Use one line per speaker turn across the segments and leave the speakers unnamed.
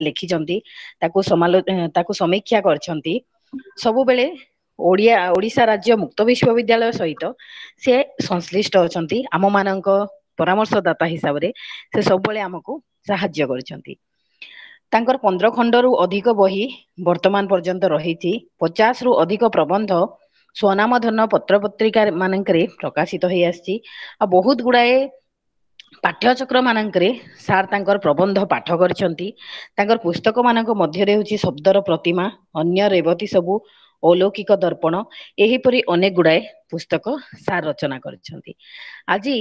ଲେଖିଛନ୍ତି, ତାକୁ ସମାଲୋ ତାକୁ ସମୀକ୍ଷା କରିଛନ୍ତି। ସବୁବେଳେ ଓଡିଆ ଓଡିଶା ରାଜ୍ୟ ମୁକ୍ତ ବିଶ୍ୱବିଦ୍ୟାଳୟ ସହିତ ସେ ସଂଶ୍ଳିଷ୍ଟ ଅଛନ୍ତି। ଆମ ମାନଙ୍କ ପରାମର୍ଶଦାତା ହିସାବରେ ସେ ସବୁବେଳେ ଆମକୁ ସାହାଯ୍ୟ କରିଛନ୍ତି। ତାଙ୍କର 15 ଖଣ୍ଡରୁ ଅଧିକ ବହି ବର୍ତ୍ତମାନ ପର୍ଯ୍ୟନ୍ତ ରହିଛି। 50ରୁ ଅଧିକ ପ୍ରବନ୍ଧ ସ୍ୱନାମଧନ ପତ୍ର ପତ୍ରିକା ମାନଙ୍କରେ ପ୍ରକାଶିତ ହେଇ ଆସିଛି। ଆଉ ବହୁତ ଗୁଡାଏ ପାଠ୍ୟଚକ୍ର ମାନଙ୍କରେ ସାର୍ ତାଙ୍କର ପ୍ରବନ୍ଧ ପାଠ କରିଛନ୍ତି। ତାଙ୍କର ପୁସ୍ତକ ମାନଙ୍କ ମଧ୍ୟରେ ହେଉଛି ଶବ୍ଦର ପ୍ରତିମା, ଅନ୍ୟ ରେବତୀ ସବୁ, ଅଲୌକିକ ଦର୍ପଣ, ଏହିପରି ଅନେକ ଗୁଡାଏ ପୁସ୍ତକ ସାର୍ ରଚନା କରିଛନ୍ତି। ଆଜି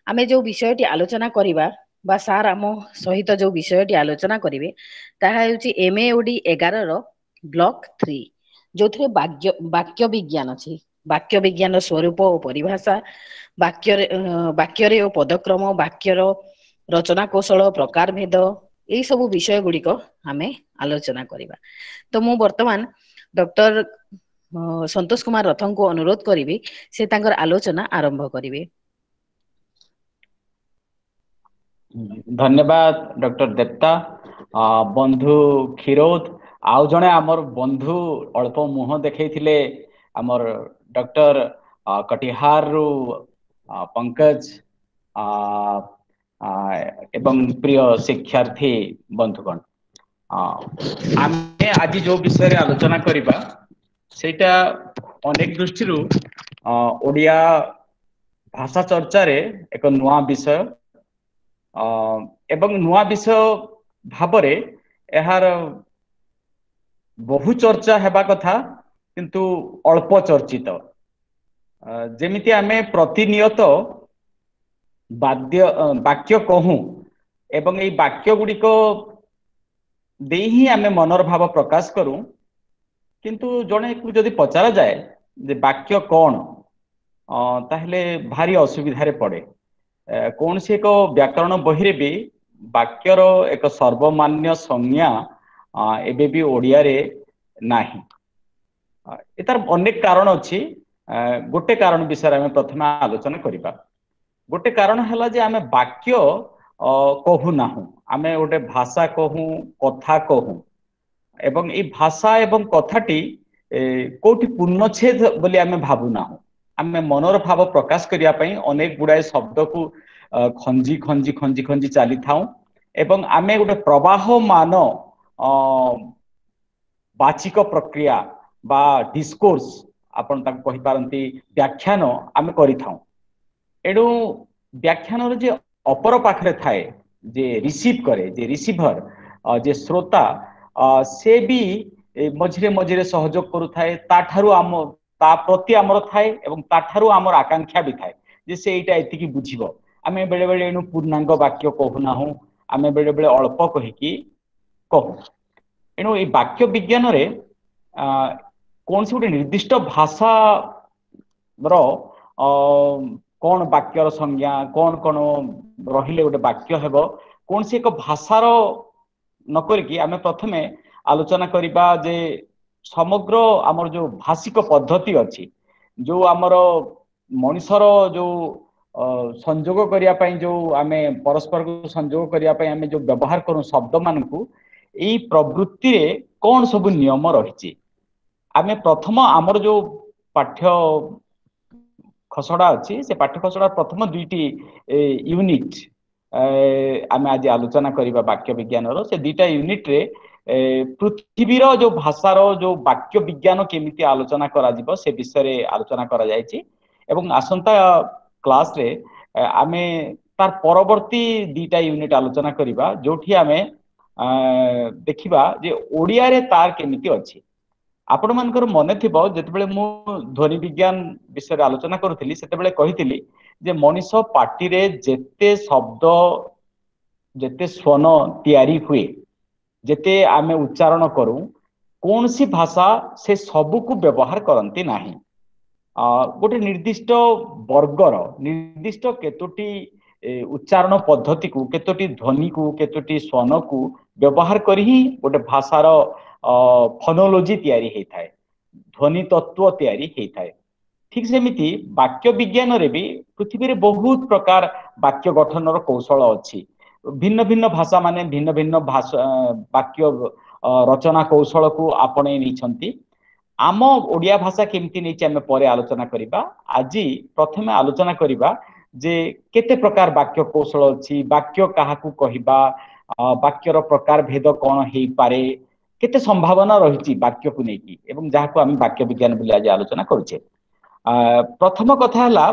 ଆମେ ଯୋଉ ବିଷୟଟି ଆଲୋଚନା କରିବା ବା ସାର୍ ଆମ ସହିତ ଯୋଉ ବିଷୟଟି ଆଲୋଚନା କରିବେ, ତାହା ହେଉଛି ଏମ ଏ ଓଡି 11ର ବ୍ଲକ 3, ଯୋଉଥିରେ ବାକ୍ୟ ବିଜ୍ଞାନ ଅଛି। ବାକ୍ୟ ବିଜ୍ଞାନ ସ୍ୱରୂପ ଓ ପରିଭାଷା, ବାକ୍ୟରେ ଓ ପଦକ୍ରମ, ବାକ୍ୟର ରଚନା କୌଶଳ, ପ୍ରକାର ଭେଦ, ଏଇ ସବୁ ବିଷୟ ଗୁଡିକ ଆମେ ଆଲୋଚନା କରିବା। ତ ମୁଁ ବର୍ତ୍ତମାନ ଡକ୍ଟର ସନ୍ତୋଷ କୁମାର ରଥଙ୍କୁ ଅନୁରୋଧ କରିବି, ସେ ତାଙ୍କର ଆଲୋଚନା ଆରମ୍ଭ କରିବେ।
ଧନ୍ୟବାଦ ଡକ୍ଟର ଦେବତା। ବନ୍ଧୁ କ୍ଷୀରୋଦ, ଆଉ ଜଣେ ଆମର ବନ୍ଧୁ ଅଳ୍ପ ମୁହଁ ଦେଖେଇଥିଲେ, ଆମର ଡକ୍ଟର କଟିହାରରୁ ପଙ୍କଜ, ଏବଂ ପ୍ରିୟ ଶିକ୍ଷାର୍ଥୀ ବନ୍ଧୁଗଣ, ଆମେ ଆଜି ଯୋଉ ବିଷୟରେ ଆଲୋଚନା କରିବା ସେଇଟା ଅନେକ ଦୃଷ୍ଟିରୁ ଓଡିଆ ଭାଷା ଚର୍ଚ୍ଚାରେ ଏକ ନୂଆ ବିଷୟ, ଏବଂ ନୂଆ ବିଷୟ ଭାବରେ ଏହାର ବହୁ ଚର୍ଚ୍ଚା ହେବା କଥା, କିନ୍ତୁ ଅଳ୍ପ ଚର୍ଚ୍ଚିତ। ଯେମିତି ଆମେ ପ୍ରତିନିୟତ ବାକ୍ୟ କହୁଁ ଏବଂ ଏଇ ବାକ୍ୟ ଗୁଡ଼ିକ ଦେଇ ହିଁ ଆମେ ମନର ଭାବ ପ୍ରକାଶ କରୁ, କିନ୍ତୁ ଜଣେକୁ ଯଦି ପଚରା ଯାଏ ଯେ ବାକ୍ୟ କଣ, ତାହେଲେ ଭାରି ଅସୁବିଧାରେ ପଡେ। କୌଣସି ଏକ ବ୍ୟାକରଣ ବହିରେ ବି ବାକ୍ୟର ଏକ ସର୍ବମାନ୍ୟ ସଂଜ୍ଞା ଏବେ ବି ଓଡ଼ିଆରେ ନାହିଁ। ତାର ଅନେକ କାରଣ ଅଛି। ଗୋଟେ କାରଣ ବିଷୟରେ ଆମେ ପ୍ରଥମେ ଆଲୋଚନା କରିବା। ଗୋଟେ କାରଣ ହେଲା ଯେ ଆମେ ବାକ୍ୟ କହୁନାହୁଁ, ଆମେ ଗୋଟେ ଭାଷା କହୁ, କଥା କହୁ, ଏବଂ ଏଇ ଭାଷା ଏବଂ କଥାଟି କୋଉଠି ପୂର୍ଣ୍ଣଛେଦ ବୋଲି ଆମେ ଭାବୁନାହୁଁ। ଆମେ ମନର ଭାବ ପ୍ରକାଶ କରିବା ପାଇଁ ଅନେକ ଗୁଡାଏ ଶବ୍ଦକୁ ଖଞ୍ଜି ଖଞ୍ଜି ଖଞ୍ଜି ଖଞ୍ଜି ଚାଲିଥାଉ, ଏବଂ ଆମେ ଗୋଟେ ପ୍ରବାହମାନ ବାଚିକ ପ୍ରକ୍ରିୟା ବା ଡିସ୍କୋର୍ସ, ଆପଣ ତାକୁ କହିପାରନ୍ତି ବ୍ୟାଖ୍ୟାନ, ଆମେ କରିଥାଉ। ଏଣୁ ବ୍ୟାଖ୍ୟାନର ଯେ ଅପର ପାଖରେ ଥାଏ, ଯେ ରିସିଭ କରେ, ଯେ ରିସିଭର, ଯେ ଶ୍ରୋତା, ସେ ବି ମଝିରେ ମଝିରେ ସହଯୋଗ କରୁଥାଏ। ତାଠାରୁ ଆମ ତା ପ୍ରତି ଆମର ଥାଏ ଏବଂ ତାଠାରୁ ଆମର ଆକାଂକ୍ଷା ବି ଥାଏ ଯେ ସେ ଏଇଟା ଏତିକି ବୁଝିବ। ଆମେ ବେଳେ ବେଳେ ଏଣୁ ପୂର୍ଣ୍ଣାଙ୍ଗ ବାକ୍ୟ କହୁନାହୁଁ, ଆମେ ବେଳେ ବେଳେ ଅଳ୍ପ କହିକି କହୁ। ଏଣୁ ଏଇ ବାକ୍ୟ ବିଜ୍ଞାନରେ କୌଣସି ଗୋଟେ ନିର୍ଦ୍ଦିଷ୍ଟ ଭାଷାର କଣ ବାକ୍ୟର ସଂଜ୍ଞା, କଣ କଣ ରହିଲେ ଗୋଟେ ବାକ୍ୟ ହେବ, କୌଣସି ଏକ ଭାଷାର ନ କରିକି ଆମେ ପ୍ରଥମେ ଆଲୋଚନା କରିବା ଯେ ସମଗ୍ର ଆମର ଯୋଉ ଭାଷିକ ପଦ୍ଧତି ଅଛି, ଯୋଉ ଆମର ମଣିଷର ଯୋଉ ସଂଯୋଗ କରିବା ପାଇଁ, ଯୋଉ ଆମେ ପରସ୍ପରକୁ ସଂଯୋଗ କରିବା ପାଇଁ ଆମେ ଯୋଉ ବ୍ୟବହାର କରୁ ଶବ୍ଦ ମାନଙ୍କୁ, ଏଇ ପ୍ରବୃତ୍ତିରେ କଣ ସବୁ ନିୟମ ରହିଛି। ଆମେ ପ୍ରଥମ ଆମର ଯୋଉ ପାଠ୍ୟ ଖସଡା ଅଛି, ସେ ପାଠ୍ୟ ଖସଡା ପ୍ରଥମ 2ଟି ୟୁନିଟ ଆମେ ଆଜି ଆଲୋଚନା କରିବା ବାକ୍ୟ ବିଜ୍ଞାନର। ସେ 2ଟା ୟୁନିଟରେ ପୃଥିବୀର ଯୋଉ ଭାଷାର ଯୋଉ ବାକ୍ୟ ବିଜ୍ଞାନ କେମିତି ଆଲୋଚନା କରାଯିବ ସେ ବିଷୟରେ ଆଲୋଚନା କରାଯାଇଛି, ଏବଂ ଆସନ୍ତା କ୍ଲାସରେ ଆମେ ତାର ପରବର୍ତ୍ତୀ 2ଟା ୟୁନିଟ ଆଲୋଚନା କରିବା, ଯୋଉଠି ଆମେ ଦେଖିବା ଯେ ଓଡ଼ିଆରେ ତାର କେମିତି ଅଛି। ଆପଣମାନଙ୍କର ମନେ ଥିବ ଯେତେବେଳେ ମୁଁ ଧ୍ୱନି ବିଜ୍ଞାନ ବିଷୟରେ ଆଲୋଚନା କରୁଥିଲି, ସେତେବେଳେ କହିଥିଲି ଯେ ମଣିଷ ପାଟିରେ ଯେତେ ଶବ୍ଦ, ଯେତେ ସ୍ୱନ ତିଆରି ହୁଏ, ଯେତେ ଆମେ ଉଚ୍ଚାରଣ କରୁ, କୌଣସି ଭାଷା ସେ ସବୁକୁ ବ୍ୟବହାର କରନ୍ତି ନାହିଁ। ଗୋଟେ ନିର୍ଦ୍ଦିଷ୍ଟ ବର୍ଗର ନିର୍ଦ୍ଦିଷ୍ଟ କେତୋଟି ଉଚ୍ଚାରଣ ପଦ୍ଧତିକୁ, କେତୋଟି ଧ୍ୱନିକୁ, କେତୋଟି ସ୍ୱନକୁ ବ୍ୟବହାର କରି ହିଁ ଗୋଟେ ଭାଷାର ଫନୋଲୋଜି ତିଆରି ହେଇଥାଏ, ଧ୍ୱନି ତତ୍ତ୍ୱ ତିଆରି ହେଇଥାଏ। ଠିକ ସେମିତି ବାକ୍ୟ ବିଜ୍ଞାନରେ ବି ପୃଥିବୀରେ ବହୁତ ପ୍ରକାର ବାକ୍ୟ ଗଠନର କୌଶଳ ଅଛି। ଭିନ୍ନ ଭିନ୍ନ ଭାଷା ମାନେ ଭିନ୍ନ ଭିନ୍ନ ଭାଷା ବାକ୍ୟ ରଚନା କୌଶଳକୁ ଆପଣେଇ ନେଇଛନ୍ତି। ଆମ ଓଡ଼ିଆ ଭାଷା କେମିତି ନେଇଛି ଆମେ ପରେ ଆଲୋଚନା କରିବା। ଆଜି ପ୍ରଥମେ ଆଲୋଚନା କରିବା ଯେ କେତେ ପ୍ରକାର ବାକ୍ୟ କୌଶଳ ଅଛି, ବାକ୍ୟ କାହାକୁ କହିବା, ବାକ୍ୟର ପ୍ରକାର ଭେଦ କଣ ହେଇପାରେ, କେତେ ସମ୍ଭାବନା ରହିଛି ବାକ୍ୟକୁ ନେଇକି, ଏବଂ ଯାହାକୁ ଆମେ ବାକ୍ୟ ବିଜ୍ଞାନ ବୋଲି ଆଜି ଆଲୋଚନା କରୁଛେ। ପ୍ରଥମ କଥା ହେଲା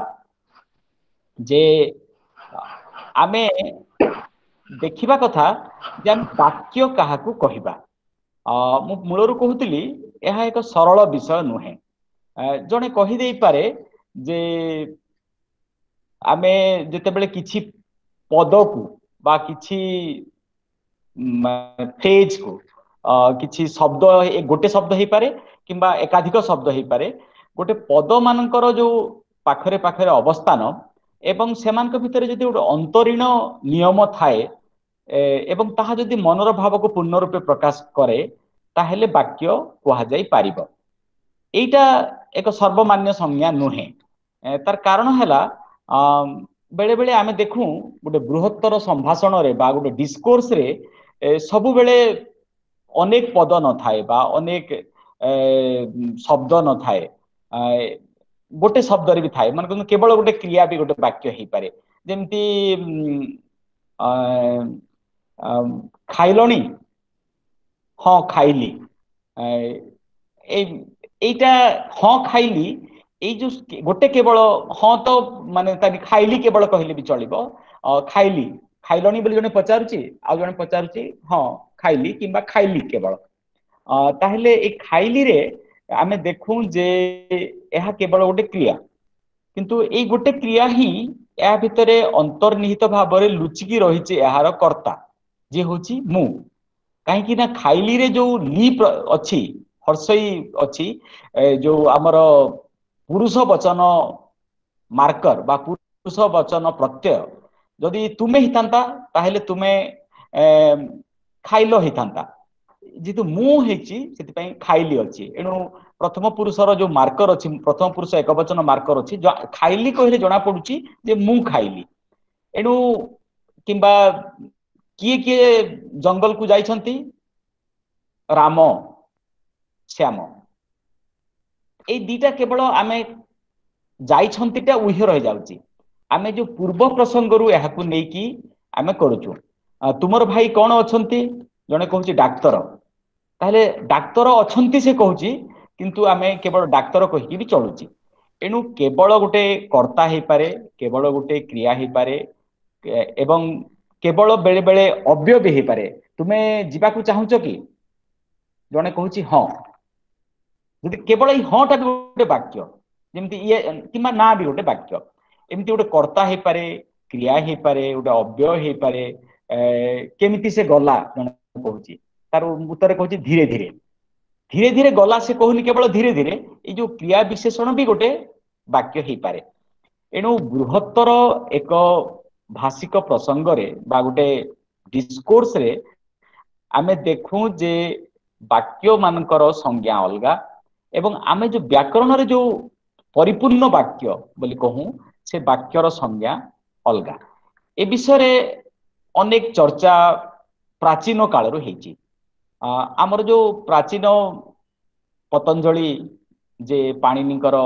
ଯେ ଆମେ ଦେଖିବା କଥା ଯେ ଆମେ ବାକ୍ୟ କାହାକୁ କହିବା। ମୁଁ ମୂଳରୁ କହୁଥିଲି ଏହା ଏକ ସରଳ ବିଷୟ ନୁହେଁ। ଜଣେ କହିଦେଇପାରେ ଯେ ଆମେ ଯେତେବେଳେ କିଛି ପଦକୁ ବା କିଛି ଫ୍ରେଜକୁ, କିଛି ଶବ୍ଦ, ଗୋଟେ ଶବ୍ଦ ହେଇପାରେ କିମ୍ବା ଏକାଧିକ ଶବ୍ଦ ହେଇପାରେ, ଗୋଟେ ପଦ ମାନଙ୍କର ଯୋଉ ପାଖରେ ପାଖରେ ଅବସ୍ଥାନ ଏବଂ ସେମାନଙ୍କ ଭିତରେ ଯଦି ଗୋଟେ ଅନ୍ତରୀଣ ନିୟମ ଥାଏ ଏବଂ ତାହା ଯଦି ମନର ଭାବକୁ ପୂର୍ଣ୍ଣ ରୂପେ ପ୍ରକାଶ କରେ, ତାହେଲେ ବାକ୍ୟ କୁହାଯାଇ ପାରିବ। ଏଇଟା ଏକ ସର୍ବମାନ୍ୟ ସଂଜ୍ଞା ନୁହେଁ। ତାର କାରଣ ହେଲା ବେଳେ ବେଳେ ଆମେ ଦେଖୁ ଗୋଟେ ବୃହତ୍ତର ସମ୍ଭାଷଣରେ ବା ଗୋଟେ ଡିସ୍କୋର୍ସରେ ସବୁବେଳେ ଅନେକ ପଦ ନଥାଏ ବା ଅନେକ ଶବ୍ଦ ନଥାଏ, ଗୋଟେ ଶବ୍ଦରେ ବି ଥାଏ। ମାନେ କେବଳ ଗୋଟେ କ୍ରିୟା ବି ଗୋଟେ ବାକ୍ୟ ହେଇପାରେ। ଯେମିତି ଖାଇଲଣି, ହଁ ଖାଇଲି, ଏଇଟା ହଁ ଖାଇଲି, ଏଇ ଯୋଉ ଗୋଟେ କେବଳ ହଁ ତ ମାନେ ତା ଖାଇଲି କେବଳ କହିଲେ ବି ଚଳିବ। ଖାଇଲି, ଖାଇଲଣି ବୋଲି ଜଣେ ପଚାରୁଛି, ଆଉ ଜଣେ ପଚାରୁଛି ହଁ ଖାଇଲି କିମ୍ବା ଖାଇଲି କେବଳ। ତାହେଲେ ଏଇ ଖାଇଲିରେ ଆମେ ଦେଖୁ ଯେ ଏହା କେବଳ ଗୋଟେ କ୍ରିୟା, କିନ୍ତୁ ଏଇ ଗୋଟେ କ୍ରିୟା ହିଁ ଏହା ଭିତରେ ଅନ୍ତର୍ନିହିତ ଭାବରେ ଲୁଚିକି ରହିଛି ଏହାର କର୍ତ୍ତା, ଯିଏ ହଉଛି ମୁଁ। କାହିଁକି ନା ଖାଇଲିରେ ଯୋଉ ଲି ଅଛି, ହର୍ଷଇ ଅଛି, ଯୋଉ ଆମର ପୁରୁଷ ବଚନ ମାର୍କର ବା ପୁରୁଷ ବଚନ ପ୍ରତ୍ୟୟ, ଯଦି ତୁମେ ହେଇଥାନ୍ତା ତାହେଲେ ତୁମେ ଖାଇଲ ହେଇଥାନ୍ତା, ଯେହେତୁ ମୁଁ ହେଇଛି ସେଥିପାଇଁ ଖାଇଲି ଅଛି। ଏଣୁ ପ୍ରଥମ ପୁରୁଷର ଯୋଉ ମାର୍କର ଅଛି, ପ୍ରଥମ ପୁରୁଷ ଏକବଚନ ମାର୍କର ଅଛି, ଖାଇଲି କହିଲେ ଜଣା ପଡୁଛି ଯେ ମୁଁ ଖାଇଲି। ଏଣୁ କିମ୍ବା କିଏ କିଏ ଜଙ୍ଗଲକୁ ଯାଇଛନ୍ତି, ରାମ ଶ୍ୟାମ, ଏଇ ଦିଟା କେବଳ ଆମେ ଯାଇଛନ୍ତିଟା ଉହ୍ୟ ରହିଯାଉଛି। ଆମେ ଯୋଉ ପୂର୍ବ ପ୍ରସଙ୍ଗରୁ ଏହାକୁ ନେଇକି ଆମେ କରୁଛୁ। ତୁମର ଭାଇ କଣ ଅଛନ୍ତି, ଜଣେ କହୁଛି ଡାକ୍ତର, ତାହେଲେ ଡାକ୍ତର ଅଛନ୍ତି ସେ କହୁଛି, କିନ୍ତୁ ଆମେ କେବଳ ଡାକ୍ତର କହିକି ବି ଚଳୁଛି। ଏଣୁ କେବଳ ଗୋଟେ କର୍ତ୍ତା ହେଇପାରେ, କେବଳ ଗୋଟେ କ୍ରିୟା ହେଇପାରେ, ଏବଂ କେବଳ ବେଳେ ବେଳେ ଅବ୍ୟୟ ବି ହେଇପାରେ। ତୁମେ ଯିବାକୁ ଚାହୁଁଛ କି, ଜଣେ କହୁଛି ହଁ, ଯଦି କେବଳ ଏଇ ହଁ ଟା ବି ଗୋଟେ ବାକ୍ୟ, ଯେମିତି ଇଏ କିମ୍ବା ନା ବି ଗୋଟେ ବାକ୍ୟ। ଏମିତି ଗୋଟେ କର୍ତ୍ତା ହେଇପାରେ, କ୍ରିୟା ହେଇପାରେ, ଗୋଟେ ଅବ୍ୟୟ ହେଇପାରେ। କେମିତି ସେ ଗଲା ଜଣେ କହୁଛି, ତାର ଉତ୍ତରରେ କହୁଛି ଧୀରେ ଧୀରେ, ଧୀରେ ଧୀରେ ଗଲା ସେ କହୁନି କେବଳ ଧୀରେ ଧୀରେ, ଏଇ ଯୋଉ କ୍ରିୟା ବିଶେଷଣ ବି ଗୋଟେ ବାକ୍ୟ ହେଇପାରେ। ଏଣୁ ବୃହତ୍ତର ଏକ ଭାଷିକ ପ୍ରସଙ୍ଗରେ ବା ଗୋଟେ ଡିସ୍କୋର୍ସରେ ଆମେ ଦେଖୁ ଯେ ବାକ୍ୟ ମାନଙ୍କର ସଂଜ୍ଞା ଅଲଗା, ଏବଂ ଆମେ ଯୋଉ ବ୍ୟାକରଣରେ ଯୋଉ ପରିପୂର୍ଣ୍ଣ ବାକ୍ୟ ବୋଲି କହୁ ସେ ବାକ୍ୟର ସଂଜ୍ଞା ଅଲଗା। ଏ ବିଷୟରେ ଅନେକ ଚର୍ଚ୍ଚା ପ୍ରାଚୀନ କାଳରୁ ହେଇଛି। ଆମର ଯୋଉ ପ୍ରାଚୀନ ପତଞ୍ଜଳି ଯେ ପାଣିନିଙ୍କର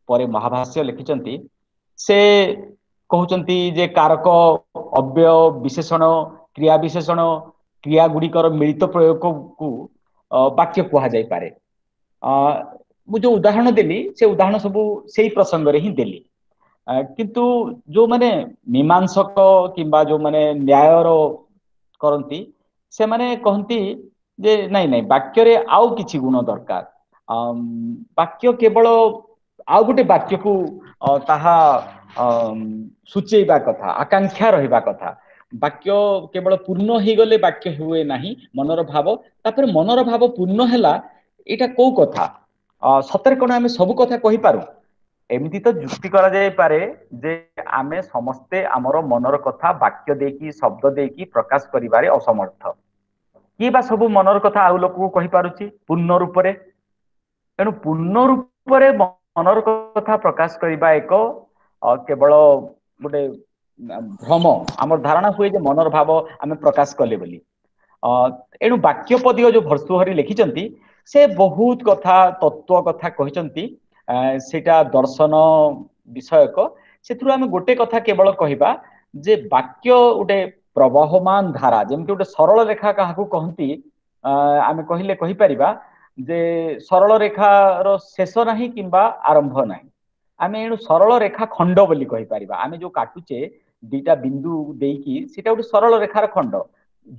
ପରେ ମହାଭାଷ୍ୟ ଲେଖିଛନ୍ତି, ସେ କହୁଛନ୍ତି ଯେ କାରକ, ଅବ୍ୟୟ, ବିଶେଷଣ, କ୍ରିୟା ବିଶେଷଣ, କ୍ରିୟା ଗୁଡ଼ିକର ମିଳିତ ପ୍ରୟୋଗକୁ ବାକ୍ୟ କୁହାଯାଇପାରେ। ମୁଁ ଯୋଉ ଉଦାହରଣ ଦେଲି ସେ ଉଦାହରଣ ସବୁ ସେଇ ପ୍ରସଙ୍ଗରେ ହିଁ ଦେଲି। କିନ୍ତୁ ଯୋଉମାନେ ମୀମାଂସକ କିମ୍ବା ଯୋଉମାନେ ନ୍ୟାୟର କରନ୍ତି, ସେମାନେ କହନ୍ତି ଯେ ନାଇଁ ନାଇଁ, ବାକ୍ୟରେ ଆଉ କିଛି ଗୁଣ ଦରକାର। ବାକ୍ୟ କେବଳ ଆଉ ଗୋଟେ ବାକ୍ୟକୁ ତାହା ସୂଚେଇବା କଥା, ଆକାଂକ୍ଷା ରହିବା କଥା। ବାକ୍ୟ କେବଳ ପୂର୍ଣ୍ଣ ହେଇଗଲେ ବାକ୍ୟ ହୁଏ ନାହିଁ, ମନର ଭାବ, ତାପରେ ମନର ଭାବ ପୂର୍ଣ୍ଣ ହେଲା, ଏଇଟା କୋଉ କଥା? ସତରେ କଣ ଆମେ ସବୁ କଥା କହିପାରୁ? ଏମିତି ତ ଯୁକ୍ତି କରାଯାଇପାରେ ଯେ ଆମେ ସମସ୍ତେ ଆମର ମନର କଥା ବାକ୍ୟ ଦେଇକି, ଶବ୍ଦ ଦେଇକି ପ୍ରକାଶ କରିବାରେ ଅସମର୍ଥ। କିଏ ବା ସବୁ ମନର କଥା ଆଉ ଲୋକକୁ କହିପାରୁଛି ପୂର୍ଣ୍ଣ ରୂପରେ? ତେଣୁ ପୂର୍ଣ୍ଣ ରୂପରେ ମନର କଥା ପ୍ରକାଶ କରିବା ଏକ କେବଳ ଗୋଟେ ଭ୍ରମ, ଆମର ଧାରଣା ହୁଏ ଯେ ମନର ଭାବ ଆମେ ପ୍ରକାଶ କଲେ ବୋଲି। ଏଣୁ ବାକ୍ୟପଦୀୟ ଯୋଉ ଭର୍ତ୍ତୃହରି ଲେଖିଛନ୍ତି, ସେ ବହୁତ କଥା, ତତ୍ତ୍ୱ କଥା କହିଛନ୍ତି, ସେଇଟା ଦର୍ଶନ ବିଷୟକ। ସେଥିରୁ ଆମେ ଗୋଟେ କଥା କେବଳ କହିବା ଯେ ବାକ୍ୟ ଗୋଟେ ପ୍ରବହମାନ ଧାରା, ଯେମିତି ଗୋଟେ ସରଳ ରେଖା କାହାକୁ କହନ୍ତି, ଆମେ କହିଲେ କହିପାରିବା ଯେ ସରଳ ରେଖାର ଶେଷ ନାହିଁ କିମ୍ବା ଆରମ୍ଭ ନାହିଁ। ଆମେ ଏଣୁ ସରଳ ରେଖା ଖଣ୍ଡ ବୋଲି କହିପାରିବା। ଆମେ ଯୋଉ କାଟୁଛେ ଦିଟା ବିନ୍ଦୁ ଦେଇକି, ସେଇଟା ଗୋଟେ ସରଳ ରେଖାର ଖଣ୍ଡ,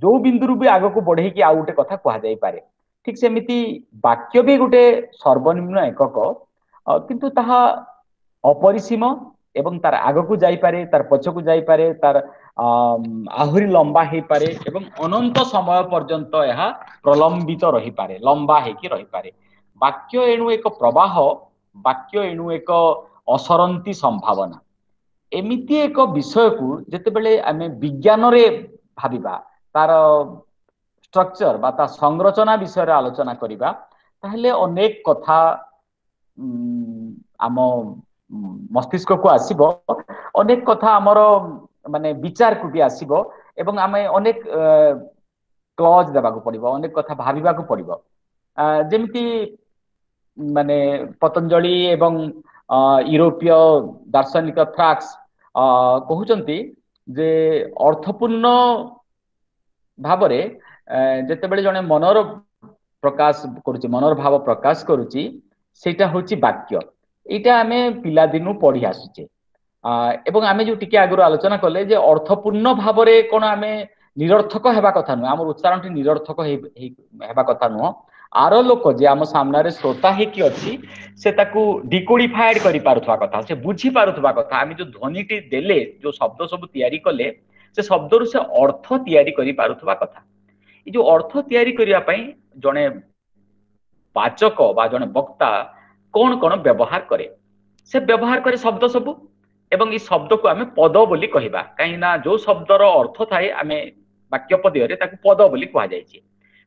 ଯୋଉ ବିନ୍ଦୁରୁ ବି ଆଗକୁ ବଢେଇକି ଆଉ ଗୋଟେ କଥା କୁହାଯାଇପାରେ। ଠିକ ସେମିତି ବାକ୍ୟ ବି ଗୋଟେ ସର୍ବନିମ୍ନ ଏକକ, କିନ୍ତୁ ତାହା ଅପରିସୀମ ଏବଂ ତାର ଆଗକୁ ଯାଇପାରେ, ତାର ପଛକୁ ଯାଇପାରେ, ତାର ଆହୁରି ଲମ୍ବା ହେଇପାରେ ଏବଂ ଅନନ୍ତ ସମୟ ପର୍ଯ୍ୟନ୍ତ ଏହା ପ୍ରଲମ୍ବିତ ରହିପାରେ, ଲମ୍ବା ହେଇକି ରହିପାରେ। ବାକ୍ୟ ଏଣୁ ଏକ ପ୍ରବାହ, ବାକ୍ୟ ଏଣୁ ଏକ ଅସରନ୍ତି ସମ୍ଭାବନା। ଏମିତି ଏକ ବିଷୟକୁ ଯେତେବେଳେ ଆମେ ବିଜ୍ଞାନରେ ଭାବିବା, ତାର ଷ୍ଟ୍ରକ୍ଚର ବା ତା ସଂରଚନା ବିଷୟରେ ଆଲୋଚନା କରିବା, ତାହେଲେ ଅନେକ କଥା ଆମ ମସ୍ତିଷ୍କକୁ ଆସିବ, ଅନେକ କଥା ଆମର ମାନେ ବିଚାରକୁ ବି ଆସିବ ଏବଂ ଆମେ ଅନେକ କ୍ଲଜ ଦେବାକୁ ପଡିବ, ଅନେକ କଥା ଭାବିବାକୁ ପଡିବ। ଯେମିତି ମାନେ ପତଞ୍ଜଳି ଏବଂ ୟୁରୋପୀୟ ଦାର୍ଶନିକ ଫ୍ରାକ୍ସ କହୁଛନ୍ତି ଯେ ଅର୍ଥପୂର୍ଣ୍ଣ ଭାବରେ ଯେତେବେଳେ ଜଣେ ମନର ପ୍ରକାଶ କରୁଛି, ମନର ଭାବ ପ୍ରକାଶ କରୁଛି, ସେଇଟା ହଉଛି ବାକ୍ୟ। ଏଇଟା ଆମେ ପିଲାଦିନୁ ପଢି ଆସୁଛେ ଏବଂ ଆମେ ଯୋଉ ଟିକେ ଆଗରୁ ଆଲୋଚନା କଲେ ଯେ ଅର୍ଥପୂର୍ଣ୍ଣ ଭାବରେ କଣ ଆମେ ନିରର୍ଥକ ହେବା କଥା ନୁହଁ, ଆମର ଉଚ୍ଚାରଣଟି ନିରର୍ଥକ ହେବା କଥା ନୁହଁ। ଆର ଲୋକ ଯେ ଆମ ସାମ୍ନାରେ ଶ୍ରୋତା ହେଇକି ଅଛି, ସେ ତାକୁ ଡିକୋଡିଫାଏଡ କରିପାରୁଥିବା କଥା, ସେ ବୁଝିପାରୁଥିବା କଥା। ଆମେ ଯୋଉ ଧ୍ୱନିଟି ଦେଲେ, ଯୋଉ ଶବ୍ଦ ସବୁ ତିଆରି କଲେ, ସେ ଶବ୍ଦରୁ ସେ ଅର୍ଥ ତିଆରି କରିପାରୁଥିବା କଥା। ଏଇ ଯୋଉ ଅର୍ଥ ତିଆରି କରିବା ପାଇଁ ଜଣେ ବାଚକ ବା ଜଣେ ବକ୍ତା କଣ କଣ ବ୍ୟବହାର କରେ? ସେ ବ୍ୟବହାର କରେ ଶବ୍ଦ ସବୁ, ଏବଂ ଏଇ ଶବ୍ଦକୁ ଆମେ ପଦ ବୋଲି କହିବା, କାହିଁକି ନା ଯୋଉ ଶବ୍ଦର ଅର୍ଥ ଥାଏ ଆମେ ବାକ୍ୟ ପଦୀୟରେ ତାକୁ ପଦ ବୋଲି କୁହାଯାଇଛି।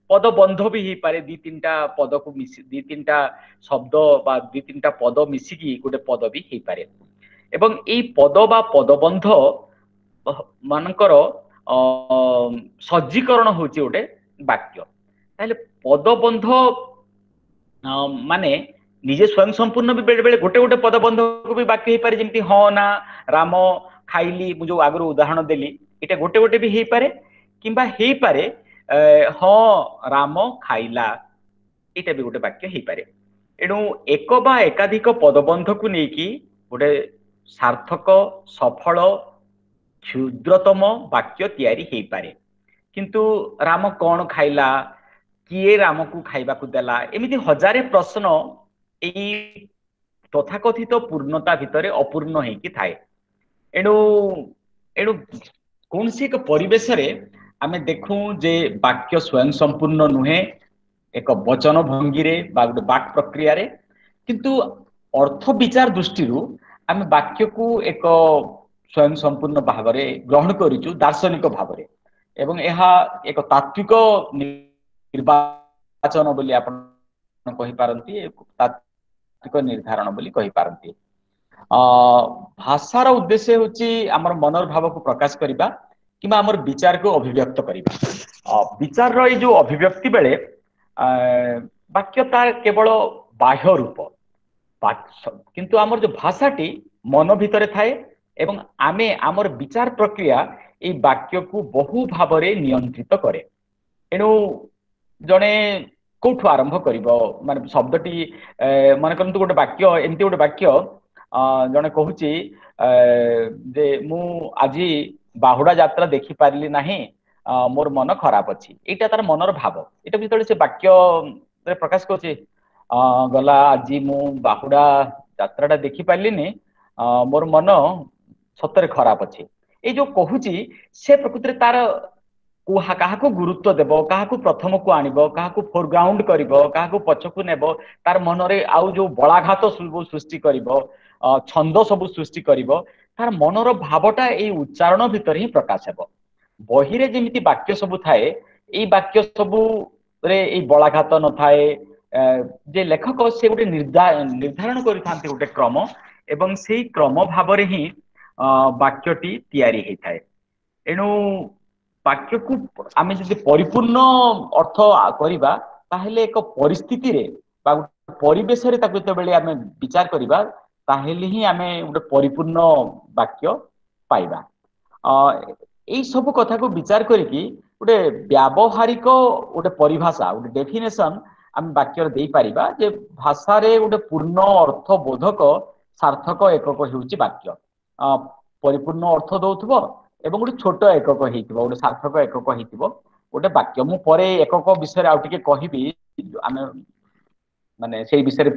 ପଦ ବନ୍ଧ ବି ହେଇପାରେ, ଦି ତିନିଟା ପଦକୁ ମିଶି, ଦି ତିନିଟା ଶବ୍ଦ ବା ଦି ତିନିଟା ପଦ ମିଶିକି ଗୋଟେ ପଦ ବି ହେଇପାରେ। ଏବଂ ଏଇ ପଦ ବା ପଦବନ୍ଧ ମାନଙ୍କର ସଜ୍ଜୀକରଣ ହଉଛି ଗୋଟେ ବାକ୍ୟ। ତାହେଲେ ପଦବନ୍ଧ ମାନେ ନିଜେ ସ୍ୱୟଂ ସମ୍ପୂର୍ଣ୍ଣ ବି ବେଳେ ବେଳେ ଗୋଟେ ଗୋଟେ ପଦବନ୍ଧକୁ ବି ବାକ୍ୟ ହେଇପାରେ, ଯେମିତି ହଁ ନା, ରାମ, ଖାଇଲି, ମୁଁ ଯୋଉ ଆଗରୁ ଉଦାହରଣ ଦେଲି, ଏଇଟା ଗୋଟେ ଗୋଟେ ବି ହେଇପାରେ, କିମ୍ବା ହେଇପାରେ ହଁ ରାମ ଖାଇଲା, ଏଇଟା ବି ଗୋଟେ ବାକ୍ୟ ହେଇପାରେ। ଏଣୁ ଏକ ବା ଏକାଧିକ ପଦବନ୍ଧକୁ ନେଇକି ଗୋଟେ ସାର୍ଥକ, ସଫଳ, କ୍ଷୁଦ୍ରତମ ବାକ୍ୟ ତିଆରି ହେଇପାରେ। କିନ୍ତୁ ରାମ କଣ ଖାଇଲା, କିଏ ରାମକୁ ଖାଇବାକୁ ଦେଲା, ଏମିତି ହଜାରେ ପ୍ରଶ୍ନ ଏଇ ତଥାକଥିତ ପୂର୍ଣ୍ଣତା ଭିତରେ ଅପୂର୍ଣ୍ଣ ହେଇକି ଥାଏ। ଏଣୁ କୌଣସି ଏକ ପରିବେଶରେ ଆମେ ଦେଖୁ ଯେ ବାକ୍ୟ ସ୍ୱୟଂ ସମ୍ପୂର୍ଣ୍ଣ ନୁହେଁ ଏକ ବଚନ ଭଙ୍ଗୀରେ ବା ଗୋଟେ ବାକ୍ ପ୍ରକ୍ରିୟାରେ, କିନ୍ତୁ ଅର୍ଥ ବିଚାର ଦୃଷ୍ଟିରୁ ଆମେ ବାକ୍ୟକୁ ଏକ ସ୍ୱୟଂ ସମ୍ପୂର୍ଣ୍ଣ ଭାବରେ ଗ୍ରହଣ କରିଛୁ ଦାର୍ଶନିକ ଭାବରେ, ଏବଂ ଏହା ଏକ ତାତ୍ତ୍ୱିକ ନିର୍ବାଚନ ବୋଲି ଆପଣ କହିପାରନ୍ତି, ତାତ୍ତ୍ୱିକ ନିର୍ଦ୍ଧାରଣ ବୋଲି କହିପାରନ୍ତି। ଭାଷାର ଉଦ୍ଦେଶ୍ୟ ହେଉଛି ଆମର ମନର ଭାବକୁ ପ୍ରକାଶ କରିବା କିମ୍ବା ଆମର ବିଚାରକୁ ଅଭିବ୍ୟକ୍ତ କରିବା। ବିଚାରର ଏଇ ଯୋଉ ଅଭିବ୍ୟକ୍ତି ବେଳେ ବାକ୍ୟ ତାର କେବଳ ବାହ୍ୟ ରୂପ, କିନ୍ତୁ ଆମର ଯୋଉ ଭାଷାଟି ମନ ଭିତରେ ଥାଏ ଏବଂ ଆମେ ଆମର ବିଚାର ପ୍ରକ୍ରିୟା ଏଇ ବାକ୍ୟକୁ ବହୁ ଭାବରେ ନିୟନ୍ତ୍ରିତ କରେ। ଏଣୁ ଜଣେ କୋଉଠୁ ଆରମ୍ଭ କରିବ, ମାନେ ଶବ୍ଦଟି, ମନେ କରନ୍ତୁ ଗୋଟେ ବାକ୍ୟ, ଏମିତି ଗୋଟେ ବାକ୍ୟ ଜଣେ କହୁଛି ଯେ ମୁଁ ଆଜି ବାହୁଡା ଯାତ୍ରା ଦେଖିପାରିଲି ନାହିଁ, ମୋର ମନ ଖରାପ ଅଛି। ଏଇଟା ତାର ମନର ଭାବ। ଏଇଟା ଯେତେବେଳେ ସେ ବାକ୍ୟରେ ପ୍ରକାଶ କରୁଛି, ଗଲା ଆଜି ମୁଁ ବାହୁଡା ଯାତ୍ରାଟା ଦେଖିପାରିଲିନି, ମୋର ମନ ସତରେ ଖରାପ ଅଛି, ଏଇ ଯୋଉ କହୁଛି ସେ ପ୍ରକୃତିରେ ତାର କାହାକୁ ଗୁରୁତ୍ୱ ଦେବ, କାହାକୁ ପ୍ରଥମକୁ ଆଣିବ, କାହାକୁ ଫୋରଗ୍ରାଉଣ୍ଡ କରିବ, କାହାକୁ ପଛକୁ ନେବ, ତାର ମନରେ ଆଉ ଯୋଉ ବଳାଘାତ ସବୁ ସୃଷ୍ଟି କରିବ, ଛନ୍ଦ ସବୁ ସୃଷ୍ଟି କରିବ, ତାର ମନର ଭାବଟା ଏଇ ଉଚ୍ଚାରଣ ଭିତରେ ହିଁ ପ୍ରକାଶ ହେବ। ବହିରେ ଯେମିତି ବାକ୍ୟ ସବୁ ଥାଏ, ଏଇ ବାକ୍ୟ ସବୁରେ ଏଇ ବଳାଘାତ ନଥାଏ। ଯେ ଲେଖକ ସେ ଗୋଟେ ନିର୍ଦ୍ଧାରଣ କରିଥାନ୍ତି ଗୋଟେ କ୍ରମ, ଏବଂ ସେଇ କ୍ରମ ଭାବରେ ହିଁ ବାକ୍ୟଟି ତିଆରି ହେଇଥାଏ। ଏଣୁ ବାକ୍ୟକୁ ଆମେ ଯଦି ପରିପୂର୍ଣ୍ଣ ଅର୍ଥ କରିବା, ତାହେଲେ ଏକ ପରିସ୍ଥିତିରେ ବା ଗୋଟେ ପରିବେଶରେ ତାକୁ ଯେତେବେଳେ ଆମେ ବିଚାର କରିବା, ତାହେଲେ ହିଁ ଆମେ ଗୋଟେ ପରିପୂର୍ଣ୍ଣ ବାକ୍ୟ ପାଇବା। ଏଇ ସବୁ କଥାକୁ ବିଚାର କରିକି ଗୋଟେ ବ୍ୟାବହାରିକ ଗୋଟେ ପରିଭାଷା, ଗୋଟେ ଡେଫିନେସନ ଆମେ ବାକ୍ୟରେ ଦେଇପାରିବା ଯେ ଭାଷାରେ ଗୋଟେ ପୂର୍ଣ୍ଣ ଅର୍ଥ ବୋଧକ ସାର୍ଥକ ଏକକ ହେଉଛି ବାକ୍ୟ। ପରିପୂର୍ଣ୍ଣ ଅର୍ଥ ଦଉଥିବ ଏବଂ ଗୋଟେ ଛୋଟ ଏକକ ହେଇଥିବ, ଗୋଟେ ସାର୍ଥକ ଏକକ ହେଇଥିବ ଗୋଟେ ବାକ୍ୟ। ମୁଁ ପରେ ଏକକ ବିଷୟରେ ଆଉ ଟିକେ କହିବି, ଆମେ ମାନେ ସେଇ ବିଷୟରେ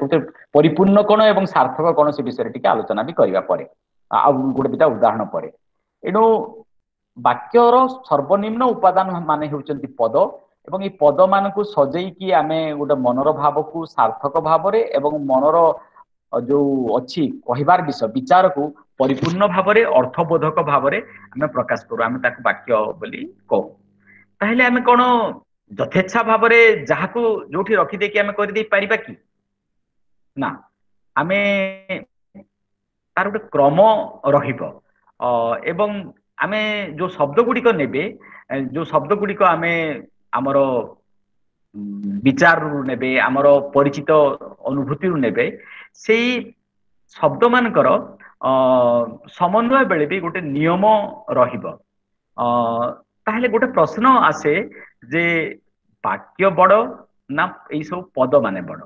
ପରିପୂର୍ଣ୍ଣ କଣ ଏବଂ ସାର୍ଥକ କଣ ସେ ବିଷୟରେ ଟିକେ ଆଲୋଚନା ବି କରିବା ପରେ, ଆଉ ଗୋଟେ ଦିଟା ଉଦାହରଣ ପରେ। ଏଣୁ ବାକ୍ୟର ସର୍ବନିମ୍ନ ଉପାଦାନ ମାନେ ହେଉଛନ୍ତି ପଦ, ଏବଂ ଏଇ ପଦ ମାନଙ୍କୁ ସଜେଇକି ଆମେ ଗୋଟେ ମନର ଭାବକୁ ସାର୍ଥକ ଭାବରେ ଏବଂ ମନର ଯୋଉ ଅଛି କହିବାର ବିଷୟ ବିଚାରକୁ ପରିପୂର୍ଣ୍ଣ ଭାବରେ ଅର୍ଥବୋଧକ ଭାବରେ ଆମେ ପ୍ରକାଶ କରୁ, ଆମେ ତାକୁ ବାକ୍ୟ ବୋଲି କହୁ। ତାହେଲେ ଆମେ କଣ ଯଥେଚ୍ଛା ଭାବରେ ଯାହାକୁ ଯୋଉଠି ରଖିଦେଇକି ଆମେ କରିଦେଇ ପାରିବା କି? ନା, ଆମେ ତାର ଗୋଟେ କ୍ରମ ରହିବ ଏବଂ ଆମେ ଯୋଉ ଶବ୍ଦ ଗୁଡିକ ନେବେ, ଯୋଉ ଶବ୍ଦ ଗୁଡିକ ଆମେ ଆମର ବିଚାରରୁ ନେବେ, ଆମର ପରିଚିତ ଅନୁଭୂତିରୁ ନେବେ, ସେଇ ଶବ୍ଦ ମାନଙ୍କର ସମନ୍ୱୟ ବେଳେ ବି ଗୋଟେ ନିୟମ ରହିବ। ତାହେଲେ ଗୋଟେ ପ୍ରଶ୍ନ ଆସେ ଯେ ବାକ୍ୟ ବଡ ନା ଏଇ ସବୁ ପଦ ମାନେ ବଡ?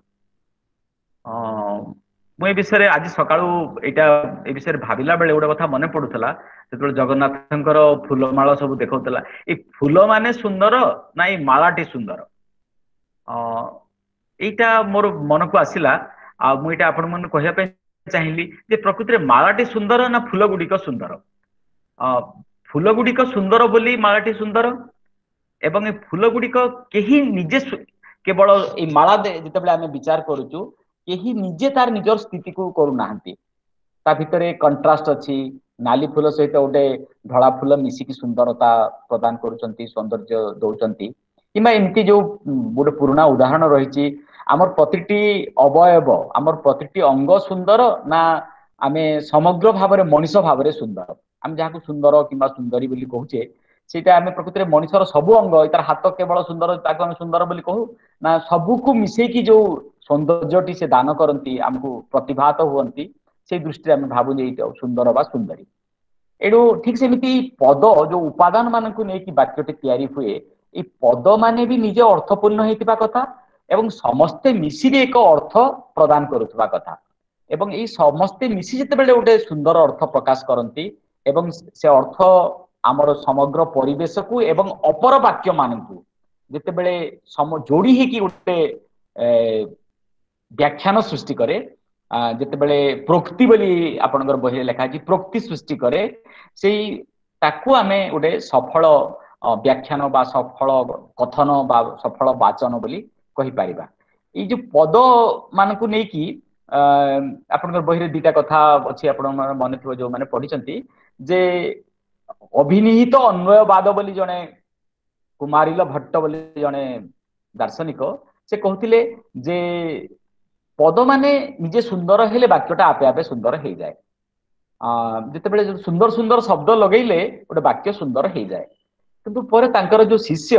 ମୁଁ ଏ ବିଷୟରେ ଆଜି ସକାଳୁ ଏଇଟା ଏ ବିଷୟରେ ଭାବିଲା ବେଳେ ଗୋଟେ କଥା ମନେ ପଡୁଥିଲା। ଯେତେବେଳେ ଜଗନ୍ନାଥଙ୍କର ଫୁଲମାଳ ସବୁ ଦେଖାଉଥିଲା, ଏଇ ଫୁଲ ମାନେ ସୁନ୍ଦର ନା ଏଇ ମାଳାଟି ସୁନ୍ଦର? ଏଇଟା ମୋର ମନକୁ ଆସିଲା। ଆଉ ମୁଁ ଏଇଟା ଆପଣ ମାନଙ୍କୁ କହିବା ପାଇଁ ଚାହିଁଲି ଯେ ପ୍ରକୃତିରେ ମାଳାଟି ସୁନ୍ଦର ନା ଫୁଲ ଗୁଡିକ ସୁନ୍ଦର? ଫୁଲ ଗୁଡିକ ସୁନ୍ଦର ବୋଲି ମାଳାଟି ସୁନ୍ଦର, ଏବଂ ଏ ଫୁଲ ଗୁଡିକ କେହି ନିଜେ କେବଳ ଏଇ ମାଳା ଯେତେବେଳେ ଆମେ ବିଚାର କରୁଛୁ, କେହି ନିଜେ ତାର ନିଜର ସ୍ଥିତିକୁ କରୁନାହାନ୍ତି। ତା ଭିତରେ କଣ୍ଟ୍ରାଷ୍ଟ ଅଛି, ନାଲି ଫୁଲ ସହିତ ଗୋଟେ ଧଳା ଫୁଲ ମିଶିକି ସୁନ୍ଦରତା ପ୍ରଦାନ କରୁଛନ୍ତି, ସୌନ୍ଦର୍ଯ୍ୟ ଦଉଛନ୍ତି। କିମ୍ବା ଏମିତି ଯୋଉ ଗୋଟେ ପୁରୁଣା ଉଦାହରଣ ରହିଛି, ଆମର ପ୍ରତିଟି ଅବୟବ, ଆମର ପ୍ରତିଟି ଅଙ୍ଗ ସୁନ୍ଦର ନା ଆମେ ସମଗ୍ର ଭାବରେ ମଣିଷ ଭାବରେ ସୁନ୍ଦର? ଆମେ ଯାହାକୁ ସୁନ୍ଦର କିମ୍ବା ସୁନ୍ଦରୀ ବୋଲି କହୁଛେ, ସେଇଟା ଆମେ ପ୍ରକୃତିରେ ମଣିଷର ସବୁ ଅଙ୍ଗ, ତାର ହାତ କେବଳ ସୁନ୍ଦର ତାକୁ ଆମେ ସୁନ୍ଦର ବୋଲି କହୁ ନା ସବୁକୁ ମିଶେଇକି ଯୋଉ ସୌନ୍ଦର୍ଯ୍ୟଟି ସେ ଦାନ କରନ୍ତି, ଆମକୁ ପ୍ରତିଭାତ ହୁଅନ୍ତି, ସେଇ ଦୃଷ୍ଟିରେ ଆମେ ଭାବୁ ଯେ ଏଇଟା ସୁନ୍ଦର ବା ସୁନ୍ଦରୀ। ଏଣୁ ଠିକ ସେମିତି ପଦ ଯୋଉ ଉପାଦାନ ମାନଙ୍କୁ ନେଇକି ବାକ୍ୟଟି ତିଆରି ହୁଏ, ଏଇ ପଦ ମାନେ ବି ନିଜେ ଅର୍ଥପୂର୍ଣ୍ଣ ହେଇଥିବା କଥା ଏବଂ ସମସ୍ତେ ମିଶିକି ଏକ ଅର୍ଥ ପ୍ରଦାନ କରୁଥିବା କଥା। ଏବଂ ଏଇ ସମସ୍ତେ ମିଶି ଯେତେବେଳେ ଗୋଟେ ସୁନ୍ଦର ଅର୍ଥ ପ୍ରକାଶ କରନ୍ତି ଏବଂ ସେ ଅର୍ଥ ଆମର ସମଗ୍ର ପରିବେଶକୁ ଏବଂ ଅପର ବାକ୍ୟ ମାନଙ୍କୁ ଯେତେବେଳେ ଯୋଡି ହେଇକି ଗୋଟେ ବ୍ୟାଖ୍ୟାନ ସୃଷ୍ଟି କରେ, ଯେତେବେଳେ ପ୍ରୋକ୍ତି ବୋଲି ଆପଣଙ୍କର ବହିରେ ଲେଖା ଅଛି, ପ୍ରୋକ୍ତି ସୃଷ୍ଟି କରେ, ସେଇ ତାକୁ ଆମେ ଗୋଟେ ସଫଳ ବ୍ୟାଖ୍ୟାନ ବା ସଫଳ କଥନ ବା ସଫଳ ବାଚନ ବୋଲି କହିପାରିବା। ଏଇ ଯୋଉ ପଦ ମାନଙ୍କୁ ନେଇକି ଆପଣଙ୍କର ବହିରେ ଦିଟା କଥା ଅଛି, ଆପଣଙ୍କର ମନେ ଥିବ ଯୋଉମାନେ ପଢିଛନ୍ତି, ଯେ ଅଭିନିହିତ ଅନ୍ୱୟବାଦ ବୋଲି ଜଣେ କୁମାରିଲ ଭଟ୍ଟ ବୋଲି ଜଣେ ଦାର୍ଶନିକ, ସେ କହୁଥିଲେ ଯେ ପଦ ମାନେ ନିଜେ ସୁନ୍ଦର ହେଲେ ବାକ୍ୟଟା ଆପେ ଆପେ ସୁନ୍ଦର ହେଇଯାଏ। ଯେତେବେଳେ ସୁନ୍ଦର ସୁନ୍ଦର ଶବ୍ଦ ଲଗେଇଲେ ଗୋଟେ ବାକ୍ୟ ସୁନ୍ଦର ହେଇଯାଏ। କିନ୍ତୁ ପରେ ତାଙ୍କର ଯୋଉ ଶିଷ୍ୟ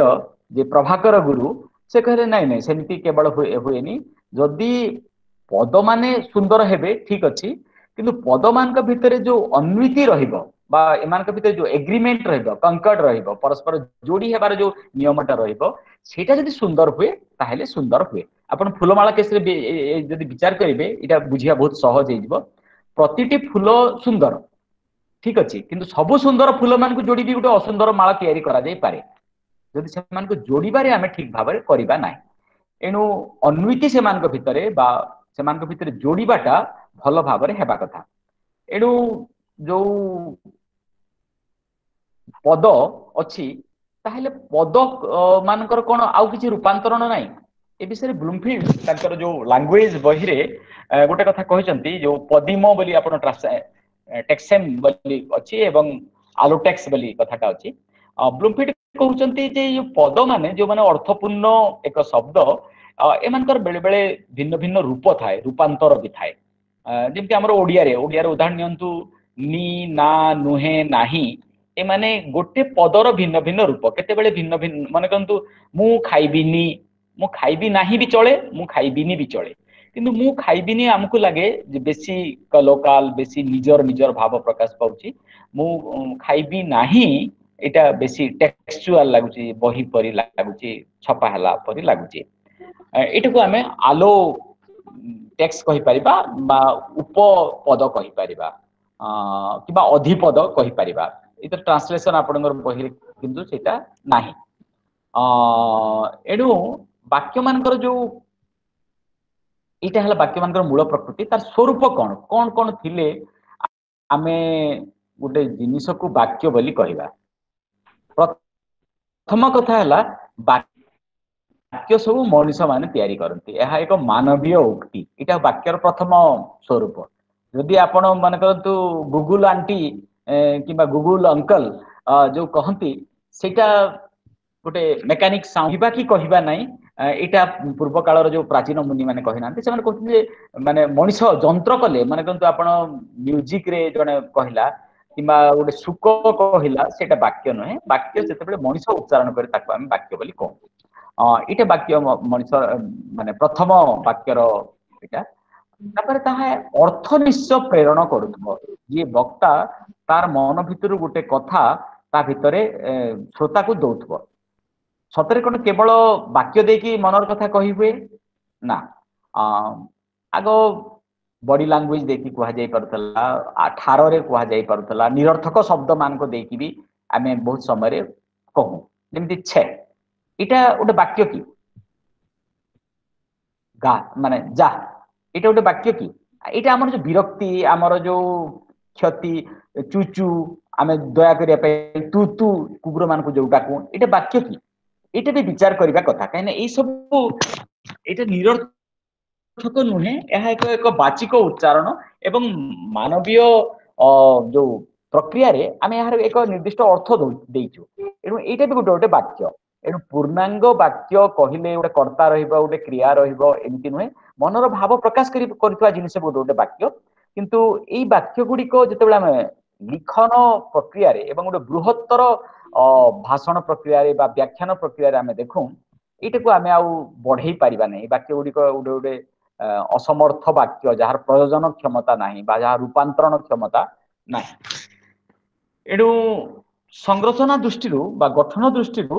ଯେ ପ୍ରଭାକର ଗୁରୁ, ସେ କହିଲେ ନାଇଁ ନାଇଁ, ସେମିତି କେବଳ ହୁଏନି। ଯଦି ପଦ ମାନେ ସୁନ୍ଦର ହେବେ ଠିକ ଅଛି, କିନ୍ତୁ ପଦମାନଙ୍କ ଭିତରେ ଯୋଉ ଅନ୍ୱିତି ରହିବ ବା ଏମାନଙ୍କ ଭିତରେ ଯୋଉ ଏଗ୍ରିମେଣ୍ଟ ରହିବ, କଙ୍କର୍ଡ ରହିବ, ପରସ୍ପର ଯୋଡି ହେବାର ଯୋଉ ନିୟମଟା ରହିବ, ସେଇଟା ଯଦି ସୁନ୍ଦର ହୁଏ ତାହେଲେ ସୁନ୍ଦର ହୁଏ। ଆପଣ ଫୁଲମାଳା କେସରେ ଯଦି ବିଚାର କରିବେ, ଏଇଟା ବୁଝିବା ବହୁତ ସହଜ ହେଇଯିବ। ପ୍ରତିଟି ଫୁଲ ସୁନ୍ଦର ଠିକ ଅଛି, କିନ୍ତୁ ସବୁ ସୁନ୍ଦର ଫୁଲମାନଙ୍କୁ ଯୋଡି ବି ଗୋଟେ ଅସୁନ୍ଦର ମାଳା ତିଆରି କରାଯାଇପାରେ, ଯଦି ସେମାନଙ୍କୁ ଯୋଡିବାରେ ଆମେ ଠିକ ଭାବରେ କରିବା ନାହିଁ। ଏଣୁ ଅନ୍ୱିତି ସେମାନଙ୍କ ଭିତରେ ବା ସେମାନଙ୍କ ଭିତରେ ଯୋଡିବାଟା ଭଲ ଭାବରେ ହେବା କଥା। ଏଣୁ ଯୋଉ ପଦ ଅଛି, ତାହେଲେ ପଦ ମାନଙ୍କର କଣ ଆଉ କିଛି ରୂପାନ୍ତରଣ ନାହିଁ? ଏ ବିଷୟରେ ବ୍ଲୁମଫିଲ୍ଡ ତାଙ୍କର ଯୋଉ ଲାଙ୍ଗୁଏଜ ବହିରେ ଗୋଟେ କଥା କହିଛନ୍ତି, ଯୋଉ ପଦିମ ବୋଲି ଆପଣ ଟେକ୍ସେମ ବୋଲି ଅଛି ଏବଂ ଆଲୋଟେକ୍ସ ବୋଲି କଥାଟା ଅଛି। ବ୍ଲୁମଫିଲ୍ଡ କହୁଛନ୍ତି ଯେ ଏଇ ପଦ ମାନେ ଯୋଉମାନେ ଅର୍ଥପୂର୍ଣ୍ଣ ଏକ ଶବ୍ଦ, ଏମାନଙ୍କର ବେଳେ ବେଳେ ଭିନ୍ନ ଭିନ୍ନ ରୂପ ଥାଏ, ରୂପାନ୍ତର ବି ଥାଏ। ଯେମିତି ଆମର ଓଡିଆରେ ଉଦାହରଣ ନିଅନ୍ତୁ, ନି, ନା, ନୁହେଁ, ନାହିଁ, ଏମାନେ ଗୋଟେ ପଦର ଭିନ୍ନ ଭିନ୍ନ ରୂପ। କେତେବେଳେ ଭିନ୍ନ ଭିନ୍ନ, ମନେ କରନ୍ତୁ ମୁଁ ଖାଇବିନି, ମୁଁ ଖାଇବି ନାହିଁ ବି ଚଳେ, ମୁଁ ଖାଇବିନି ବି ଚଳେ, କିନ୍ତୁ ମୁଁ ଖାଇବିନି ଆମକୁ ଲାଗେ ଯେ ବେଶୀ ଲୋକାଲ, ବେଶୀ ନିଜର ନିଜର ଭାବ ପ୍ରକାଶ ପାଉଛି। ମୁଁ ଖାଇବି ନାହିଁ ଏଇଟା ବେଶୀ ଟେକ୍ସଚୁଆଲ ଲାଗୁଛି, ବହି ପରି ଲାଗୁଛି, ଛପା ହେଲା ପରି ଲାଗୁଛି। ଏଇଟାକୁ ଆମେ ଆଲୋ ଟେକ୍ସଟ କହିପାରିବା ବା ଉପପଦ କହିପାରିବା କିମ୍ବା ଅଧିପଦ କହିପାରିବା। ଏଇଟା ଟ୍ରାନ୍ସଲେସନ ଆପଣଙ୍କର ବହିରେ କିନ୍ତୁ ସେଇଟା ନାହିଁ। ଏଣୁ ବାକ୍ୟ ମାନଙ୍କର ଯୋଉ ଏଇଟା ହେଲା ବାକ୍ୟ ମାନଙ୍କର ମୂଳ ପ୍ରକୃତି। ତାର ସ୍ୱରୂପ କଣ କଣ କଣ ଥିଲେ ଆମେ ଗୋଟେ ଜିନିଷକୁ ବାକ୍ୟ ବୋଲି କହିବା? ପ୍ରଥମ କଥା ହେଲା ବାକ୍ୟ ସବୁ ମଣିଷ ମାନେ ତିଆରି କରନ୍ତି, ଏହା ଏକ ମାନବୀୟ ଉକ୍ତି। ଏଇଟା ବାକ୍ୟର ପ୍ରଥମ ସ୍ୱରୂପ। ଯଦି ଆପଣ ମନେ କରନ୍ତୁ ଗୁଗୁଲ ଆଣ୍ଟି କିମ୍ବା ଗୁଗୁଲ ଅଙ୍କଲ ଯୋଉ କହନ୍ତି, ସେଇଟା ଗୋଟେ ମେକାନିକ ସାଉଣ୍ଡ କି କହିବା ନାହିଁ। ଏଇଟା ପୂର୍ବ କାଳର ଯୋଉ ପ୍ରାଚୀନ ମୁନି ମାନେ କହିନାହାନ୍ତି, ସେମାନେ କହୁଛନ୍ତି ଯେ ମାନେ ମଣିଷ ଯନ୍ତ୍ର କଲେ, ମାନେ କରନ୍ତୁ ଆପଣ ମ୍ୟୁଜିକରେ ଜଣେ କହିଲା କିମ୍ବା ଗୋଟେ ଶୁକ କହିଲା, ସେଇଟା ବାକ୍ୟ ନୁହେଁ। ବାକ୍ୟ ଯେତେବେଳେ ମଣିଷ ଉଚ୍ଚାରଣ କରେ ତାକୁ ଆମେ ବାକ୍ୟ ବୋଲି କହୁ। ଏଇଟା ବାକ୍ୟ ମଣିଷ ମାନେ ପ୍ରଥମ ବାକ୍ୟର ଏଇଟା। ତାପରେ ତାହା ଅର୍ଥ ନିଶ୍ଚୟ ପ୍ରେରଣ କରୁଥିବ, ଯିଏ ବକ୍ତା ତାର ମନ ଭିତରୁ ଗୋଟେ କଥା ତା ଭିତରେ ଶ୍ରୋତାକୁ ଦଉଥିବ। ସତରେ କଣ କେବଳ ବାକ୍ୟ ଦେଇକି ମନର କଥା କହି ହୁଏ ନା? ଆଗ ବଡି ଲାଙ୍ଗୁଏଜ ଦେଇକି କୁହାଯାଇ ପାରୁଥିଲା, ଠାରରେ କୁହାଯାଇ ପାରୁଥିଲା, ନିରର୍ଥକ ଶବ୍ଦ ମାନଙ୍କ ଦେଇକି ବି ଆମେ ବହୁତ ସମୟରେ କହୁ। ଯେମିତି ଛେ, ଏଇଟା ଗୋଟେ ବାକ୍ୟ କି? ଗା ମାନେ ଯା, ଏଇଟା ଗୋଟେ ବାକ୍ୟ କି? ଏଇଟା ଆମର ଯୋଉ ବିରକ୍ତି, ଆମର ଯୋଉ କ୍ଷତି, ଚୁଚୁ, ଆମେ ଦୟା କରିବା ପାଇଁ ତୁ ତୁ କୁକୁର ମାନଙ୍କୁ ଯୋଉ ଡାକୁ, ଏଇଟା ବାକ୍ୟ କି? ଏଇଟା ବି ବିଚାର କରିବା କଥା। କାହିଁକିନା ଏଇ ସବୁ ଏଇଟା ନିରର୍ଥକ ନୁହେଁ, ଏହା ଏକ ଏକ ବାଚିକ ଉଚ୍ଚାରଣ ଏବଂ ମାନବୀୟ ଯୋଉ ପ୍ରକ୍ରିୟାରେ ଆମେ ଏହାର ଏକ ନିର୍ଦ୍ଦିଷ୍ଟ ଅର୍ଥ ଦେଇଛୁ। ଏଣୁ ଏଇଟା ବି ଗୋଟେ ଗୋଟେ ବାକ୍ୟ। ଏଣୁ ପୂର୍ଣ୍ଣାଙ୍ଗ ବାକ୍ୟ କହିଲେ ଗୋଟେ କର୍ତ୍ତା ରହିବ, ଗୋଟେ କ୍ରିୟା ରହିବ, ଏମିତି ନୁହେଁ। ମନର ଭାବ ପ୍ରକାଶ କରୁଥିବା ଜିନିଷ ଗୋଟେ ଗୋଟେ ବାକ୍ୟ। କିନ୍ତୁ ଏଇ ବାକ୍ୟ ଗୁଡିକ ଯେତେବେଳେ ଆମେ ଲିଖନ ପ୍ରକ୍ରିୟାରେ ଏବଂ ଗୋଟେ ବୃହତ୍ତର ଭାଷଣ ପ୍ରକ୍ରିୟାରେ ବା ବ୍ୟାଖ୍ୟାନ ପ୍ରକ୍ରିୟାରେ ଆମେ ଦେଖୁ, ଏଇଟାକୁ ଆମେ ଆଉ ବଢେଇ ପାରିବା ନାହିଁ। ବାକ୍ୟ ଗୁଡିକ ଗୋଟେ ଗୋଟେ ଅସମର୍ଥ ବାକ୍ୟ, ଯାହାର ପ୍ରୟୋଜନ କ୍ଷମତା ନାହିଁ ବା ଯାହା ରୂପାନ୍ତରଣ କ୍ଷମତା ନାହିଁ। ଏଣୁ ସଂରଚନା ଦୃଷ୍ଟିରୁ ବା ଗଠନ ଦୃଷ୍ଟିରୁ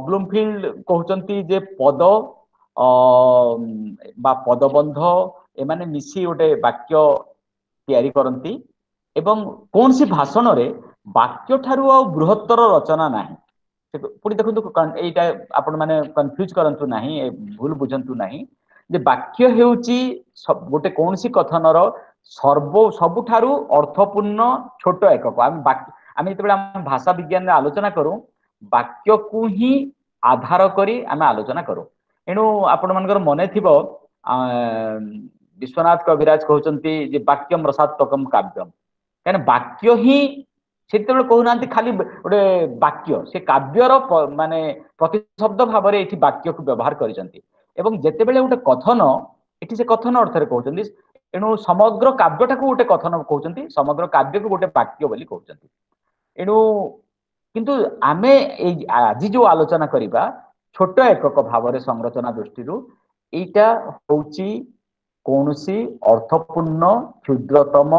ବ୍ଲୁମଫିଲ୍ଡ କହୁଛନ୍ତି ଯେ ପଦ ବା ପଦବନ୍ଧ ଏମାନେ ମିଶି ଗୋଟେ ବାକ୍ୟ ତିଆରି କରନ୍ତି ଏବଂ କୌଣସି ଭାଷଣରେ ବାକ୍ୟ ଠାରୁ ଆଉ ବୃହତ୍ତର ରଚନା ନାହିଁ। ପୁଣି ଦେଖନ୍ତୁ, ଏଇଟା ଆପଣ ମାନେ କନଫ୍ୟୁଜ କରନ୍ତୁ ନାହିଁ, ଭୁଲ ବୁଝନ୍ତୁ ନାହିଁ ଯେ ବାକ୍ୟ ହେଉଛି ଗୋଟେ କୌଣସି କଥନର ସବୁଠାରୁ ଅର୍ଥପୂର୍ଣ୍ଣ ଛୋଟ ଏକକ। ଆମେ ଯେତେବେଳେ ଆମ ଭାଷା ବିଜ୍ଞାନରେ ଆଲୋଚନା କରୁ, ବାକ୍ୟକୁ ହିଁ ଆଧାର କରି ଆମେ ଆଲୋଚନା କରୁ। ଏଣୁ ଆପଣ ମାନଙ୍କର ମନେ ଥିବ ବିଶ୍ୱନାଥ କବିରାଜ କହୁଛନ୍ତି ଯେ ବାକ୍ୟମ ରସାତ୍ମକମ କାବ୍ୟମ। କାହିଁକିନା ବାକ୍ୟ ହିଁ ସେତେବେଳେ କହୁନାହାନ୍ତି ଖାଲି ଗୋଟେ ବାକ୍ୟ, ସେ କାବ୍ୟର ମାନେ ପ୍ରତିଶବ୍ଦ ଭାବରେ ଏଠି ବାକ୍ୟକୁ ବ୍ୟବହାର କରିଛନ୍ତି। ଏବଂ ଯେତେବେଳେ ଗୋଟେ କଥନ, ଏଠି ସେ କଥନ ଅର୍ଥରେ କହୁଛନ୍ତି। ଏଣୁ ସମଗ୍ର କାବ୍ୟଟାକୁ ଗୋଟେ କଥନ କହୁଛନ୍ତି, ସମଗ୍ର କାବ୍ୟକୁ ଗୋଟେ ବାକ୍ୟ ବୋଲି କହୁଛନ୍ତି। ଏଣୁ କିନ୍ତୁ ଆମେ ଏଇ ଆଜି ଯୋଉ ଆଲୋଚନା କରିବା ଛୋଟ ଏକକ ଭାବରେ ସଂରଚନା ଦୃଷ୍ଟିରୁ, ଏଇଟା ହଉଛି କୌଣସି ଅର୍ଥପୂର୍ଣ୍ଣ କ୍ଷୁଦ୍ରତମ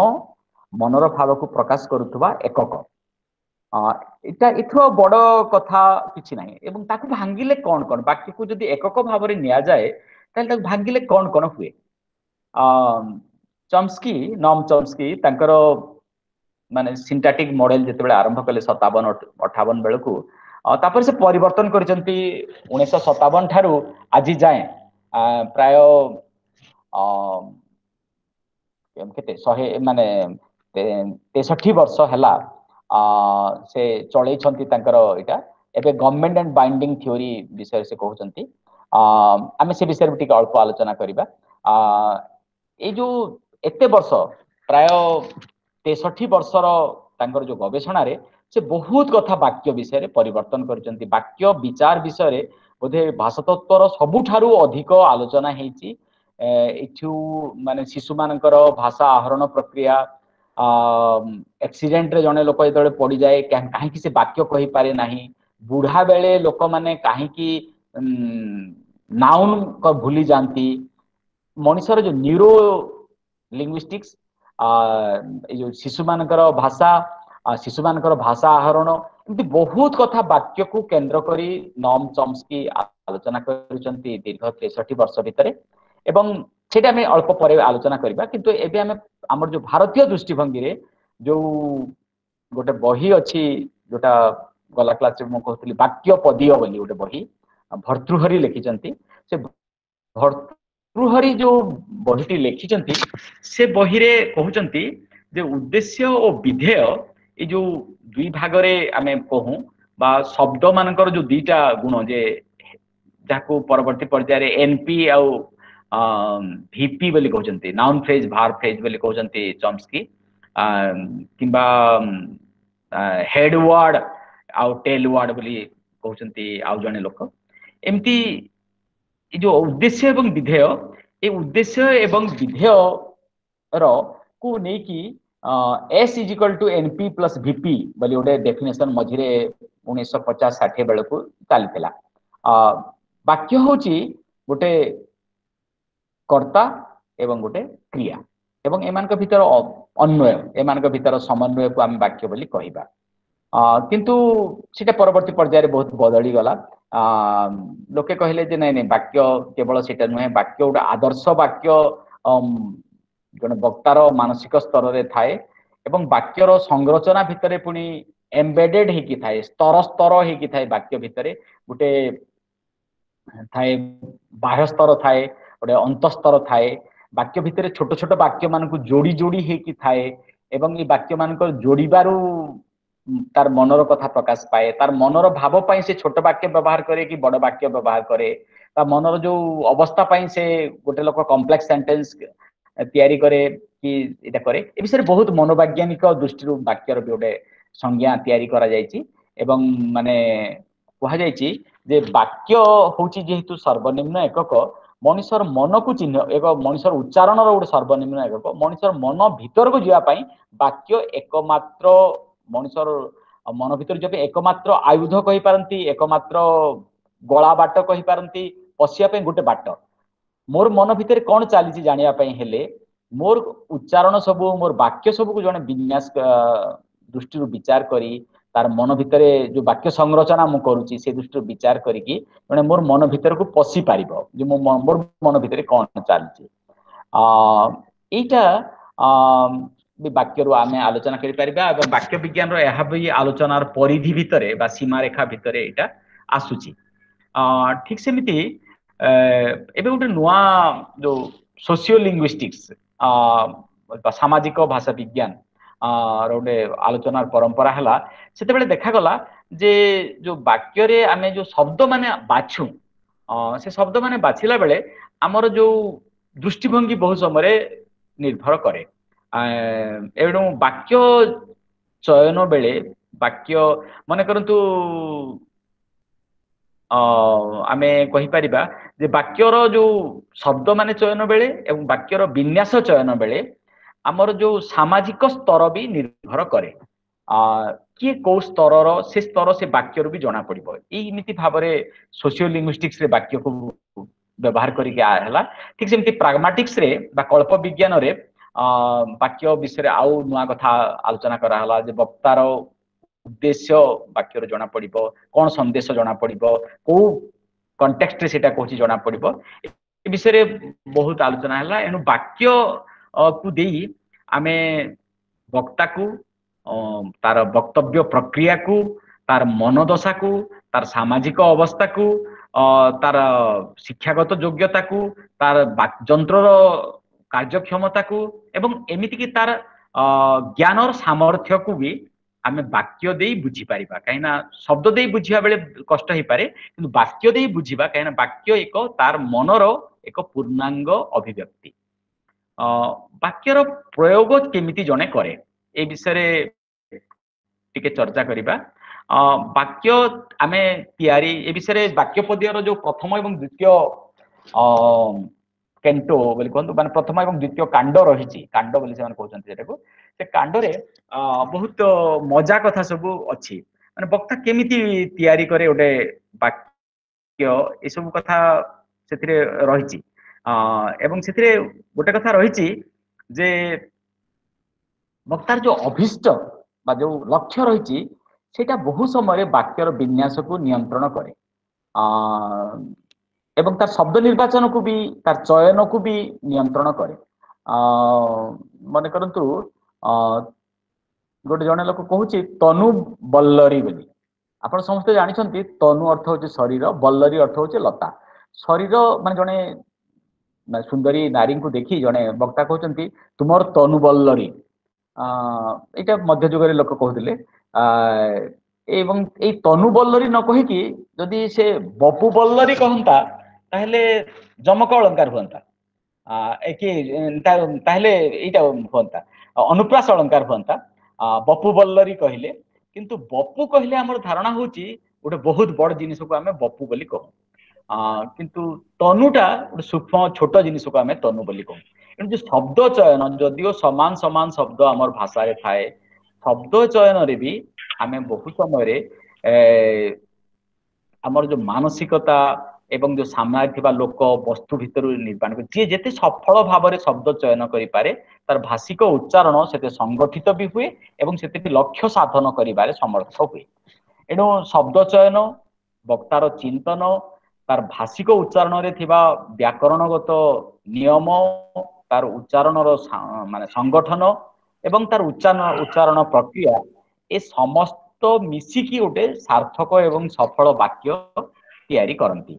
ମନର ଭାବକୁ ପ୍ରକାଶ କରୁଥିବା ଏକକ। ଏଇଟା ଏଥିରୁ ଆଉ ବଡ କଥା କିଛି ନାହିଁ। ଏବଂ ତାକୁ ଭାଙ୍ଗିଲେ କଣ କଣ, ବାକ୍ୟକୁ ଯଦି ଏକକ ଭାବରେ ନିଆଯାଏ ତାହେଲେ ତାକୁ ଭାଙ୍ଗିଲେ କଣ କଣ ହୁଏ? ଚମ୍ସ୍କି, ନମ୍ ଚମ୍ସ୍କି ତାଙ୍କର ମାନେ ସିଣ୍ଟାଟିକ ମଡେଲ ଯେତେବେଳେ ଆରମ୍ଭ କଲେ 57-58 ବେଳକୁ, ତାପରେ ସେ ପରିବର୍ତ୍ତନ କରିଛନ୍ତି 1957 ଠାରୁ ଆଜି ଯାଏଁ ପ୍ରାୟ କେତେ 100 ମାନେ 63 ବର୍ଷ ହେଲା ସେ ଚଳେଇଛନ୍ତି ତାଙ୍କର ଏଇଟା। ଏବେ ଗଭର୍ଣ୍ଣମେଣ୍ଟ ଆଣ୍ଡ ବାଇଣ୍ଡିଂ ଥିଓରି ବିଷୟରେ ସେ କହୁଛନ୍ତି, ଆମେ ସେ ବିଷୟରେ ବି ଟିକେ ଅଳ୍ପ ଆଲୋଚନା କରିବା। ଏଇ ଯୋଉ ଏତେ ବର୍ଷ ପ୍ରାୟ 63 ବର୍ଷର ତାଙ୍କର ଯୋଉ ଗବେଷଣାରେ ସେ ବହୁତ କଥା ବାକ୍ୟ ବିଷୟରେ ପରିବର୍ତ୍ତନ କରିଛନ୍ତି। ବାକ୍ୟ ବିଚାର ବିଷୟରେ ବୋଧେ ଭାଷାତତ୍ତ୍ୱର ସବୁଠାରୁ ଅଧିକ ଆଲୋଚନା ହେଇଛି। ଏଠୁ ମାନେ ଶିଶୁମାନଙ୍କର ଭାଷା ଆହରଣ ପ୍ରକ୍ରିୟା, ଆକ୍ସିଡେଣ୍ଟରେ ଜଣେ ଲୋକ ଯେତେବେଳେ ପଡିଯାଏ କାହିଁକି ସେ ବାକ୍ୟ କହିପାରେ ନାହିଁ, ବୁଢା ବେଳେ ଲୋକମାନେ କାହିଁକି ନାଉନ ଭୁଲି ଯାଆନ୍ତି, ମଣିଷର ଯୋଉ ନ୍ୟୁରୋ ଲିଙ୍ଗୁଇଷ୍ଟିକ୍ସ, ଏଇ ଯୋଉ ଶିଶୁମାନଙ୍କର ଭାଷା, ଶିଶୁମାନଙ୍କର ଭାଷା ଆହରଣ, ଏମିତି ବହୁତ କଥା ବାକ୍ୟକୁ କେନ୍ଦ୍ର କରି ନୋମ ଚମ୍ସ୍କି ଆଲୋଚନା କରୁଛନ୍ତି ଦୀର୍ଘ 63 ବର୍ଷ ଭିତରେ। ଏବଂ ସେଇଟା ଆମେ ଅଳ୍ପ ପରେ ଆଲୋଚନା କରିବା। କିନ୍ତୁ ଏବେ ଆମେ ଆମର ଯୋଉ ଭାରତୀୟ ଦୃଷ୍ଟିଭଙ୍ଗୀରେ ଯୋଉ ଗୋଟେ ବହି ଅଛି, ଯୋଉଟା ଗଲା କ୍ଲାସରେ ମୁଁ କହୁଥିଲି ବାକ୍ୟ ପଦୀୟ ବୋଲି ଗୋଟେ ବହି ଭର୍ତ୍ତୃହରି ଲେଖିଛନ୍ତି। ସେ ଭର୍ତ୍ତୃହରି ଯୋଉ ବହିଟି ଲେଖିଛନ୍ତି ସେ ବହିରେ କହୁଛନ୍ତି ଯେ ଉଦ୍ଦେଶ୍ୟ ଓ ବିଧେୟ ଏଇ ଯୋଉ ଦୁଇ ଭାଗରେ ଆମେ କହୁ, ବା ଶବ୍ଦ ମାନଙ୍କର ଯୋଉ ଦିଟା ଗୁଣ, ଯେ ଯାହାକୁ ପରବର୍ତ୍ତୀ ପର୍ଯ୍ୟାୟରେ ଏନପି ଆଉ ଭିପି ବୋଲି କହୁଛନ୍ତି, ନାଉନ ଫ୍ରେଜ ଭାର୍ବ ଫ୍ରେଜ ବୋଲି କହୁଛନ୍ତି ଚମ୍ସ୍କି, କିମ୍ବା ହେଡ ୱାର୍ଡ ଆଉ ଟେଲ ୱାର୍ଡ ବୋଲି କହୁଛନ୍ତି ଆଉ ଜଣେ ଲୋକ। ଏମିତି ଏଇ ଯୋଉ ଉଦ୍ଦେଶ୍ୟ ଏବଂ ବିଧେୟ, ଏଇ ଉଦ୍ଦେଶ୍ୟ ଏବଂ ବିଧେୟ ର କୁ ନେଇକି S is equal to NP plus VP ବୋଲି ଗୋଟେ ଡେଫିନେସନ ମଝିରେ 1950-60 ବେଳକୁ ଚାଲିଥିଲା। ବାକ୍ୟ ହଉଛି ଗୋଟେ କର୍ତ୍ତା ଏବଂ ଗୋଟେ କ୍ରିୟା, ଏବଂ ଏମାନଙ୍କ ଭିତର ଅନ୍ୱୟ, ଏମାନଙ୍କ ଭିତର ସମନ୍ୱୟକୁ ଆମେ ବାକ୍ୟ ବୋଲି କହିବା। କିନ୍ତୁ ସେଟା ପରବର୍ତ୍ତୀ ପର୍ଯ୍ୟାୟରେ ବହୁତ ବଦଳିଗଲା। ଲୋକେ କହିଲେ ଯେ ନାଇଁ ନାଇଁ, ବାକ୍ୟ କେବଳ ସେଇଟା ନୁହେଁ, ବାକ୍ୟ ଗୋଟେ ଆଦର୍ଶ ବାକ୍ୟ ଜଣେ ବକ୍ତାର ମାନସିକ ସ୍ତରରେ ଥାଏ, ଏବଂ ବାକ୍ୟର ସଂରଚନା ଭିତରେ ପୁଣି ଏମ୍ବେଡେଡ ହେଇକି ଥାଏ, ସ୍ତର ସ୍ତର ହେଇକି ଥାଏ। ବାକ୍ୟ ଭିତରେ ଗୋଟେ ଥାଏ ବାହ୍ୟ ସ୍ତର ଥାଏ, ଗୋଟେ ଅନ୍ତଃସ୍ତର ଥାଏ। ବାକ୍ୟ ଭିତରେ ଛୋଟ ଛୋଟ ବାକ୍ୟ ମାନଙ୍କୁ ଯୋଡି ଯୋଡି ହେଇକି ଥାଏ, ଏବଂ ଏଇ ବାକ୍ୟ ମାନଙ୍କର ଯୋଡିବାରୁ ତାର ମନର କଥା ପ୍ରକାଶ ପାଏ। ତାର ମନର ଭାବ ପାଇଁ ସେ ଛୋଟ ବାକ୍ୟ ବ୍ୟବହାର କରେ କି ବଡ ବାକ୍ୟ ବ୍ୟବହାର କରେ। ତା ମନର ଯୋଉ ଅବସ୍ଥା ପାଇଁ ସେ ଗୋଟେ ଲୋକ କମ୍ପ୍ଲେକ୍ସ ସେଣ୍ଟେନ୍ସ ତିଆରି କରେ କି ଏଇଟା କରେ। ଏ ବିଷୟରେ ବହୁତ ମନୋବୈଜ୍ଞାନିକ ଦୃଷ୍ଟିରୁ ବାକ୍ୟର ବି ଗୋଟେ ସଂଜ୍ଞା ତିଆରି କରାଯାଇଛି, ଏବଂ ମାନେ କୁହାଯାଇଛି ଯେ ବାକ୍ୟ ହଉଛି ଯେହେତୁ ସର୍ବନିମ୍ନ ଏକକ, ମଣିଷର ମନକୁ ଚିହ୍ନ, ଏକ ମଣିଷର ଉଚ୍ଚାରଣର ଗୋଟେ ସର୍ବନିମ୍ନ ଏକକ, ମଣିଷର ମନ ଭିତରକୁ ଯିବା ପାଇଁ ବାକ୍ୟ ଏକମାତ୍ର, ମଣିଷର ମନ ଭିତରକୁ ଯିବା ପାଇଁ ଏକମାତ୍ର ଆୟୁଧ କହିପାରନ୍ତି, ଏକମାତ୍ର ଗଳା ବାଟ କହିପାରନ୍ତି, ପଶିବା ପାଇଁ ଗୋଟେ ବାଟ। ମୋର ମନ ଭିତରେ କଣ ଚାଲିଛି ଜାଣିବା ପାଇଁ ହେଲେ ମୋର ଉଚ୍ଚାରଣ ସବୁ, ମୋର ବାକ୍ୟ ସବୁକୁ ଜଣେ ବିନ୍ୟାସ ଦୃଷ୍ଟିରୁ ବିଚାର କରି, ତାର ମନ ଭିତରେ ଯୋଉ ବାକ୍ୟ ସଂରଚନା ମୁଁ କରୁଛି ସେ ଦୃଷ୍ଟିରୁ ବିଚାର କରିକି ଜଣେ ମୋର ମନ ଭିତରକୁ ପଶି ପାରିବ ଯେ ମୋର ମନ ଭିତରେ କଣ ଚାଲିଛି। ଏଇଟା ବି ବାକ୍ୟରୁ ଆମେ ଆଲୋଚନା କରିପାରିବା, ଏବଂ ବାକ୍ୟ ବିଜ୍ଞାନର ଏହା ବି ଆଲୋଚନାର ପରିଧି ଭିତରେ ବା ସୀମାରେଖା ଭିତରେ ଏଇଟା ଆସୁଛି। ଠିକ ସେମିତି ଏବେ ଗୋଟେ ନୂଆ ଯୋଉ ସୋସିଓ ଲିଙ୍ଗୁଇଷ୍ଟିକ୍ସ ବା ସାମାଜିକ ଭାଷା ବିଜ୍ଞାନ ର ଗୋଟେ ଆଲୋଚନାର ପରମ୍ପରା ହେଲା, ସେତେବେଳେ ଦେଖାଗଲା ଯେ ଯୋଉ ବାକ୍ୟରେ ଆମେ ଯୋଉ ଶବ୍ଦ ମାନେ ବାଛୁ, ସେ ଶବ୍ଦ ମାନେ ବାଛିଲା ବେଳେ ଆମର ଯୋଉ ଦୃଷ୍ଟିଭଙ୍ଗୀ ବହୁ ସମୟରେ ନିର୍ଭର କରେ। ଏଣୁ ବାକ୍ୟ ଚୟନ ବେଳେ ବାକ୍ୟ ମନେ କରନ୍ତୁ ଆମେ କହିପାରିବା ଯେ ବାକ୍ୟର ଯୋଉ ଶବ୍ଦ ମାନେ ଚୟନ ବେଳେ ଏବଂ ବାକ୍ୟର ବିନ୍ୟାସ ଚୟନ ବେଳେ ଆମର ଯୋଉ ସାମାଜିକ ସ୍ତର ବି ନିର୍ଭର କରେ। କିଏ କୋଉ ସ୍ତରର, ସେ ସ୍ତର ସେ ବାକ୍ୟରୁ ବି ଜଣା ପଡିବ। ଏଇ ଏମିତି ଭାବରେ ସୋସିଓ ଲିଙ୍ଗୁଇଷ୍ଟିକ୍ସ ରେ ବାକ୍ୟକୁ ବ୍ୟବହାର କରିକି ହେଲା। ଠିକ ସେମିତି ପ୍ରାଗମାଟିକ୍ସ ରେ ବା କଳ୍ପ ବିଜ୍ଞାନରେ ବାକ୍ୟ ବିଷୟରେ ଆଉ ନୂଆ କଥା ଆଲୋଚନା କରାହେଲା ଯେ ବକ୍ତାର ଉଦ୍ଦେଶ୍ୟ ବାକ୍ୟରୁ ଜଣା ପଡିବ, କଣ ସନ୍ଦେଶ ଜଣା ପଡିବ, କୋଉ କଣ୍ଟେକ୍ସଟରେ ସେଇଟା କହୁଛି ଜଣା ପଡିବ। ଏ ବିଷୟରେ ବହୁତ ଆଲୋଚନା ହେଲା। ଏଣୁ ବାକ୍ୟ କୁ ଦେଇ ଆମେ ବକ୍ତାକୁ, ତାର ବକ୍ତବ୍ୟ ପ୍ରକ୍ରିୟାକୁ, ତାର ମନୋଦଶାକୁ, ତାର ସାମାଜିକ ଅବସ୍ଥାକୁ, ତାର ଶିକ୍ଷାଗତ ଯୋଗ୍ୟତାକୁ, ତାର ଯନ୍ତ୍ରର କାର୍ଯ୍ୟକ୍ଷମତାକୁ, ଏବଂ ଏମିତିକି ତାର ଜ୍ଞାନର ସାମର୍ଥ୍ୟକୁ ବି ଆମେ ବାକ୍ୟ ଦେଇ ବୁଝିପାରିବା। କାହିଁକିନା ଶବ୍ଦ ଦେଇ ବୁଝିବା ବେଳେ କଷ୍ଟ ହେଇପାରେ, କିନ୍ତୁ ବାକ୍ୟ ଦେଇ ବୁଝିବା, କାହିଁକିନା ବାକ୍ୟ ଏକ ତାର ମନର ଏକ ପୂର୍ଣ୍ଣାଙ୍ଗ ଅଭିବ୍ୟକ୍ତି। ବାକ୍ୟର ପ୍ରୟୋଗ କେମିତି ଜଣେ କରେ ଏ ବିଷୟରେ ଟିକେ ଚର୍ଚ୍ଚା କରିବା। ବାକ୍ୟ ଆମେ ତିଆରି ଏ ବିଷୟରେ ବାକ୍ୟ ପଦ୍ୟର ଯୋଉ ପ୍ରଥମ ଏବଂ ଦ୍ୱିତୀୟ କେଣ୍ଟୋ ବୋଲି କୁହନ୍ତୁ, ମାନେ ପ୍ରଥମ ଏବଂ ଦ୍ୱିତୀୟ କାଣ୍ଡ ରହିଛି, କାଣ୍ଡ ବୋଲି ସେମାନେ କହୁଛନ୍ତି ସେଟାକୁ, ସେ କାଣ୍ଡରେ ବହୁତ ମଜା କଥା ସବୁ ଅଛି। ମାନେ ବକ୍ତା କେମିତି ତିଆରି କରେ ଗୋଟେ ବାକ୍ୟ, ଏସବୁ କଥା ସେଥିରେ ରହିଛି। ଏବଂ ସେଥିରେ ଗୋଟେ କଥା ରହିଛି ଯେ ବକ୍ତାର ଯୋଉ ଅଭିଷ୍ଟ ବା ଯୋଉ ଲକ୍ଷ୍ୟ ରହିଛି, ସେଇଟା ବହୁ ସମୟରେ ବାକ୍ୟର ବିନ୍ୟାସକୁ ନିୟନ୍ତ୍ରଣ କରେ ଏବଂ ତାର ଶବ୍ଦ ନିର୍ବାଚନକୁ ବି, ତାର ଚୟନକୁ ବି ନିୟନ୍ତ୍ରଣ କରେ। ମନେ କରନ୍ତୁ, ଗୋଟେ ଜଣେ ଲୋକ କହୁଛି ତନୁ ବଲ୍ଲରୀ ବୋଲି। ଆପଣ ସମସ୍ତେ ଜାଣିଛନ୍ତି ତନୁ ଅର୍ଥ ହଉଛି ଶରୀର, ବଲ୍ଲରୀ ଅର୍ଥ ହଉଛି ଲତା। ଶରୀର ମାନେ ଜଣେ ସୁନ୍ଦରୀ ନାରୀଙ୍କୁ ଦେଖି ଜଣେ ବକ୍ତା କହୁଛନ୍ତି ତୁମର ତନୁ ବଲ୍ଲରୀ। ଏଇଟା ମଧ୍ୟଯୁଗରେ ଲୋକ କହୁଥିଲେ। ଏବଂ ଏଇ ତନୁ ବଲ୍ଲରୀ ନ କହିକି ଯଦି ସେ ବପୁ ବଲ୍ଲରୀ କହନ୍ତା, ତାହେଲେ ଯମକ ଅଳଙ୍କାର ହୁଅନ୍ତା କି ତାହେଲେ ଏଇଟା ହୁଅନ୍ତା, ଅନୁପ୍ରାସ ଅଳଙ୍କାର ହୁଅନ୍ତା ବପୁ ବଲ୍ଲରୀ କହିଲେ। କିନ୍ତୁ ବପୁ କହିଲେ ଆମର ଧାରଣା ହଉଛି ଗୋଟେ ବହୁତ ବଡ ଜିନିଷକୁ ଆମେ ବପୁ ବୋଲି କହୁ, କିନ୍ତୁ ତନୁଟା ଗୋଟେ ସୂକ୍ଷ୍ମ ଛୋଟ ଜିନିଷକୁ ଆମେ ତନୁ ବୋଲି କହୁ। ଏଣୁ ଯୋଉ ଶବ୍ଦ ଚୟନ, ଯଦିଓ ସମାନ ସମାନ ଶବ୍ଦ ଆମର ଭାଷାରେ ଥାଏ, ଶବ୍ଦ ଚୟନରେ ବି ଆମେ ବହୁ ସମୟରେ ଆମର ଯୋଉ ମାନସିକତା ଏବଂ ଯୋଉ ସାମ୍ନାରେ ଥିବା ଲୋକ, ବସ୍ତୁ ଭିତରୁ ନିର୍ମାଣ, ଯିଏ ଯେତେ ସଫଳ ଭାବରେ ଶବ୍ଦ ଚୟନ କରିପାରେ, ତାର ଭାଷିକ ଉଚ୍ଚାରଣ ସେତେ ସଂଗଠିତ ବି ହୁଏ ଏବଂ ସେତେ ବି ଲକ୍ଷ୍ୟ ସାଧନ କରିବାରେ ସମର୍ଥ ହୁଏ। ଏଣୁ ଶବ୍ଦ ଚୟନ, ବକ୍ତାର ଚିନ୍ତନ, ତାର ଭାଷିକ ଉଚ୍ଚାରଣରେ ଥିବା ବ୍ୟାକରଣଗତ ନିୟମ, ତାର ଉଚ୍ଚାରଣର ମାନେ ସଂଗଠନ ଏବଂ ତାର ଉଚ୍ଚାରଣ ପ୍ରକ୍ରିୟା, ଏ ସମସ୍ତ ମିଶିକି ଗୋଟେ ସାର୍ଥକ ଏବଂ ସଫଳ ବାକ୍ୟ ତିଆରି କରନ୍ତି।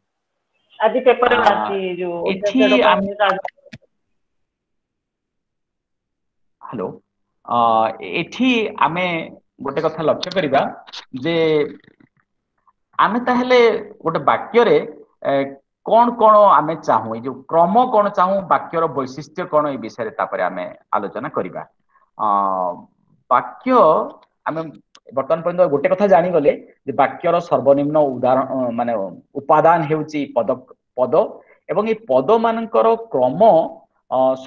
ଆଜି ପେପରରେ ବାହାରିଛି ଯୋଉ
ଏଠି ହ୍ୟାଲୋ, ଏଠି ଆମେ ଗୋଟେ କଥା ଲକ୍ଷ୍ୟ କରିବା ଯେ ଆମେ ତାହେଲେ ଗୋଟେ ବାକ୍ୟରେ କଣ କଣ ଆମେ ଚାହୁଁ, ଏଇ ଯୋଉ କ୍ରମ କଣ ଚାହୁଁ, ବାକ୍ୟର ବୈଶିଷ୍ଟ୍ୟ କଣ, ଏଇ ବିଷୟରେ ତାପରେ ଆମେ ଆଲୋଚନା କରିବା। ବାକ୍ୟ ଆମେ ବର୍ତ୍ତମାନ ପର୍ଯ୍ୟନ୍ତ ଗୋଟେ କଥା ଜାଣିଗଲେ ଯେ ବାକ୍ୟର ସର୍ବନିମ୍ନ ଉଦାହରଣ ମାନେ ଉପାଦାନ ହେଉଛି ପଦ ପଦ ଏବଂ ଏଇ ପଦ ମାନଙ୍କର କ୍ରମ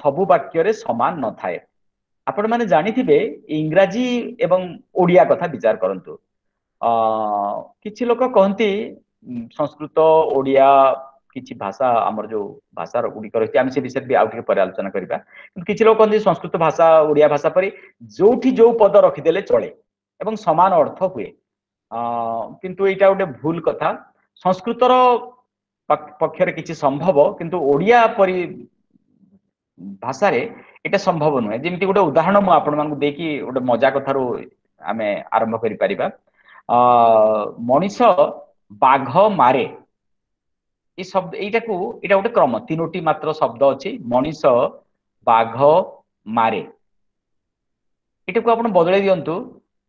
ସବୁ ବାକ୍ୟରେ ସମାନ ନଥାଏ। ଆପଣ ମାନେ ଜାଣିଥିବେ, ଇଂରାଜୀ ଏବଂ ଓଡିଆ କଥା ବିଚାର କରନ୍ତୁ। କିଛି ଲୋକ କହନ୍ତି ସଂସ୍କୃତ, ଓଡିଆ କିଛି ଭାଷା, ଆମର ଯୋଉ ଭାଷାର ଗୁଡିକ ରହିଛି, ଆମେ ସେ ବିଷୟରେ ବି ଆଉ ଟିକେ ପରେ ଆଲୋଚନା କରିବା। କିନ୍ତୁ କିଛି ଲୋକ କହନ୍ତି ସଂସ୍କୃତ ଭାଷା ଓଡିଆ ଭାଷା ପରି ଯୋଉଠି ଯୋଉ ପଦ ରଖିଦେଲେ ଚଳେ ଏବଂ ସମାନ ଅର୍ଥ ହୁଏ। କିନ୍ତୁ ଏଇଟା ଗୋଟେ ଭୁଲ କଥା। ସଂସ୍କୃତର ପକ୍ଷରେ କିଛି ସମ୍ଭବ, କିନ୍ତୁ ଓଡିଆ ପରି ଭାଷାରେ ଏଇଟା ସମ୍ଭବ ନୁହେଁ। ଯେମିତି ଗୋଟେ ଉଦାହରଣ ମୁଁ ଆପଣମାନଙ୍କୁ ଦେଇକି ଗୋଟେ ମଜା କଥାରୁ ଆମେ ଆରମ୍ଭ କରିପାରିବା। ମଣିଷ ବାଘ ମାରେ, ଏଇ ଶବ୍ଦ, ଏଇଟାକୁ, ଏଇଟା ଗୋଟେ କ୍ରମ, ତିନୋଟି ମାତ୍ର ଶବ୍ଦ ଅଛି, ମଣିଷ ବାଘ ମାରେ। ଏଟାକୁ ଆପଣ ବଦଳେଇ ଦିଅନ୍ତୁ।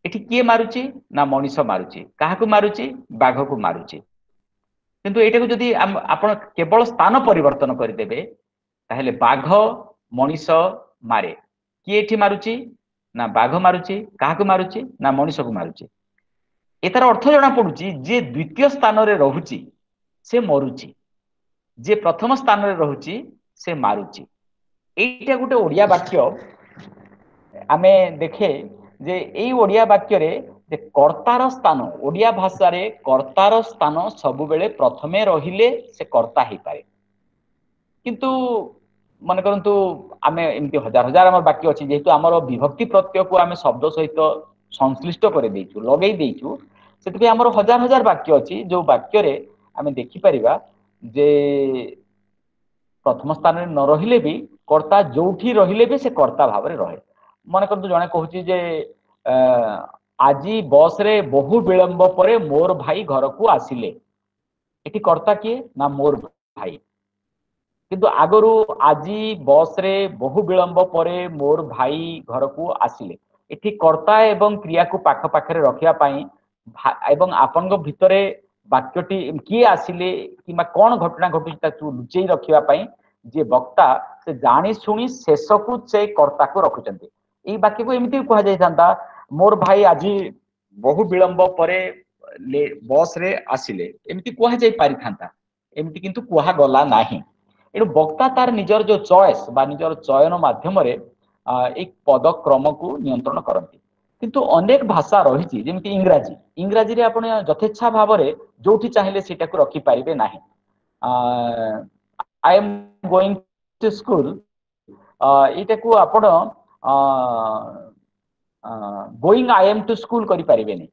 ଏଠି କିଏ ମାରୁଛି? ନା ମଣିଷ ମାରୁଛି। କାହାକୁ ମାରୁଛି? ବାଘକୁ ମାରୁଛି। କିନ୍ତୁ ଏଇଟାକୁ ଯଦି ଆପଣ କେବଳ ସ୍ଥାନ ପରିବର୍ତ୍ତନ କରିଦେବେ, ତାହେଲେ ବାଘ ମଣିଷ ମାରେ। କିଏ ଏଠି ମାରୁଛି? ନା ବାଘ ମାରୁଛି। କାହାକୁ ମାରୁଛି? ନା ମଣିଷକୁ ମାରୁଛି। ଏତାର ଅର୍ଥ ଜଣା ପଡୁଛି, ଯିଏ ଦ୍ୱିତୀୟ ସ୍ଥାନରେ ରହୁଛି ସେ ମରୁଛି, ଯିଏ ପ୍ରଥମ ସ୍ଥାନରେ ରହୁଛି ସେ ମାରୁଛି। ଏଇଟା ଗୋଟେ ଓଡିଆ ବାକ୍ୟ। ଆମେ ଦେଖେ ଯେ ଏଇ ଓଡିଆ ବାକ୍ୟରେ ଯେ କର୍ତ୍ତାର ସ୍ଥାନ, ଓଡିଆ ଭାଷାରେ କର୍ତ୍ତାର ସ୍ଥାନ ସବୁବେଳେ ପ୍ରଥମେ ରହିଲେ ସେ କର୍ତ୍ତା ହେଇପାରେ। କିନ୍ତୁ ମନେ କରନ୍ତୁ, ଆମେ ଏମିତି ହଜାର ହଜାର ଆମର ବାକ୍ୟ ଅଛି। ଯେହେତୁ ଆମର ବିଭକ୍ତି ପ୍ରତ୍ୟୟକୁ ଆମେ ଶବ୍ଦ ସହିତ ସଂଶ୍ଳିଷ୍ଟ କରିଦେଇଛୁ, ଲଗେଇ ଦେଇଛୁ, ସେଥିପାଇଁ ଆମର ହଜାର ହଜାର ବାକ୍ୟ ଅଛି ଯୋଉ ବାକ୍ୟରେ ଆମେ ଦେଖିପାରିବା ଯେ ପ୍ରଥମ ସ୍ଥାନରେ ନ ରହିଲେ ବି କର୍ତ୍ତା ଯୋଉଠି ରହିଲେ ବି ସେ କର୍ତ୍ତା ଭାବରେ ରହେ। ମନେ କରନ୍ତୁ, ଜଣେ କହୁଛି ଯେ ଆଜି ବସରେ ବହୁ ବିଳମ୍ବ ପରେ ମୋର ଭାଇ ଘରକୁ ଆସିଲେ। ଏଠି କର୍ତ୍ତା କିଏ? ନା ମୋର ଭାଇ। କିନ୍ତୁ ଆଗରୁ ଆଜି ବସରେ ବହୁ ବିଳମ୍ବ ପରେ ମୋର ଭାଇ ଘରକୁ ଆସିଲେ, ଏଠି କର୍ତ୍ତା ଏବଂ କ୍ରିୟାକୁ ପାଖ ପାଖରେ ରଖିବା ପାଇଁ ଏବଂ ଆପଣଙ୍କ ଭିତରେ ବାକ୍ୟଟି କିଏ ଆସିଲେ କିମ୍ବା କଣ ଘଟଣା ଘଟୁଛି ତାକୁ ଲୁଚେଇ ରଖିବା ପାଇଁ ଯିଏ ବକ୍ତା ସେ ଜାଣି ଶୁଣି ଶେଷକୁ ସେ କର୍ତ୍ତାକୁ ରଖୁଛନ୍ତି। ଏଇ ବାକ୍ୟକୁ ଏମିତି ବି କୁହାଯାଇଥାନ୍ତା, ମୋର ଭାଇ ଆଜି ବହୁ ବିଳମ୍ବ ପରେ ବସରେ ଆସିଲେ, ଏମିତି କୁହାଯାଇ ପାରିଥାନ୍ତା। ଏମିତି କିନ୍ତୁ କୁହାଗଲା ନାହିଁ। ଏଣୁ ବକ୍ତା ତାର ନିଜର ଯୋଉ ଚଏସ୍ ବା ନିଜର ଚୟନ ମାଧ୍ୟମରେ ଏଇ ପଦକ୍ରମକୁ ନିୟନ୍ତ୍ରଣ କରନ୍ତି। କିନ୍ତୁ ଅନେକ ଭାଷା ରହିଛି, ଯେମିତି ଇଂରାଜୀ। ଇଂରାଜୀରେ ଆପଣ ଯଥେଚ୍ଛା ଭାବରେ ଯୋଉଠି ଚାହିଁଲେ ସେଇଟାକୁ ରଖିପାରିବେ ନାହିଁ। I am going to school, ଏଇଟାକୁ ଆପଣ going I am to school କରିପାରିବେନି।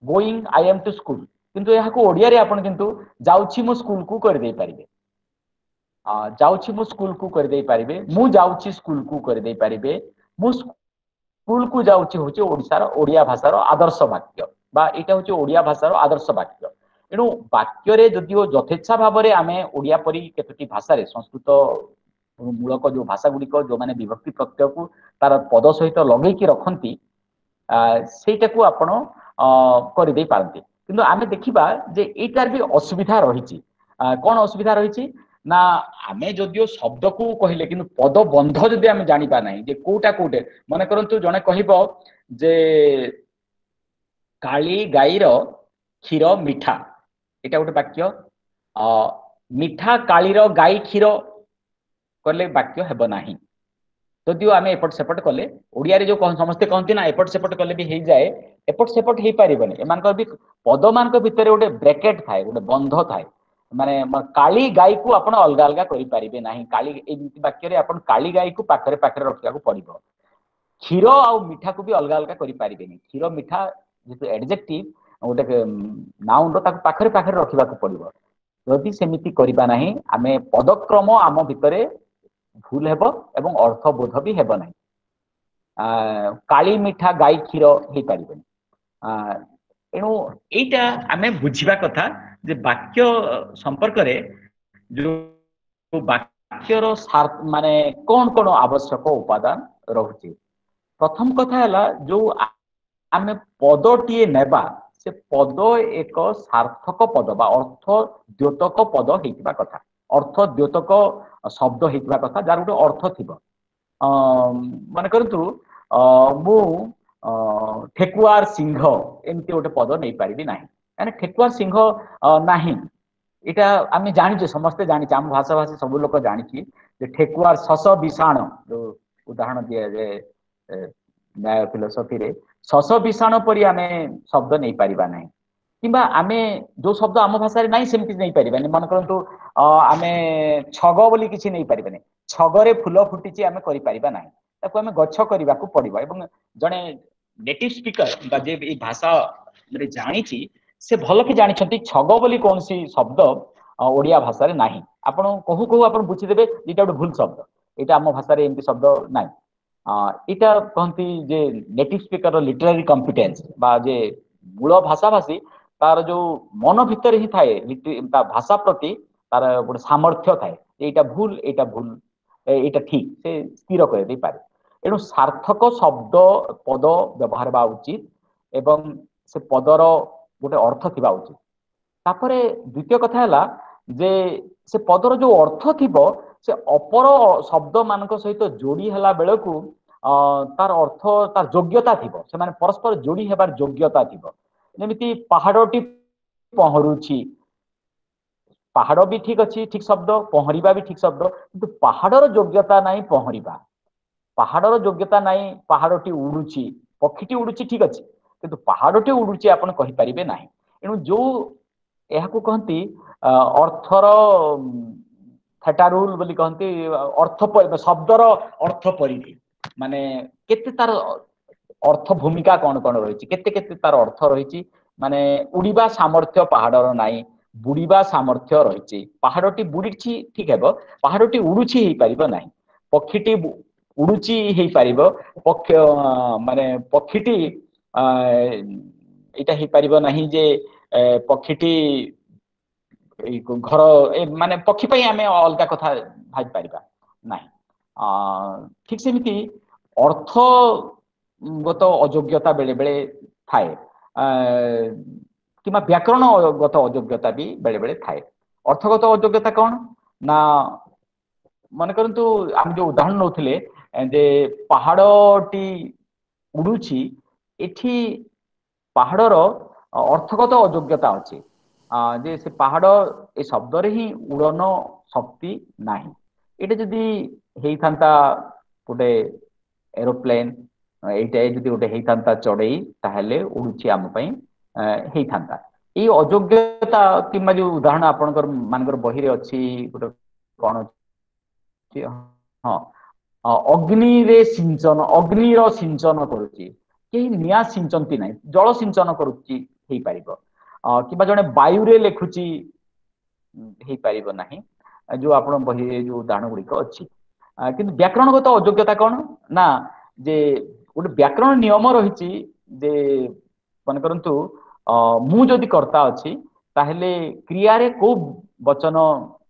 Going I am to school, କିନ୍ତୁ ଏହାକୁ ଓଡ଼ିଆରେ ଆପଣ କିନ୍ତୁ ଯାଉଛି ମୁଁ ସ୍କୁଲକୁ କରିଦେଇ ପାରିବେ, ଯାଉଛି ମୁଁ ସ୍କୁଲକୁ କରିଦେଇ ପାରିବେ, ମୁଁ ଯାଉଛି ସ୍କୁଲକୁ କରିଦେଇ ପାରିବେ। ମୁଁ ସ୍କୁଲକୁ ଯାଉଛି ହଉଛି ଓଡ଼ିଶାର ଓଡ଼ିଆ ଭାଷାର ଆଦର୍ଶ ବାକ୍ୟ, ବା ଏଇଟା ହଉଛି ଓଡ଼ିଆ ଭାଷାର ଆଦର୍ଶ ବାକ୍ୟ। ଏଣୁ ବାକ୍ୟରେ ଯଦିଓ ଯଥେଚ୍ଛା ଭାବରେ ଆମେ ଓଡ଼ିଆ ପରି କେତୋଟି ଭାଷାରେ ସଂସ୍କୃତ ମୂଳକ ଯୋଉ ଭାଷା ଗୁଡ଼ିକ ଯୋଉମାନେ ବିଭକ୍ତି ପ୍ରତ୍ୟୟକୁ ତାର ପଦ ସହିତ ଲଗେଇକି ରଖନ୍ତି, ସେଇଟାକୁ ଆପଣ କରିଦେଇ ପାରନ୍ତି। କିନ୍ତୁ ଆମେ ଦେଖିବା ଯେ ଏଇଟାର ବି ଅସୁବିଧା ରହିଛି। କଣ ଅସୁବିଧା ରହିଛି ନା, ଆମେ ଯଦିଓ ଶବ୍ଦକୁ କହିଲେ କିନ୍ତୁ ପଦବନ୍ଧ ଯଦି ଆମେ ଜାଣିବା ନାହିଁ ଯେ କୋଉଟା କୋଉଟେ। ମନେ କରନ୍ତୁ ଜଣେ କହିବ ଯେ କାଳି ଗାଈର କ୍ଷୀର ମିଠା, ଏଇଟା ଗୋଟେ ବାକ୍ୟ। ମିଠା କାଳିର ଗାଈ କ୍ଷୀର କଲେ ବାକ୍ୟ ହେବ ନାହିଁ। ଯଦିଓ ଆମେ ଏପଟ ସେପଟ କଲେ, ଓଡ଼ିଆରେ ଯୋଉ ସମସ୍ତେ କହନ୍ତି ନା ଏପଟ ସେପଟ କଲେ ବି ହେଇଯାଏ, ଏପଟ ସେପଟ ହେଇପାରିବନି। ଏମାନଙ୍କର ବି ପଦମାନଙ୍କ ଭିତରେ ଗୋଟେ ବ୍ରେକେଟ ଥାଏ, ଗୋଟେ ବନ୍ଧ ଥାଏ। ମାନେ କାଳି ଗାଈକୁ ଆପଣ ଅଲଗା ଅଲଗା କରିପାରିବେ ନାହିଁ। କାଳି ଏମିତି ବାକ୍ୟରେ ଆପଣ କାଳି ଗାଈକୁ ପାଖରେ ପାଖରେ ରଖିବାକୁ ପଡିବ। କ୍ଷୀର ଆଉ ମିଠାକୁ ବି ଅଲଗା ଅଲଗା କରିପାରିବେନି। କ୍ଷୀର ମିଠା ଯେହେତୁ ଆଡଜେକ୍ଟିଭ ଗୋଟେ ନାଉନର, ତାକୁ ପାଖରେ ପାଖରେ ରଖିବାକୁ ପଡିବ। ଯଦି ସେମିତି କରିବା ନାହିଁ, ଆମେ ପଦକ୍ରମ ଆମ ଭିତରେ ଭୁଲ ହେବ ଏବଂ ଅର୍ଥବୋଧ ବି ହେବ ନାହିଁ। କାଳି ମିଠା ଗାଈ କ୍ଷୀର ହେଇପାରିବନି। ଏଣୁ ଏଇଟା ଆମେ ବୁଝିବା କଥା ଯେ ବାକ୍ୟ ସମ୍ପର୍କରେ ଯୋଉ ବାକ୍ୟର ମାନେ କଣ କଣ ଆବଶ୍ୟକ ଉପାଦାନ ରହୁଛି। ପ୍ରଥମ କଥା ହେଲା ଯୋଉ ଆମେ ପଦଟିଏ ନେବା, ସେ ପଦ ଏକ ସାର୍ଥକ ପଦ ବା ଅର୍ଥ ଦ୍ୟୋତକ ପଦ ହେଇଥିବା କଥା, ଅର୍ଥ ଦ୍ୟୋତକ ଶବ୍ଦ ହେଇଥିବା କଥା, ଯାହାର ଗୋଟେ ଅର୍ଥ ଥିବ। ମନେ କରନ୍ତୁ ମୁଁ ଠେକୁଆର ସିଂହ ଏମିତି ଗୋଟେ ପଦ ନେଇପାରିବି ନାହିଁ, କାହିଁକିନା ଠେକୁଆର ସିଂହ ନାହିଁ। ଏଇଟା ଆମେ ଜାଣିଛେ, ସମସ୍ତେ ଜାଣିଛେ, ଆମ ଭାଷା ଭାଷୀ ସବୁ ଲୋକ ଜାଣିଛି ଯେ ଠେକୁଆର ଶଶ ବିଷାଣ, ଯୋଉ ଉଦାହରଣ ଦିଆଯାଏ ନ୍ୟାୟ ଫିଲୋସଫିରେ, ଶଶ ବିଷାଣ ପରି ଆମେ ଶବ୍ଦ ନେଇପାରିବା ନାହିଁ। କିମ୍ବା ଆମେ ଯୋଉ ଶବ୍ଦ ଆମ ଭାଷାରେ ନାହିଁ ସେମିତି ନେଇପାରିବାନି। ମନେ କରନ୍ତୁ ଆମେ ଛଗ ବୋଲି କିଛି ନେଇପାରିବାନି, ଛଗରେ ଫୁଲ ଫୁଟିଛି ଆମେ କରିପାରିବା ନାହିଁ, ତାକୁ ଆମେ ଗଛ କରିବାକୁ ପଡିବ। ଏବଂ ଜଣେ ନେଟିଭ ସ୍ପିକର ବା ଯିଏ ଏଇ ଭାଷା ଜାଣିଛି, ସେ ଭଲ କି ଜାଣିଛନ୍ତି ଛଗ ବୋଲି କୌଣସି ଶବ୍ଦ ଓଡ଼ିଆ ଭାଷାରେ ନାହିଁ। ଆପଣ କହୁ କହୁ ଆପଣ ବୁଝିଦେବେ ଏଇଟା ଗୋଟେ ଭୁଲ ଶବ୍ଦ, ଏଇଟା ଆମ ଭାଷାରେ ଏମିତି ଶବ୍ଦ ନାହିଁ। ଏଇଟା କହନ୍ତି ଯେ ନେଟିଭ ସ୍ପିକର ଲିଟରାରୀ କମ୍ପିଟେନ୍ସ, ବା ଯେ ମୂଳ ଭାଷାଭାଷୀ ତାର ଯୋଉ ମନ ଭିତରେ ହିଁ ଥାଏ ତା ଭାଷା ପ୍ରତି ତାର ଗୋଟେ ସାମର୍ଥ୍ୟ ଥାଏ, ଏଇଟା ଭୁଲ, ଏଇଟା ଭୁଲ, ଏଇଟା ଠିକ, ସେ ସ୍ଥିର କରିଦେଇପାରେ। ଏଣୁ ସାର୍ଥକ ଶବ୍ଦ ପଦ ବ୍ୟବହାର ହେବା ଉଚିତ ଏବଂ ସେ ପଦର ଗୋଟେ ଅର୍ଥ ଥିବା ଉଚିତ। ତାପରେ ଦ୍ୱିତୀୟ କଥା ହେଲା ଯେ ସେ ପଦର ଯୋଉ ଅର୍ଥ ଥିବ ସେ ଅପର ଶବ୍ଦ ମାନଙ୍କ ସହିତ ଯୋଡି ହେଲା ବେଳକୁ ତାର ଅର୍ଥ, ତାର ଯୋଗ୍ୟତା ଥିବ, ସେମାନେ ପରସ୍ପର ଯୋଡି ହେବାର ଯୋଗ୍ୟତା ଥିବ। ଯେମିତି ପାହାଡଟି ପହଁରୁଛି, ପାହାଡ ବି ଠିକ ଅଛି, ଠିକ ଶବ୍ଦ, ପହଁରିବା ବି ଠିକ ଶବ୍ଦ, କିନ୍ତୁ ପାହାଡର ଯୋଗ୍ୟତା ନାହିଁ ପହଁରିବା, ପାହାଡର ଯୋଗ୍ୟତା ନାହିଁ ପାହାଡଟି ଉଡୁଛି, ପକ୍ଷୀଟି ଉଡୁଛି ଠିକ ଅଛି, କିନ୍ତୁ ପାହାଡଟି ଉଡୁଛି ଆପଣ କହିପାରିବେ ନାହିଁ। ଏଣୁ ଯୋଉ ଏହାକୁ କହନ୍ତି ଅର୍ଥର ଥେଟା ରୁଲ ବୋଲି କହନ୍ତି, ଅର୍ଥ ଶବ୍ଦର ଅର୍ଥ ପରିଧି, ମାନେ କେତେ ତାର ଅର୍ଥ ଭୂମିକା କଣ କଣ ରହିଛି, କେତେ କେତେ ତାର ଅର୍ଥ ରହିଛି। ମାନେ ଉଡ଼ିବା ସାମର୍ଥ୍ୟ ପାହାଡର ନାହିଁ, ବୁଡ଼ିବା ସାମର୍ଥ୍ୟ ରହିଛି। ପାହାଡଟି ବୁଡ଼ିଛି ଠିକ ହେବ, ପାହାଡଟି ଉଡୁଛି ହେଇପାରିବ ନାହିଁ। ପକ୍ଷୀଟି ଉଡୁଛି ହେଇପାରିବ, ପକ୍ଷ ମାନେ ପକ୍ଷୀଟି ଏଇଟା ହେଇପାରିବ ନାହିଁ ଯେ ପକ୍ଷୀଟି ଘର, ମାନେ ପକ୍ଷୀ ପାଇଁ ଆମେ ଅଲଗା କଥା ଭାବିପାରିବା ନାହିଁ। ଠିକ ସେମିତି ଅର୍ଥଗତ ଅଯୋଗ୍ୟତା ବେଳେ ବେଳେ ଥାଏ, କିମ୍ବା ବ୍ୟାକରଣଗତ ଅଯୋଗ୍ୟତା ବି ବେଳେ ବେଳେ ଥାଏ। ଅର୍ଥଗତ ଅଯୋଗ୍ୟତା କଣ ନା, ମନେ କରନ୍ତୁ ଆମେ ଯୋଉ ଉଦାହରଣ ନଉଥିଲେ ଯେ ପାହାଡଟି ଉଡୁଛି, ଏଠି ପାହାଡର ଅର୍ଥଗତ ଅଯୋଗ୍ୟତା ଅଛି ଯେ ସେ ପାହାଡ ଏ ଶବ୍ଦରେ ହିଁ ଉଡ଼ନ ଶକ୍ତି ନାହିଁ। ଏଇଟା ଯଦି ହେଇଥାନ୍ତା ଗୋଟେ ଏରୋପ୍ଲେନ ଏଇଟା ଯଦି ଗୋଟେ ହେଇଥାନ୍ତା ଚଢେଇ, ତାହେଲେ ଉଡୁଛି ଆମ ପାଇଁ ହେଇଥାନ୍ତା। ଏଇ ଅଯୋଗ୍ୟତା କିମ୍ବା ଯୋଉ ଉଦାହରଣ ଆପଣଙ୍କର ମାନଙ୍କର ବହିରେ ଅଛି, ଗୋଟେ କଣ ଅଛି, ହଁ, ଅଗ୍ନିରେ ସିଞ୍ଚନ, ଅଗ୍ନିର ସିଞ୍ଚନ କରୁଛି, କେହି ନିଆଁ ସିଞ୍ଚନ୍ତି ନାହିଁ, ଜଳ ସିଞ୍ଚନ କରୁଛି ହେଇପାରିବ। କିମ୍ବା ଜଣେ ବାୟୁରେ ଲେଖୁଛି ହେଇପାରିବ ନାହିଁ, ଯୋଉ ଆପଣ ବହିରେ ଯୋଉ ଉଦାହରଣ ଗୁଡିକ ଅଛି। କିନ୍ତୁ ବ୍ୟାକରଣଗତ ଅଯୋଗ୍ୟତା କଣ ନା, ଯେ ଗୋଟେ ବ୍ୟାକରଣ ନିୟମ ରହିଛି ଯେ ମନେ କରନ୍ତୁ ମୁଁ ଯଦି କର୍ତ୍ତା ଅଛି ତାହେଲେ କ୍ରିୟାରେ କୋଉ ବଚନ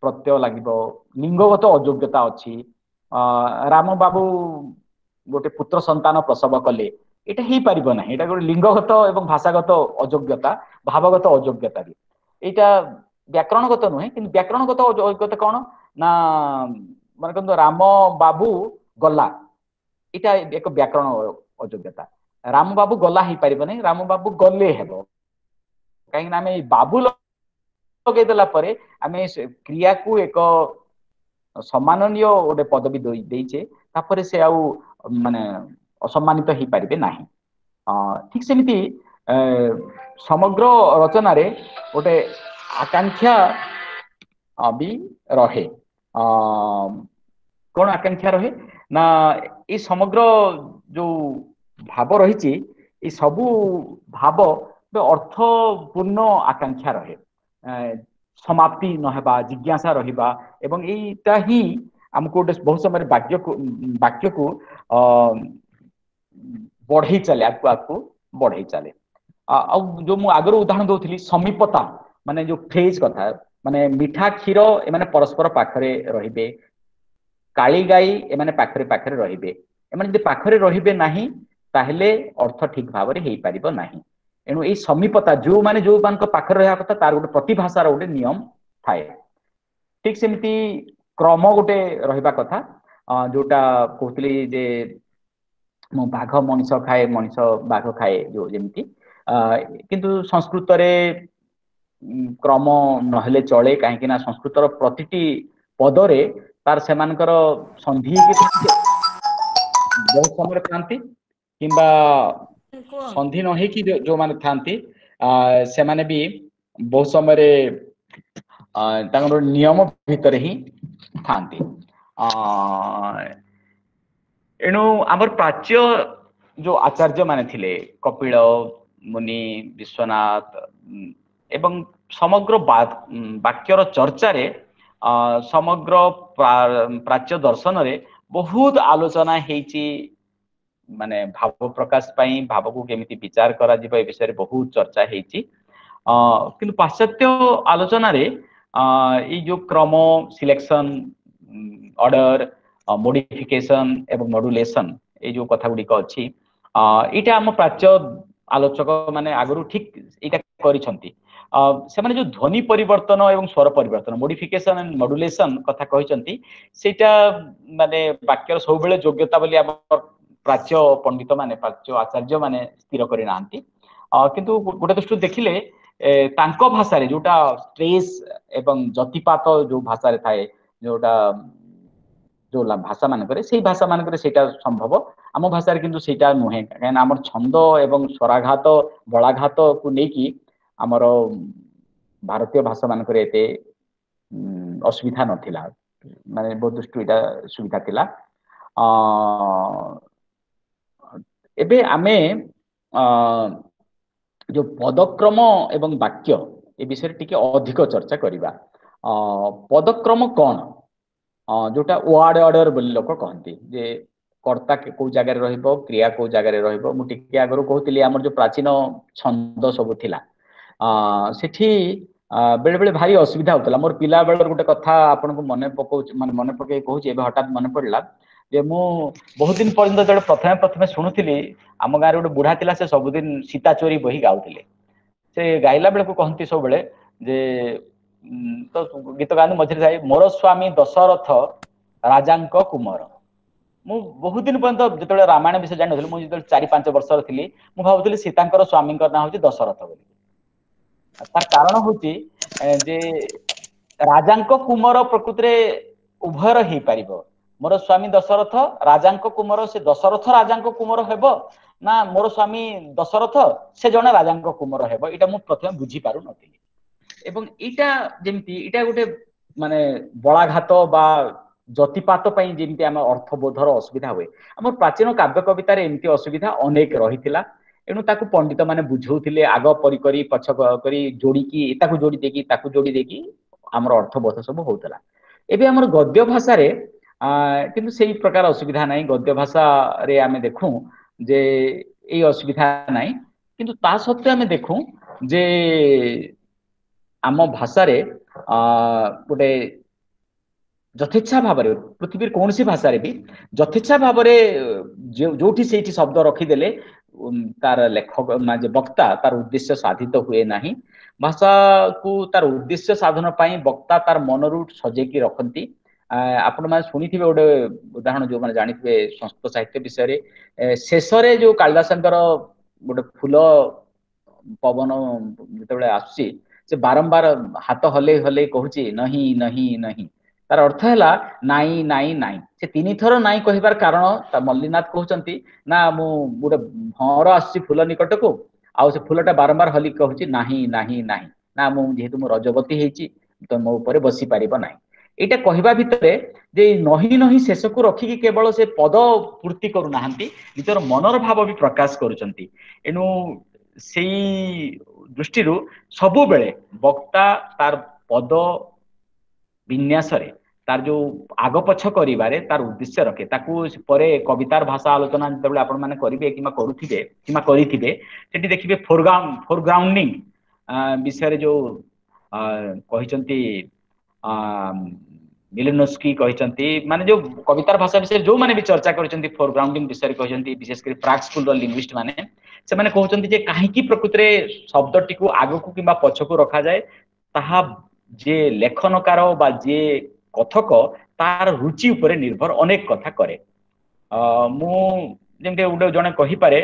ପ୍ରତ୍ୟୟ ଲାଗିବ, ଲିଙ୍ଗଗତ ଅଯୋଗ୍ୟତା ଅଛି। ରାମ ବାବୁ ଗୋଟେ ପୁତ୍ର ସନ୍ତାନ ପ୍ରସବ କଲେ, ଏଇଟା ହେଇପାରିବ ନାହିଁ। ଏଇଟା ଗୋଟେ ଲିଙ୍ଗଗତ ଏବଂ ଭାଷାଗତ ଅଯୋଗ୍ୟତା, ଭାବଗତ ଅଯୋଗ୍ୟତା ବି। ଏଇଟା ବ୍ୟାକରଣଗତ ନୁହେଁ, କିନ୍ତୁ ବ୍ୟାକରଣଗତ ଅଯୋଗ୍ୟତା କଣ ନା, ମନେ କରନ୍ତୁ ରାମ ବାବୁ ଗଲା, ଏଇଟା ଏକ ବ୍ୟାକରଣ ଅଯୋଗ୍ୟତା। ରାମ ବାବୁ ଗଲା ହେଇପାରିବ ନାହିଁ, ରାମ ବାବୁ ଗଲେ ହେବ। କାହିଁକି ନା ଆମେ ବାବୁ ଲଗେଇଦେଲା ପରେ ଆମେ କ୍ରିୟାକୁ ଏକ ସମ୍ମାନନୀୟ ଗୋଟେ ପଦବୀ ଦେଇଛେ, ତାପରେ ସେ ଆଉ ମାନେ ଅସମ୍ମାନିତ ହେଇପାରିବେ ନାହିଁ। ଠିକ ସେମିତି ସମଗ୍ର ରଚନାରେ ଗୋଟେ ଆକାଂକ୍ଷା ବି ରହେ। କଣ ଆକାଂକ୍ଷା ରହେ ନା, ଏଇ ସମଗ୍ର ଯୋଉ ଭାବ ରହିଛି, ଏଇ ସବୁ ଭାବ ଅର୍ଥପୂର୍ଣ୍ଣ ଆକାଂକ୍ଷା ରହେ, ସମାପ୍ତି ନହେବା, ଜିଜ୍ଞାସା ରହିବା। ଏବଂ ଏଇଟା ହିଁ ଆମକୁ ଗୋଟେ ବହୁତ ସମୟରେ ବାକ୍ୟକୁ ବଢେଇ ଚାଲେ, ଆଗକୁ ଆଗକୁ ବଢେଇ ଚାଲେ। ଆଉ ଯୋଉ ମୁଁ ଆଗରୁ ଉଦାହରଣ ଦଉଥିଲି ସମୀପତା, ମାନେ ଯୋଉ ଫ୍ରେଜ କଥା, ମାନେ ମିଠା କ୍ଷୀର ଏମାନେ ପରସ୍ପର ପାଖରେ ରହିବେ, କାଳି ଗାଈ ଏମାନେ ପାଖରେ ପାଖରେ ରହିବେ। ଏମାନେ ଯଦି ପାଖରେ ରହିବେ ନାହିଁ ତାହେଲେ ଅର୍ଥ ଠିକ ଭାବରେ ହେଇପାରିବ ନାହିଁ। ଏଣୁ ଏଇ ସମୀପତା ଯୋଉମାନେ ଯୋଉମାନଙ୍କ ପାଖରେ ରହିବା କଥା, ତାର ଗୋଟେ ପ୍ରତିଭାଷାର ଗୋଟେ ନିୟମ ଥାଏ। ଠିକ ସେମିତି କ୍ରମ ଗୋଟେ ରହିବା କଥା, ଯୋଉଟା କହୁଥିଲି ଯେ ମୁଁ ବାଘ ମଣିଷ ଖାଏ, ମଣିଷ ବାଘ ଖାଏ, ଯୋଉ ଯେମିତି। କିନ୍ତୁ ସଂସ୍କୃତରେ କ୍ରମ ନହେଲେ ଚଳେ, କାହିଁକି ନା ସଂସ୍କୃତର ପ୍ରତିଟି ପଦରେ ତାର ସେମାନଙ୍କର ସନ୍ଧି ବହୁତ ସମୟରେ ଥାନ୍ତି, କିମ୍ବା ସନ୍ଧି ନ ହେଇକି ଯୋଉମାନେ ଥାନ୍ତି ସେମାନେ ବି ବହୁତ ସମୟରେ ତାଙ୍କର ନିୟମ ଭିତରେ ହିଁ ଥାନ୍ତି। ଏଣୁ ଆମର ପ୍ରାଚ୍ୟ ଯୋଉ ଆଚାର୍ଯ୍ୟ ମାନେ ଥିଲେ, କପିଳ ମୁନି, ବିଶ୍ୱନାଥ, ଏବଂ ସମଗ୍ର ବାକ୍ୟର ଚର୍ଚ୍ଚାରେ ସମଗ୍ର ପ୍ରାଚ୍ୟ ଦର୍ଶନରେ ବହୁତ ଆଲୋଚନା ହେଇଛି। ମାନେ ଭାବ ପ୍ରକାଶ ପାଇଁ ଭାବକୁ କେମିତି ବିଚାର କରାଯିବ ଏ ବିଷୟରେ ବହୁତ ଚର୍ଚ୍ଚା ହେଇଛି। କିନ୍ତୁ ପାଶ୍ଚାତ୍ୟ ଆଲୋଚନାରେ ଏଇ ଯୋଉ କ୍ରମ, ସିଲେକ୍ସନ, ଅର୍ଡର, ମୋଡିଫିକେସନ ଏବଂ ମଡୁଲେସନ, ଏଇ ଯୋଉ କଥା ଗୁଡିକ ଅଛି, ଏଇଟା ଆମ ପ୍ରାଚ୍ୟ ଆଲୋଚକ ମାନେ ଆଗରୁ ଠିକ ଏଇଟା କରିଛନ୍ତି। ସେମାନେ ଯୋଉ ଧ୍ୱନି ପରିବର୍ତ୍ତନ ଏବଂ ସ୍ୱର ପରିବର୍ତ୍ତନ, ମୋଡିଫିକେସନ ଆଣ୍ଡ ମଡୁଲେସନ କଥା କହିଛନ୍ତି, ସେଇଟା ମାନେ ବାକ୍ୟର ସବୁବେଳେ ଯୋଗ୍ୟତା ବୋଲି ଆମ ପ୍ରାଚ୍ୟ ପଣ୍ଡିତ ମାନେ, ପ୍ରାଚ୍ୟ ଆଚାର୍ଯ୍ୟ ମାନେ ସ୍ଥିର କରିନାହାନ୍ତି। କିନ୍ତୁ ଗୋଟେ ଦୃଷ୍ଟିରୁ ଦେଖିଲେ ତାଙ୍କ ଭାଷାରେ ଯୋଉଟା ଷ୍ଟ୍ରେସ୍ ଏବଂ ଯତିପାତ ଯୋଉ ଭାଷାରେ ଥାଏ, ଯୋଉଟା ଯୋଉ ଭାଷା ମାନଙ୍କରେ, ସେଇ ଭାଷା ମାନଙ୍କରେ ସେଇଟା ସମ୍ଭବ। ଆମ ଭାଷାରେ କିନ୍ତୁ ସେଇଟା ନୁହେଁ, କାହିଁକିନା ଆମର ଛନ୍ଦ ଏବଂ ସ୍ୱରାଘାତ, ବଳାଘାତକୁ ନେଇକି ଆମର ଭାରତୀୟ ଭାଷା ମାନଙ୍କରେ ଏତେ ଅସୁବିଧା ନଥିଲା, ମାନେ ବହୁତ ଦୃଷ୍ଟିରୁ ଏଇଟା ସୁବିଧା ଥିଲା। ଏବେ ଆମେ ଯୋଉ ପଦକ୍ରମ ଏବଂ ବାକ୍ୟ ଏ ବିଷୟରେ ଟିକେ ଅଧିକ ଚର୍ଚ୍ଚା କରିବା। ପଦକ୍ରମ କଣ, ଯୋଉଟା ୱାର୍ଡ ଅର୍ଡର ବୋଲି ଲୋକ କହନ୍ତି, ଯେ କର୍ତ୍ତା କୋଉ ଜାଗାରେ ରହିବ, କ୍ରିୟା କୋଉ ଜାଗାରେ ରହିବ। ମୁଁ ଟିକେ ଆଗରୁ କହୁଥିଲି ଆମର ଯୋଉ ପ୍ରାଚୀନ ଛନ୍ଦ ସବୁ ଥିଲା, ସେଠି ବେଳେ ବେଳେ ଭାରି ଅସୁବିଧା ହଉଥିଲା। ମୋର ପିଲା ବେଳର ଗୋଟେ କଥା ଆପଣଙ୍କୁ ମନେ ପକଉଛି, ମାନେ ମନେ ପକେଇ କହୁଛି, ଏବେ ହଠାତ୍ ମନେ ପଡିଲା ଯେ ମୁଁ ବହୁତ ଦିନ ପର୍ଯ୍ୟନ୍ତ ଯେତେବେଳେ ପ୍ରଥମେ ପ୍ରଥମେ ଶୁଣୁଥିଲି, ଆମ ଗାଁରେ ଗୋଟେ ବୁଢା ଥିଲା, ସେ ସବୁଦିନ ସୀତା ଚୋରି ବହି ଗାଉଥିଲେ। ସେ ଗାଇଲା ବେଳକୁ କହନ୍ତି ସବୁବେଳେ ଯେ ତ ଗୀତ ଗାଆନ୍ତି ମଝିରେ ଯାଇ, ମୋର ସ୍ଵାମୀ ଦଶରଥ ରାଜାଙ୍କ କୁମର। ମୁଁ ବହୁତ ଦିନ ପର୍ଯ୍ୟନ୍ତ ଯେତେବେଳେ ରାମାୟଣ ବିଷୟ ଜାଣିନଥିଲି, ମୁଁ ଯେତେବେଳେ 4-5 ବର୍ଷର ଥିଲି, ମୁଁ ଭାବୁଥିଲି ସୀତାଙ୍କର ସ୍ଵାମୀଙ୍କ ନାଁ ହଉଛି ଦଶରଥ ବୋଲି। ତାର କାରଣ ହଉଛି ଯେ ରାଜାଙ୍କ କୁମର ପ୍ରକୃତିରେ ଉଭୟର ହେଇପାରିବ। ମୋର ସ୍ଵାମୀ ଦଶରଥ ରାଜାଙ୍କ କୁମର, ସେ ଦଶରଥ ରାଜାଙ୍କ କୁମର ହେବ ନା ମୋର ସ୍ଵାମୀ ଦଶରଥ ସେ ଜଣେ ରାଜାଙ୍କ କୁମର ହେବ, ଏଇଟା ମୁଁ ପ୍ରଥମେ ବୁଝି ପାରୁନଥିଲି। ଏବଂ ଏଇଟା ଯେମିତି ଏଇଟା ଗୋଟେ ମାନେ ବଳାଘାତ ବା ଯତିପାତ ପାଇଁ ଯେମିତି ଆମ ଅର୍ଥବୋଧର ଅସୁବିଧା ହୁଏ, ଆମର ପ୍ରାଚୀନ କାବ୍ୟ କବିତାରେ ଏମିତି ଅସୁବିଧା ଅନେକ ରହିଥିଲା। ଏଣୁ ତାକୁ ପଣ୍ଡିତ ମାନେ ବୁଝଉଥିଲେ, ଆଗ ପରି କରି ପଛ କରି ଯୋଡିକି, ତାକୁ ଯୋଡି ଦେଇକି ତାକୁ ଯୋଡି ଦେଇକି ଆମର ଅର୍ଥବୋଧ ସବୁ ହଉଥିଲା। ଏବେ ଆମର ଗଦ୍ୟ ଭାଷାରେ କିନ୍ତୁ ସେଇ ପ୍ରକାର ଅସୁବିଧା ନାହିଁ। ଗଦ୍ୟ ଭାଷାରେ ଆମେ ଦେଖୁ ଯେ ଏଇ ଅସୁବିଧା ନାହିଁ, କିନ୍ତୁ ତା ସତ୍ତ୍ୱେ ଆମେ ଦେଖୁ ଯେ ଆମ ଭାଷାରେ ଗୋଟେ ଯଥେଚ୍ଛା ଭାବରେ, ପୃଥିବୀର କୌଣସି ଭାଷାରେ ବି ଯଥେଚ୍ଛା ଭାବରେ ଯୋଉଠି ସେଇଠି ଶବ୍ଦ ରଖିଦେଲେ ତାର ଲେଖକ ମାନେ ବକ୍ତା ତାର ଉଦ୍ଦେଶ୍ୟ ସାଧିତ ହୁଏ ନାହିଁ। ଭାଷାକୁ ତାର ଉଦ୍ଦେଶ୍ୟ ସାଧନ ପାଇଁ ବକ୍ତା ତାର ମନରୁ ସଜେଇକି ରଖନ୍ତି। ଆପଣମାନେ ଶୁଣିଥିବେ ଗୋଟେ ଉଦାହରଣ, ଯୋଉମାନେ ଜାଣିଥିବେ ସଂସ୍କୃତ ସାହିତ୍ୟ ବିଷୟରେ, ଶେଷରେ ଯୋଉ କାଳିଦାସଙ୍କର ଗୋଟେ ଫୁଲ ପବନ ଯେତେବେଳେ ଆସୁଛି, ସେ ବାରମ୍ବାର ହାତ ହଲେଇ ହଲେଇ କହୁଛି ନହିଁ ନହିଁ ନହିଁ। ତାର ଅର୍ଥ ହେଲା ନାଇଁ ନାଇଁ ନାଇଁ। ସେ ତିନିଥର ନାଇଁ କହିବାର କାରଣ ମଲ୍ଲିନାଥ କହୁଛନ୍ତି ନା, ମୁଁ ଗୋଟେ ଭଁଅର ଆସୁଛି ଫୁଲ ନିକଟକୁ, ଆଉ ସେ ଫୁଲଟା ବାରମ୍ବାର ହଲି କହୁଛି ନାହିଁ ନାହିଁ ନାହିଁ, ନା ମୁଁ ଯେହେତୁ ମୁଁ ରଜବତୀ ହେଇଛି ତ ମୋ ଉପରେ ବସି ପାରିବ ନାହିଁ। ଏଇଟା କହିବା ଭିତରେ ଯେ ନହିଁ ନହିଁ ଶେଷକୁ ରଖିକି କେବଳ ସେ ପଦ ପୂର୍ତ୍ତି କରୁନାହାନ୍ତି, ନିଜର ମନର ଭାବ ବି ପ୍ରକାଶ କରୁଛନ୍ତି। ଏଣୁ ସେଇ ଦୃଷ୍ଟିରୁ ସବୁବେଳେ ବକ୍ତା ତାର ପଦ ବିନ୍ୟାସରେ ତାର ଯୋଉ ଆଗ ପଛ କରିବାରେ ତାର ଉଦ୍ଦେଶ୍ୟ ରଖେ। ତାକୁ ପରେ କବିତାର ଭାଷା ଆଲୋଚନା ଯେତେବେଳେ ଆପଣ ମାନେ କରିବେ କିମ୍ବା କରୁଥିବେ କିମ୍ବା କରିଥିବେ, ସେଠି ଦେଖିବେ ଫୋରଗ୍ରାଉଣ୍ଡିଂ ବିଷୟରେ ଯୋଉ କହିଛନ୍ତି ମିଲିନୋସ୍କି କହିଛନ୍ତି, ମାନେ ଯୋଉ କବିତାର ଭାଷା ବିଷୟରେ ଯୋଉମାନେ ବି ଚର୍ଚ୍ଚା କରିଛନ୍ତି ଫୋରଗ୍ରାଉଣ୍ଡିଂ ବିଷୟରେ କହିଛନ୍ତି, ବିଶେଷ କରି ପ୍ରାକ୍ ସ୍କୁଲର ଲିଙ୍ଗୁଇଷ୍ଟ ମାନେ, ସେମାନେ କହୁଛନ୍ତି ଯେ କାହିଁକି ପ୍ରକୃତରେ ଶବ୍ଦଟିକୁ ଆଗକୁ କିମ୍ବା ପଛକୁ ରଖାଯାଏ, ତାହା ଯିଏ ଲେଖନକାର ବା ଯିଏ କଥକ ତାର ରୁଚି ଉପରେ ନିର୍ଭର ଅନେକ କଥା କରେ। ମୁଁ ଯେମିତି ଗୋଟେ ଜଣେ କହିପାରେ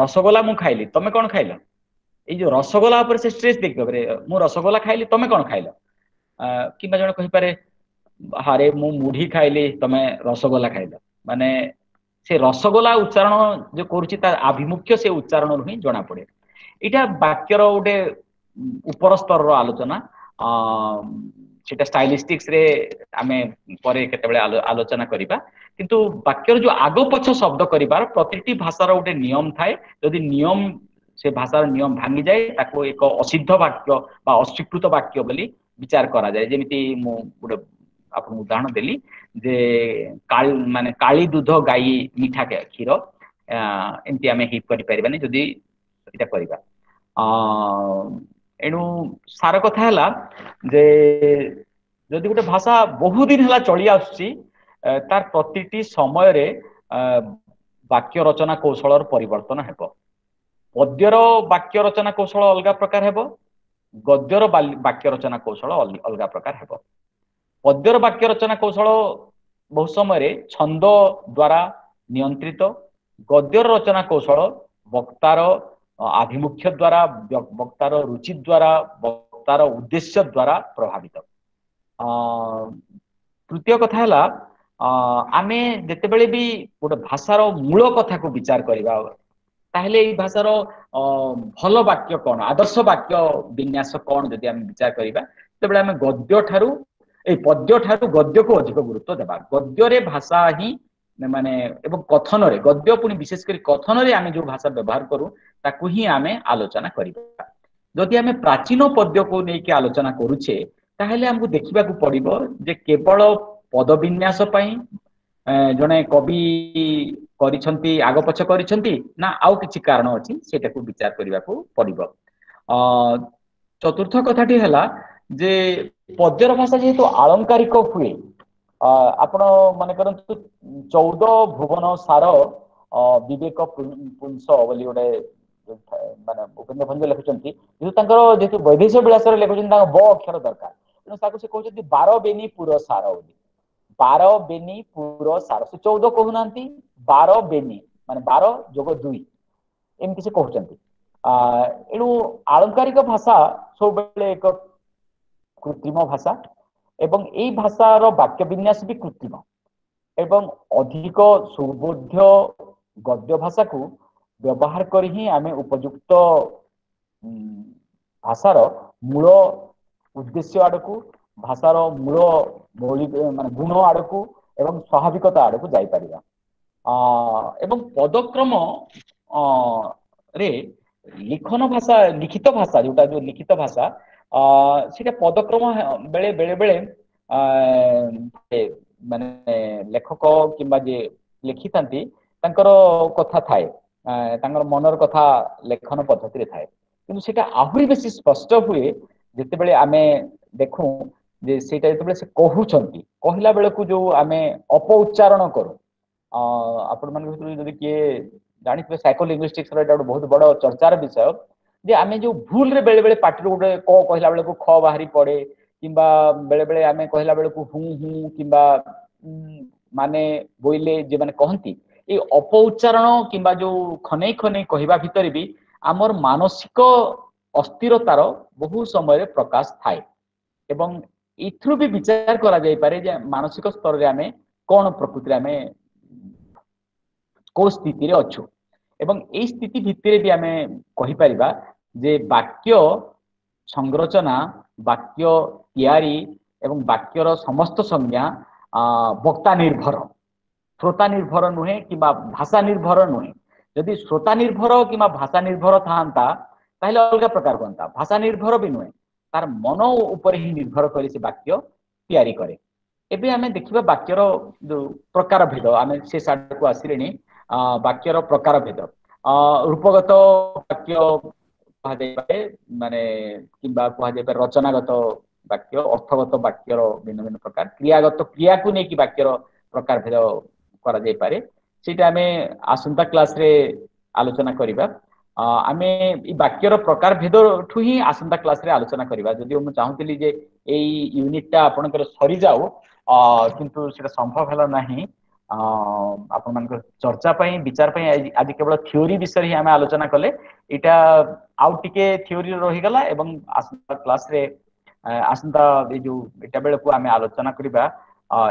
ରସଗୋଲା ମୁଁ ଖାଇଲି, ତମେ କଣ ଖାଇଲ? ଏଇ ଯୋଉ ରସଗୋଲା ଉପରେ ସେ ଷ୍ଟ୍ରେସ୍ ଦେଇପାରେ, ମୁଁ ରସଗୋଲା ଖାଇଲି ତମେ କଣ ଖାଇଲ? କିମ୍ବା ଜଣେ କହିପାରେ ଆରେ ମୁଁ ମୁଢି ଖାଇଲି ତମେ ରସଗୋଲା ଖାଇଲ। ମାନେ ସେ ରସଗୋଲା ଉଚ୍ଚାରଣ ଯୋଉ କରୁଛି ତାର ଆଭିମୁଖ୍ୟ ସେ ଉଚ୍ଚାରଣରୁ ହିଁ ଜଣା ପଡେ। ଏଇଟା ବାକ୍ୟର ଗୋଟେ ଉପର ସ୍ତରର ଆଲୋଚନା, ସେଟା ଷ୍ଟାଇଲିଷ୍ଟିକ୍ସ ରେ ଆମେ ପରେ କେତେବେଳେ ଆଲୋଚନା କରିବା। କିନ୍ତୁ ବାକ୍ୟର ଯୋଉ ଆଗ ପଛ ଶବ୍ଦ କରିବାର ପ୍ରତିଟି ଭାଷାର ଗୋଟେ ନିୟମ ଥାଏ। ଯଦି ନିୟମ ସେ ଭାଷାର ନିୟମ ଭାଙ୍ଗିଯାଏ ତାକୁ ଏକ ଅସିଦ୍ଧ ବାକ୍ୟ ବା ଅସ୍ୱୀକୃତ ବାକ୍ୟ ବୋଲି ବିଚାର କରାଯାଏ। ଯେମିତି ମୁଁ ଗୋଟେ ଆପଣଙ୍କୁ ଉଦାହରଣ ଦେଲି ଯେ ମାନେ କାଳି ଦୁଧ ଗାଈ ମିଠା କ୍ଷୀର, ଏମିତି ଆମେ ହିପ୍ କରିପାରିବାନି ଯଦି ଏଇଟା କରିବା। ଏଣୁ ସାର କଥା ହେଲା ଯେ ଯଦି ଗୋଟେ ଭାଷା ବହୁ ଦିନ ହେଲା ଚଳି ଆସୁଛି, ତାର ପ୍ରତିଟି ସମୟରେ ବାକ୍ୟ ରଚନା କୌଶଳର ପରିବର୍ତ୍ତନ ହେବ। ପଦ୍ୟର ବାକ୍ୟ ରଚନା କୌଶଳ ଅଲଗା ପ୍ରକାର ହେବ, ଗଦ୍ୟର ବାକ୍ୟ ରଚନା କୌଶଳ ଅଲଗା ପ୍ରକାର ହେବ। ପଦ୍ୟର ବାକ୍ୟ ରଚନା କୌଶଳ ବହୁ ସମୟରେ ଛନ୍ଦ ଦ୍ୱାରା ନିୟନ୍ତ୍ରିତ, ଗଦ୍ୟର ରଚନା କୌଶଳ ବକ୍ତାର ଆଭିମୁଖ୍ୟ ଦ୍ୱାରା, ବକ୍ତାର ରୁଚି ଦ୍ୱାରା, ବକ୍ତାର ଉଦ୍ଦେଶ୍ୟ ଦ୍ୱାରା ପ୍ରଭାବିତ। ତୃତୀୟ କଥା ହେଲା ଆମେ ଯେତେବେଳେ ବି ଗୋଟେ ଭାଷାର ମୂଳ କଥାକୁ ବିଚାର କରିବା, ତାହେଲେ ଏଇ ଭାଷାର ଭଲ ବାକ୍ୟ କଣ, ଆଦର୍ଶ ବାକ୍ୟ ବିନ୍ୟାସ କଣ ଯଦି ଆମେ ବିଚାର କରିବା, ସେତେବେଳେ ଆମେ ଗଦ୍ୟ ଠାରୁ ଏଇ ପଦ୍ୟ ଠାରୁ ଗଦ୍ୟକୁ ଅଧିକ ଗୁରୁତ୍ୱ ଦେବା। ଗଦ୍ୟରେ ଭାଷା ହିଁ ମାନେ ଏବଂ କଥନରେ ଗଦ୍ୟ, ପୁଣି ବିଶେଷ କରି କଥନରେ ଆମେ ଯୋଉ ଭାଷା ବ୍ୟବହାର କରୁ ତାକୁ ହିଁ ଆମେ ଆଲୋଚନା କରିବା। ଯଦି ଆମେ ପ୍ରାଚୀନ ପଦ୍ୟକୁ ନେଇକି ଆଲୋଚନା କରୁଛେ, ତାହେଲେ ଆମକୁ ଦେଖିବାକୁ ପଡିବ ଯେ କେବଳ ପଦବିନ୍ୟାସ ପାଇଁ ଜଣେ କବି କରିଛନ୍ତି, ଆଗ ପଛ କରିଛନ୍ତି ନା ଆଉ କିଛି କାରଣ ଅଛି, ସେଇଟାକୁ ବିଚାର କରିବାକୁ ପଡିବ। ଚତୁର୍ଥ କଥାଟି ହେଲା ଯେ ପଦ୍ୟର ଭାଷା ଯେହେତୁ ଆଳଙ୍କାରିକ ହୁଏ, ଆପଣ ମନେ କରନ୍ତୁ 14 ଭୁବନ ସାର ବିବେକ ପୁଂସ ବୋଲି ଗୋଟେ ମାନେ ଉପେନ୍ଦ୍ର ଭଞ୍ଜ ଲେଖୁଛନ୍ତି, ଯେହେତୁ ତାଙ୍କର ଯେହେତୁ ବୈଦେଶ ବିଳାସରେ ଲେଖୁଛନ୍ତି ତାଙ୍କ ବ ଅକ୍ଷର ଦରକାର, ତେଣୁ ତାକୁ ସେ କହୁଛନ୍ତି 12 ବେନି ପୁର ସାର ବୋଲି। 12 ବେନି ପୁର ସାର, ସେ 14 କହୁନାହାନ୍ତି, 12 ବେନି ମାନେ 12 ଯୋଗ 2 ଏମିତି ସେ କହୁଛନ୍ତି। ଏଣୁ ଆଳଙ୍କାରିକ ଭାଷା ସବୁବେଳେ ଏକ କୃତ୍ରିମ ଭାଷା ଏବଂ ଏଇ ଭାଷାର ବାକ୍ୟ ବିନ୍ୟାସ ବି କୃତ୍ରିମ। ଏବଂ ଅଧିକ ସୁବୋଧ୍ୟ ଗଦ୍ୟ ଭାଷାକୁ ବ୍ୟବହାର କରି ହିଁ ଆମେ ଉପଯୁକ୍ତ ଭାଷାର ମୂଳ ଉଦ୍ଦେଶ୍ୟ ଆଡକୁ, ଭାଷାର ମୂଳ ମୌଳିକ ମାନେ ଗୁଣ ଆଡକୁ ଏବଂ ସ୍ୱାଭାବିକତା ଆଡକୁ ଯାଇପାରିବା। ଏବଂ ପଦକ୍ରମ ରେ ଲିଖନ ଭାଷା, ଲିଖିତ ଭାଷା ଯୋଉଟା, ଯୋଉ ଲିଖିତ ଭାଷା ସେଇଟା ପଦକ୍ରମ ବେଳେ ବେଳେ ବେଳେ ମାନେ ଲେଖକ କିମ୍ବା ଯିଏ ଲେଖିଥାନ୍ତି ତାଙ୍କର କଥା ଥାଏ, ତାଙ୍କର ମନର କଥା ଲେଖନ ପଦ୍ଧତିରେ ଥାଏ। କିନ୍ତୁ ସେଇଟା ଆହୁରି ବେଶୀ ସ୍ପଷ୍ଟ ହୁଏ ଯେତେବେଳେ ଆମେ ଦେଖୁ ଯେ ସେଇଟା ଯେତେବେଳେ ସେ କହୁଛନ୍ତି, କହିଲା ବେଳକୁ ଯୋଉ ଆମେ ଅପ ଉଚ୍ଚାରଣ କରୁ। ଆପଣମାନଙ୍କ ଭିତରୁ ଯଦି କିଏ ଜାଣିଥିବେ, ସାଇକୋଲିଙ୍ଗୁଇଷ୍ଟିକ୍ସ ର ଏଇଟା ଗୋଟେ ବହୁତ ବଡ ଚର୍ଚ୍ଚାର ବିଷୟ ଯେ ଆମେ ଯୋଉ ଭୁଲରେ ବେଳେ ବେଳେ ପାଟିରୁ ଗୋଟେ କ କହିଲା ବେଳକୁ ଖ ବାହାରି ପଡେ, କିମ୍ବା ବେଳେ ବେଳେ ଆମେ କହିଲା ବେଳକୁ ହୁଁ ହୁଁ କିମ୍ବା ମାନେ ବୋଇଲେ ଯେଉଁମାନେ କହନ୍ତି, ଏଇ ଅପ ଉଚ୍ଚାରଣ କିମ୍ବା ଯୋଉ ଖନେଇ ଖନେଇ କହିବା ଭିତରେ ବି ଆମର ମାନସିକ ଅସ୍ଥିରତାର ବହୁ ସମୟରେ ପ୍ରକାଶ ଥାଏ। ଏବଂ ଏଥିରୁ ବି ବିଚାର କରାଯାଇପାରେ ଯେ ମାନସିକ ସ୍ତରରେ ଆମେ କଣ ପ୍ରକୃତିରେ ଆମେ କୋଉ ସ୍ଥିତିରେ ଅଛୁ। ଏବଂ ଏଇ ସ୍ଥିତି ଭିତ୍ତିରେ ବି ଆମେ କହିପାରିବା ଯେ ବାକ୍ୟ ସଂରଚନା, ବାକ୍ୟ ତିଆରି ଏବଂ ବାକ୍ୟର ସମସ୍ତ ସଂଜ୍ଞା ବକ୍ତା ନିର୍ଭର, ଶ୍ରୋତା ନିର୍ଭର ନୁହେଁ କିମ୍ବା ଭାଷା ନିର୍ଭର ନୁହେଁ। ଯଦି ଶ୍ରୋତା ନିର୍ଭର କିମ୍ବା ଭାଷା ନିର୍ଭର ଥାନ୍ତା ତାହେଲେ ଅଲଗା ପ୍ରକାର ହୁଅନ୍ତା। ଭାଷା ନିର୍ଭର ବି ନୁହେଁ, ତାର ମନ ଉପରେ ହିଁ ନିର୍ଭର କରି ସେ ବାକ୍ୟ ତିଆରି କରେ। ଏବେ ଆମେ ଦେଖିବା ବାକ୍ୟର ଯୋଉ ପ୍ରକାର ଭେଦ, ଆମେ ସେ ସାଡକୁ ଆସିଲେଣି। ବାକ୍ୟର ପ୍ରକାର ଭେଦ, ରୂପଗତ ବାକ୍ୟ କୁହାଯାଇପାରେ ମାନେ କିମ୍ବା କୁହାଯାଇପାରେ ରଚନାଗତ ବାକ୍ୟ, ଅର୍ଥଗତ ବାକ୍ୟର ଭିନ୍ନ ଭିନ୍ନ ପ୍ରକାର, କ୍ରିୟାଗତ, କ୍ରିୟାକୁ ନେଇକି ବାକ୍ୟର ପ୍ରକାର ଭେଦ କରାଯାଇପାରେ। ସେଇଟା ଆମେ ଆସନ୍ତା କ୍ଲାସରେ ଆଲୋଚନା କରିବା। ଆମେ ଏଇ ବାକ୍ୟର ପ୍ରକାର ଭେଦଠୁ ହିଁ ଆସନ୍ତା କ୍ଲାସରେ ଆଲୋଚନା କରିବା। ଯଦିଓ ମୁଁ ଚାହୁଁଥିଲି ଯେ ଏଇ ୟୁନିଟଟା ଆପଣଙ୍କର ସରିଯାଉ, କିନ୍ତୁ ସେଇଟା ସମ୍ଭବ ହେଲା ନାହିଁ। ଆପଣମାନଙ୍କର ଚର୍ଚ୍ଚା ପାଇଁ, ବିଚାର ପାଇଁ ଆଜି କେବଳ ଥିଓରି ବିଷୟରେ ହିଁ ଆମେ ଆଲୋଚନା କଲେ। ଏଇଟା ଆଉ ଟିକେ ଥିଓରି ରହିଗଲା ଏବଂ ଆସନ୍ତା କ୍ଲାସରେ, ଆସନ୍ତା ଏଇ ଯୋଉ ଏଇଟା ବେଳକୁ ଆମେ ଆଲୋଚନା କରିବା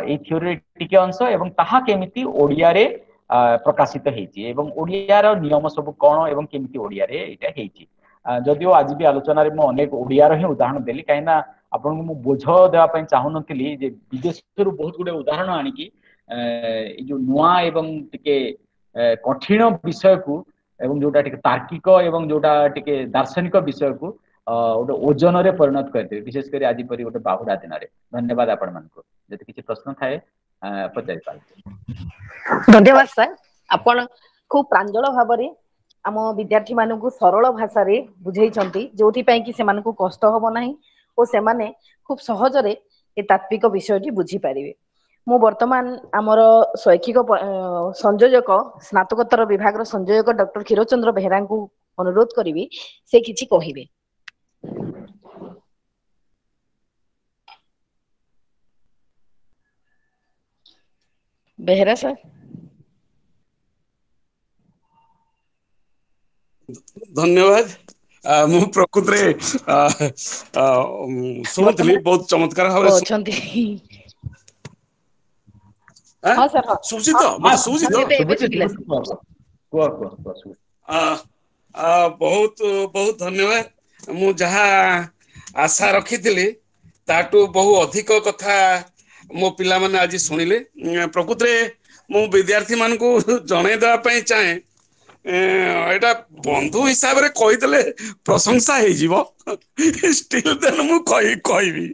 ଏଇ ଥିଓରିର ଟିକେ ଅଂଶ ଏବଂ ତାହା କେମିତି ଓଡ଼ିଆରେ ପ୍ରକାଶିତ ହେଇଛି ଏବଂ ଓଡ଼ିଆର ନିୟମ ସବୁ କଣ ଏବଂ କେମିତି ଓଡ଼ିଆରେ ଏଇଟା ହେଇଛି। ଯଦିଓ ଆଜି ବି ଆଲୋଚନାରେ ମୁଁ ଅନେକ ଓଡ଼ିଆର ହିଁ ଉଦାହରଣ ଦେଲି, କାହିଁକିନା ଆପଣଙ୍କୁ ମୁଁ ବୋଝ ଦେବା ପାଇଁ ଚାହୁଁନଥିଲି ଯେ ବିଦେଶରୁ ବହୁତ ଗୁଡେ ଉଦାହରଣ ଆଣିକି ଏଇ ଯୋଉ ନୂଆ ଏବଂ ଟିକେ କଠିନ ବିଷୟକୁ ଏବଂ ଯୋଉଟା ଟିକେ ତାର୍କିକ ଏବଂ ଯୋଉଟା ଟିକେ ଦାର୍ଶନିକ ବିଷୟକୁ ଗୋଟେ ଓଜନରେ ପରିଣତ କରିଦେବେ, ବିଶେଷ କରି ଆଜି ପରି ଗୋଟେ ବାହୁଡା ଦିନରେ। ଧନ୍ୟବାଦ ଆପଣମାନଙ୍କୁ। ଯଦି କିଛି ପ୍ରଶ୍ନ ଥାଏ ପଚାରି ପାରନ୍ତି।
ଧନ୍ୟବାଦ ସାର୍, ଆପଣ ଖୁବ ପ୍ରାଞ୍ଜଳ ଭାବରେ ଆମ ବିଦ୍ୟାର୍ଥୀ ମାନଙ୍କୁ ସରଳ ଭାଷାରେ ବୁଝେଇଛନ୍ତି, ଯୋଉଥିପାଇଁ କି ସେମାନଙ୍କୁ କଷ୍ଟ ହବ ନାହିଁ ଓ ସେମାନେ ଖୁବ ସହଜରେ ଏ ତାତ୍ତ୍ୱିକ ବିଷୟଟି ବୁଝିପାରିବେ। ମୁଁ ବର୍ତ୍ତମାନ ଆମର ଶୈକ୍ଷିକ ସଂଯୋଜକ, ସ୍ନାତକୋତ୍ତର ବିଭାଗର ସଂଯୋଜକ ଡକ୍ଟର କ୍ଷୀରଚନ୍ଦ୍ର ବେହେରାଙ୍କୁ ଅନୁରୋଧ କରିବି ସେ କିଛି କହିବେ। ବେହେରା ସାର୍।
ଧନ୍ୟବାଦ। ମୁଁ ପ୍ରକୃତରେ ଶୁଣୁଥିଲି, ବହୁତ ଚମତ୍କାର ଭାବରେ
ଅଛନ୍ତି। ହଁ ସାର୍, ହଁ।
ଶୁଭୁଛି ତ? ମତେ ଶୁଭୁଛି ତ?
କୁହ କୁହ କୁହ।
ବହୁତ ବହୁତ ଧନ୍ୟବାଦ। ମୁଁ ଯାହା ଆଶା ରଖିଥିଲି ତାଠୁ ବହୁ ଅଧିକ କଥା ମୋ ପିଲାମାନେ ଆଜି ଶୁଣିଲେ। ପ୍ରକୃତରେ ମୁଁ ବିଦ୍ୟାର୍ଥୀ ମାନଙ୍କୁ ଜଣେଇ ଦେବା ପାଇଁ ଚାହେଁ, ଏଇଟା ବନ୍ଧୁ ହିସାବରେ କହିଦେଲେ ପ୍ରଶଂସା ହେଇଯିବ, ଷ୍ଟିଲ୍ ଦେନ୍ ମୁଁ କହିବି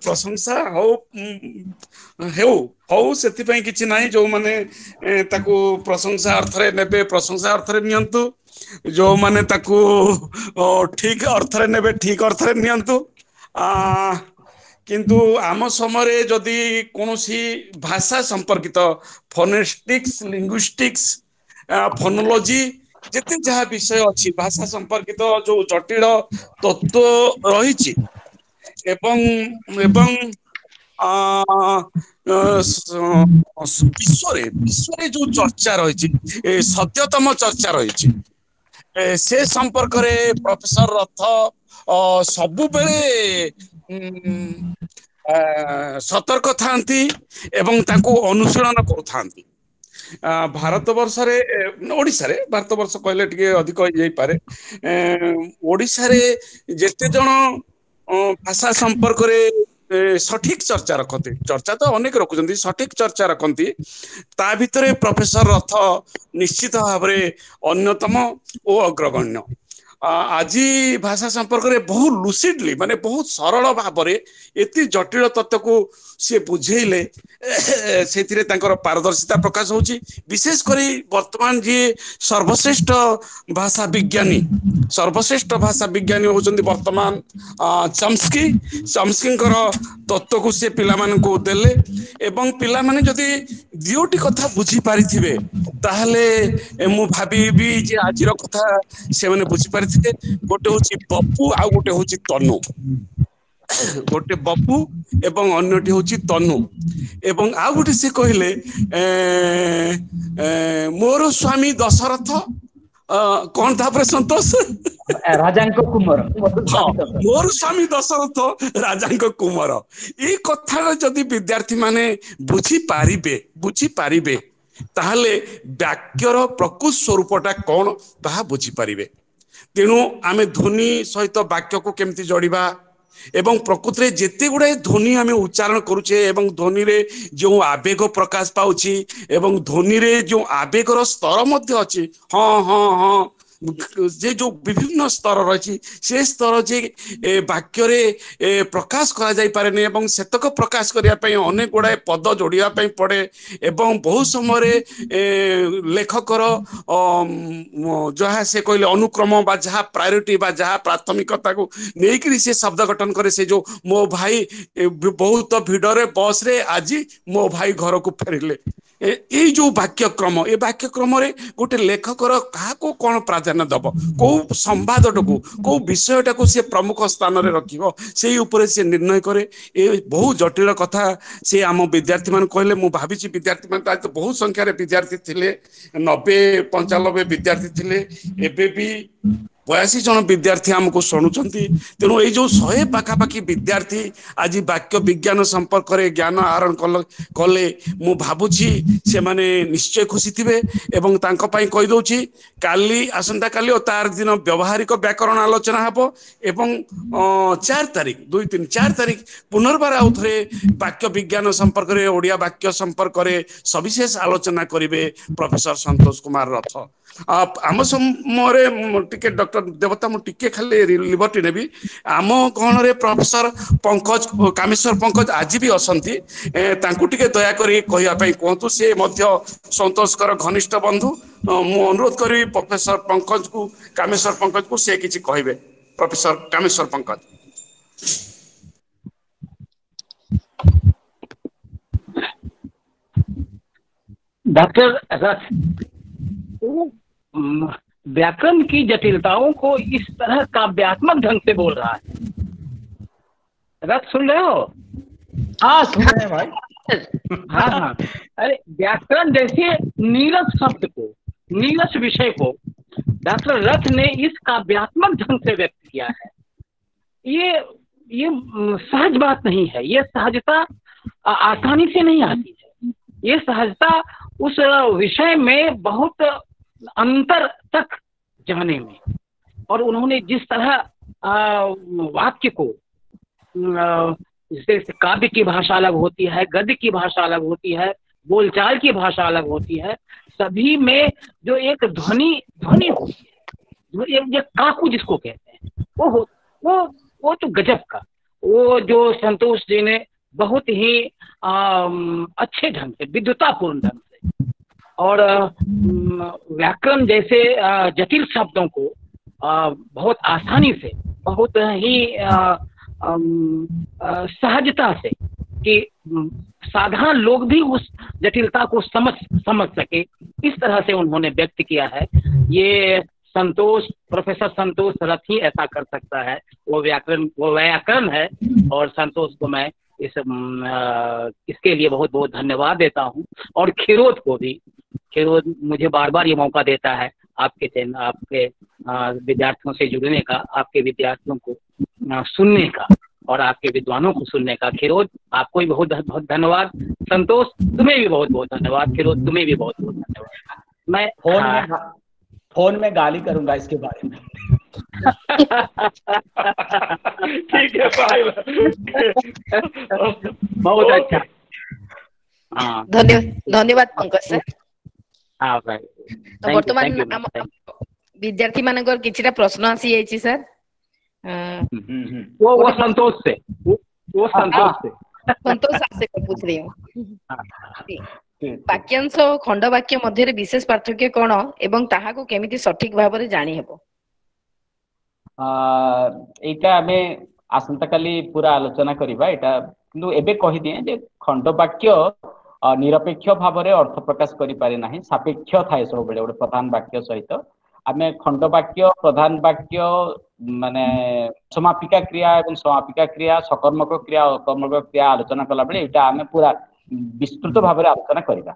ପ୍ରଶଂସା ହଉ ହେଉ ହଉ, ସେଥିପାଇଁ କିଛି ନାହିଁ। ଯୋଉମାନେ ତାକୁ ପ୍ରଶଂସା ଅର୍ଥରେ ନେବେ ପ୍ରଶଂସା ଅର୍ଥରେ ନିଅନ୍ତୁ, ଯୋଉମାନେ ତାକୁ ଠିକ ଅର୍ଥରେ ନେବେ ଠିକ ଅର୍ଥରେ ନିଅନ୍ତୁ। କିନ୍ତୁ ଆମ ସମୟରେ ଯଦି କୌଣସି ଭାଷା ସମ୍ପର୍କିତ ଫୋନେଟିକ୍ସ, ଲିଙ୍ଗୁଇଷ୍ଟିକ୍ସ, ଫୋନୋଲୋଜି ଯେତେ ଯାହା ବିଷୟ ଅଛି, ଭାଷା ସମ୍ପର୍କିତ ଯୋଉ ଜଟିଳ ତତ୍ତ୍ୱ ରହିଛି ଏବଂ ଏବଂ ବିଶ୍ୱରେ ଯୋଉ ଚର୍ଚ୍ଚା ରହିଛି, ସଦ୍ୟତମ ଚର୍ଚ୍ଚା ରହିଛି, ସେ ସମ୍ପର୍କରେ ପ୍ରଫେସର ରଥ ସବୁବେଳେ ସତର୍କ ଥାନ୍ତି ଏବଂ ତାକୁ ଅନୁଶୀଳନ କରୁଥାନ୍ତି। ଭାରତ ବର୍ଷରେ, ଓଡ଼ିଶାରେ, ଭାରତ ବର୍ଷ କହିଲେ ଟିକେ ଅଧିକ ହେଇଯାଇପାରେ, ଓଡ଼ିଶାରେ ଯେତେ ଜଣ ଭାଷା ସମ୍ପର୍କରେ ସଠିକ ଚର୍ଚ୍ଚା ରଖନ୍ତି, ଚର୍ଚ୍ଚା ତ ଅନେକ ରଖୁଛନ୍ତି, ସଠିକ ଚର୍ଚ୍ଚା ରଖନ୍ତି, ତା ଭିତରେ ପ୍ରଫେସର ରଥ ନିଶ୍ଚିତ ଭାବରେ ଅନ୍ୟତମ ଓ ଅଗ୍ରଗଣ୍ୟ। ଆଜି ଭାଷା ସମ୍ପର୍କରେ ବହୁ ଲୁସିଡଲି, ମାନେ ବହୁତ ସରଳ ଭାବରେ ଏତେ ଜଟିଳ ତତ୍ତ୍ୱକୁ ସିଏ ବୁଝେଇଲେ, ସେଥିରେ ତାଙ୍କର ପାରଦର୍ଶିତା ପ୍ରକାଶ ହଉଛି। ବିଶେଷ କରି ବର୍ତ୍ତମାନ ଯିଏ ସର୍ବଶ୍ରେଷ୍ଠ ଭାଷା ବିଜ୍ଞାନୀ, ସର୍ବଶ୍ରେଷ୍ଠ ଭାଷା ବିଜ୍ଞାନୀ ହଉଛନ୍ତି ବର୍ତ୍ତମାନ ଚମ୍ସ୍କି। ଚମ୍ସ୍କିଙ୍କର ତତ୍ତ୍ୱକୁ ସେ ପିଲାମାନଙ୍କୁ ଦେଲେ ଏବଂ ପିଲାମାନେ ଯଦି ଦୁଇଟି କଥା ବୁଝିପାରିଥିବେ ତାହେଲେ ମୁଁ ଭାବିବି ଯେ ଆଜିର କଥା ସେମାନେ ବୁଝିପାରିଥିବେ। ଗୋଟେ ହଉଛି ବପୁ ଆଉ ଗୋଟେ ହଉଛି ତନୁ। ଗୋଟେ ବପୁ ଏବଂ ଅନ୍ୟଟି ହଉଛି ତନୁ। ଏବଂ ଆଉ ଗୋଟେ ସେ କହିଲେ ମୋର ସ୍ଵାମୀ ଦଶରଥ, କଣ ତାପରେ ସନ୍ତୋଷ,
ରାଜାଙ୍କ କୁମର।
ହଁ, ମୋର ସ୍ଵାମୀ ଦଶରଥ ରାଜାଙ୍କ କୁମର। ଏଇ କଥାଟା ଯଦି ବିଦ୍ୟାର୍ଥୀ ମାନେ ବୁଝିପାରିବେ ତାହେଲେ ବାକ୍ୟର ପ୍ରକୃତ ସ୍ୱରୂପଟା କଣ ତାହା ବୁଝିପାରିବେ। ତେଣୁ ଆମେ ଧ୍ୱନି ସହିତ ବାକ୍ୟକୁ କେମିତି ଯୋଡ଼ିବା ଏବଂ ପ୍ରକୃତିରେ ଯେତେ ଗୁଡ଼ାଏ ଧ୍ୱନି ଆମେ ଉଚ୍ଚାରଣ କରୁଛେ ଏବଂ ଧ୍ୱନିରେ ଯେଉଁ ଆବେଗ ପ୍ରକାଶ ପାଉଛି ଏବଂ ଧ୍ୱନିରେ ଯେଉଁ ଆବେଗର ସ୍ତର ମଧ୍ୟ ଅଛି, ହଁ ହଁ ହଁ, ଯେ ଯୋଉ ବିଭିନ୍ନ ସ୍ତର ରହିଛି ସେ ସ୍ତର ଯେ ବାକ୍ୟରେ ପ୍ରକାଶ କରାଯାଇପାରେନି ଏବଂ ସେତକ ପ୍ରକାଶ କରିବା ପାଇଁ ଅନେକ ଗୁଡ଼ାଏ ପଦ ଯୋଡ଼ିବା ପାଇଁ ପଡ଼େ ଏବଂ ବହୁ ସମୟରେ ଲେଖକର ଯାହା ସେ କହିଲେ ଅନୁକ୍ରମ ବା ଯାହା ପ୍ରାୟୋରିଟି ବା ଯାହା ପ୍ରାଥମିକତାକୁ ନେଇକରି ସେ ଶବ୍ଦ ଗଠନ କରେ। ସେ ଯୋଉ ମୋ ଭାଇ ବହୁତ ଭିଡ଼ରେ ବସରେ ଆଜି ମୋ ଭାଇ ଘରକୁ ଫେରିଲେ, ଏଇ ଯୋଉ ବାକ୍ୟକ୍ରମ, ଏ ବାକ୍ୟକ୍ରମରେ ଗୋଟେ ଲେଖକର କାହାକୁ କଣ ପ୍ରାଧାନ୍ୟ ଦବ, କୋଉ ସମ୍ବାଦଟାକୁ, କୋଉ ବିଷୟଟାକୁ ସେ ପ୍ରମୁଖ ସ୍ଥାନରେ ରଖିବ, ସେଇ ଉପରେ ସେ ନିର୍ଣ୍ଣୟ କରେ। ଏ ବହୁ ଜଟିଳ କଥା ସେ ଆମ ବିଦ୍ୟାର୍ଥୀ ମାନଙ୍କୁ କହିଲେ। ମୁଁ ଭାବିଛି ବିଦ୍ୟାର୍ଥୀ ମାନେ ତ ବହୁତ ସଂଖ୍ୟାରେ ବିଦ୍ୟାର୍ଥୀ ଥିଲେ, 90 95 ବିଦ୍ୟାର୍ଥୀ ଥିଲେ, ଏବେ ବି 82 ଜଣ ବିଦ୍ୟାର୍ଥୀ ଆମକୁ ଶୁଣୁଛନ୍ତି। ତେଣୁ ଏଇ ଯୋଉ 100 ପାଖାପାଖି ବିଦ୍ୟାର୍ଥୀ ଆଜି ବାକ୍ୟ ବିଜ୍ଞାନ ସମ୍ପର୍କରେ ଜ୍ଞାନ ଆହରଣ କଲେ, ମୁଁ ଭାବୁଛି ସେମାନେ ନିଶ୍ଚୟ ଖୁସି ଥିବେ। ଏବଂ ତାଙ୍କ ପାଇଁ କହିଦଉଛି କାଲି, ଆସନ୍ତାକାଲି ଓ ତାର ଦିନ ବ୍ୟବହାରିକ ବ୍ୟାକରଣ ଆଲୋଚନା ହେବ ଏବଂ 4 ତାରିଖ, 2 3 4 ତାରିଖ ପୁନର୍ବାର ଆଉ ଥରେ ବାକ୍ୟ ବିଜ୍ଞାନ ସମ୍ପର୍କରେ, ଓଡ଼ିଆ ବାକ୍ୟ ସମ୍ପର୍କରେ ସବିଶେଷ ଆଲୋଚନା କରିବେ ପ୍ରଫେସର ସନ୍ତୋଷ କୁମାର ରଥ। ଆମ ସମୟରେ ଟିକେ ଡକ୍ଟର ଦେବତା, ମୁଁ ଟିକେ ଖାଲି ଲିବର୍ଟି ନେବି। ଆମ ଗହଣରେ ପ୍ରଫେସର ପଙ୍କଜ, କାମେଶ୍ୱର ପଙ୍କଜ ଆଜି ବି ଅଛନ୍ତି, ତାଙ୍କୁ ଟିକେ ଦୟାକରି କହିବା ପାଇଁ କୁହନ୍ତୁ। ସେ ମଧ୍ୟ ସନ୍ତୋଷଙ୍କର ଘନିଷ୍ଠ ବନ୍ଧୁ। ମୁଁ ଅନୁରୋଧ କରିବି ପ୍ରଫେସର ପଙ୍କଜକୁ, କାମେଶ୍ୱର ପଙ୍କଜକୁ, ସେ କିଛି କହିବେ। ପ୍ରଫେସର କାମେଶ୍ୱର ପଙ୍କଜ।
डॉक्टर रथ व्याकरण की जटिलताओं को इस तरह काव्यात्मक ढंग से बोल रहा है। रथ सुन रहे हो?
हाँ सुन रहे हैं भाई।
हाँ हाँ, अरे व्याकरण जैसे नीरस शब्द को, नीरस विषय को डॉक्टर रथ ने इस काव्यात्मक ढंग से व्यक्त किया है। ये सहज बात नहीं है, ये सहजता आसानी से नहीं आती है। ये सहजता उस विषय में बहुत अंतर तक जाने में, और उन्होंने जिस तरह वाक्य को, जैसे काव्य की भाषा अलग होती है, गद्य की भाषा अलग होती है, बोलचाल की भाषा अलग होती है, सभी में जो एक ध्वनि ध्वनि होती है, एक काकू जिसको कहते हैं, वो तो गजब का, वो जो संतोष जी ने बहुत ही अच्छे ढंग से, विद्वतापूर्ण ढंग से, और व्याकरण जैसे जटिल शब्दों को बहुत आसानी से, बहुत ही सहजता से कि साधारण लोग भी उस जटिलता को समझ सके, इस तरह से उन्होंने व्यक्त किया है। ये संतोष, प्रोफेसर संतोष रथ ही ऐसा कर सकता है। वो व्याकरण है, और संतोष को मैं इसके लिए बहुत बहुत धन्यवाद देता हूँ। और खिरोद को भी, खिरोद मुझे बार बार ये मौका देता है आपके चैनल, आपके विद्यार्थियों से जुड़ने का, आपके विद्यार्थियों को सुनने का। और आपके विद्वानों को सुनने का। खिरोज, आपको भी बहुत बहुत धन्यवाद। संतोष, तुम्हें भी बहुत बहुत धन्यवाद। खिरोज, तुम्हें भी बहुत बहुत धन्यवाद। मैं
फोन में गाली करूंगा इसके बारे में।
ठीक है भाई,
बहुत अच्छा।
धन्यवाद, धन्यवाद पंकज सर।
हाँ भाई,
तो वर्तमान विद्यार्थी मानकर किछिटा प्रश्न आसी जायछि सर।
वो संतोष से, वो संतोष से,
संतोष से पूछ रही हूँ। वाक्यांश और खंड वाक्य मध्य विशेष पार्थक्य कोन एवं ताहाकु केमिति सठिक भाव रे जानि हेबो?
एटा आमे आसंता काली पूरा आलोचना करिवा। एटा किंतु एबे कहि दिए जे खंड वाक्य निरपेक्ष भाव रे अर्थ प्रकाश करि पारे नाही, सापेक्ष थाए सबेले गोटे प्रधान वाक्य सहित। आमे खंड वाक्य, प्रधान वाक्य माने समापिका क्रिया एवं समापिका क्रिया, सकर्मक क्रिया, अकर्मक क्रिया आलोचना कला बेले एटा आमे पूरा विस्तृत भाव रे आलोचना करिवा।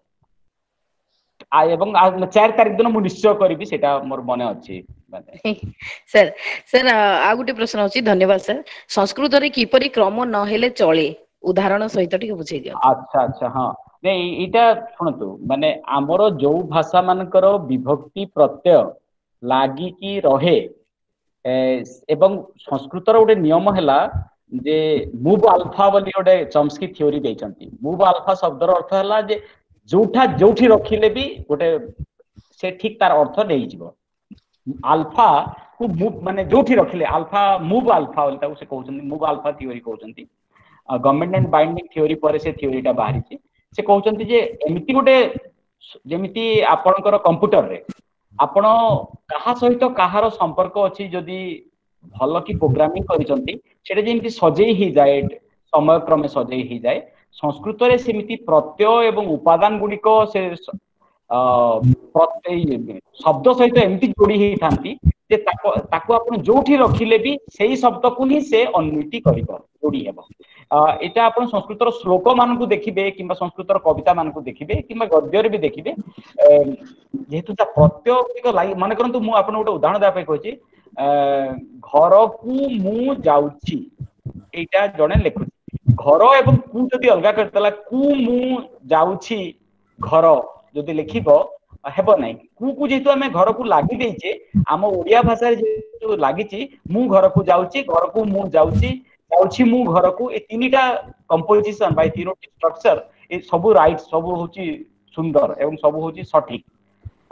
एवं 4 तारीख दिन मु निश्चय करिवि, सेटा मोर मने अछि।
सर सर आ गोटे प्रश्न अछि, धन्यवाद सर। संस्कृत रे किपरि क्रम न हेले चले, उदाहरण सहित टिके बुझाई दियो।
अच्छा अच्छा, हां नहीं एटा सुनतु, माने हमरो जो भाषा मानकर विभक्ति प्रत्यय लागी की रहे एवं संस्कृतर गोटे नियम हला जे मुव अल्फा बोली गोटे चम्स्की थ्योरी देइछंती। मुव अल्फा शब्दर अर्थ हला जे जोठा जोठी रखिले भी गोटे से ठीक तार अर्थ नै जिवो। अल्फा को मुव माने जोठी रखिले अल्फा, मुव अल्फा बोली ताको से कहउछंती, मुव अल्फा थ्योरी कहउछंती। गवर्नमेंट एंड बाइंडिंग थ्योरी पर से थ्योरीटा बाहरिछि। से कहउछंती जे एमिति गोटे जेमिति आपणकर कंप्यूटर रे आपण काहा सहित काहार संपर्क अछि, जदि भल कि प्रोग्रामिंग करिसंती सेटा जेमिति सजेई ही जाए, समय क्रमे सजेई ही जाए। संस्कृत रे सेमिति प्रत्यय एवं उपादान गुडिक से प्रत्यय शब्द सहित एमिति जोड़ी ही थांती जे ताको आपण जोठी रखिले भी सेही शब्द को ही से अन्विति करिवो, जोड़ी हेबो। एटा आपण संस्कृतर श्लोक मानकु देखिबे किंबा संस्कृतर कविता मानकु देखिबे किंबा गद्य रे भी देखिबे, जेहेतु ता प्रत्यय गुडिक लागि मने करंतु मु आपण गोटे उदाहरण देबा पई कहछि, घर कु मु जाउछि, एटा जणे लेखुछि। घर एवं कु जदि अलगा करतला, कु मु जाउछि घर जदि लिखिबो हेबो नाही। कु कु जेहेतु आमे घर को लागि देइछे, आम ओडिया भाषा रे जेहेतु लागिछि, मु घर को जाउछि, घर को मु जाउछि, जाउछि मु घर को, ए तीनटा कंपोजिशन बाय तीनोटी स्ट्रक्चर ए सब राइट, सब होची सुंदर एवं सब होची सठिक।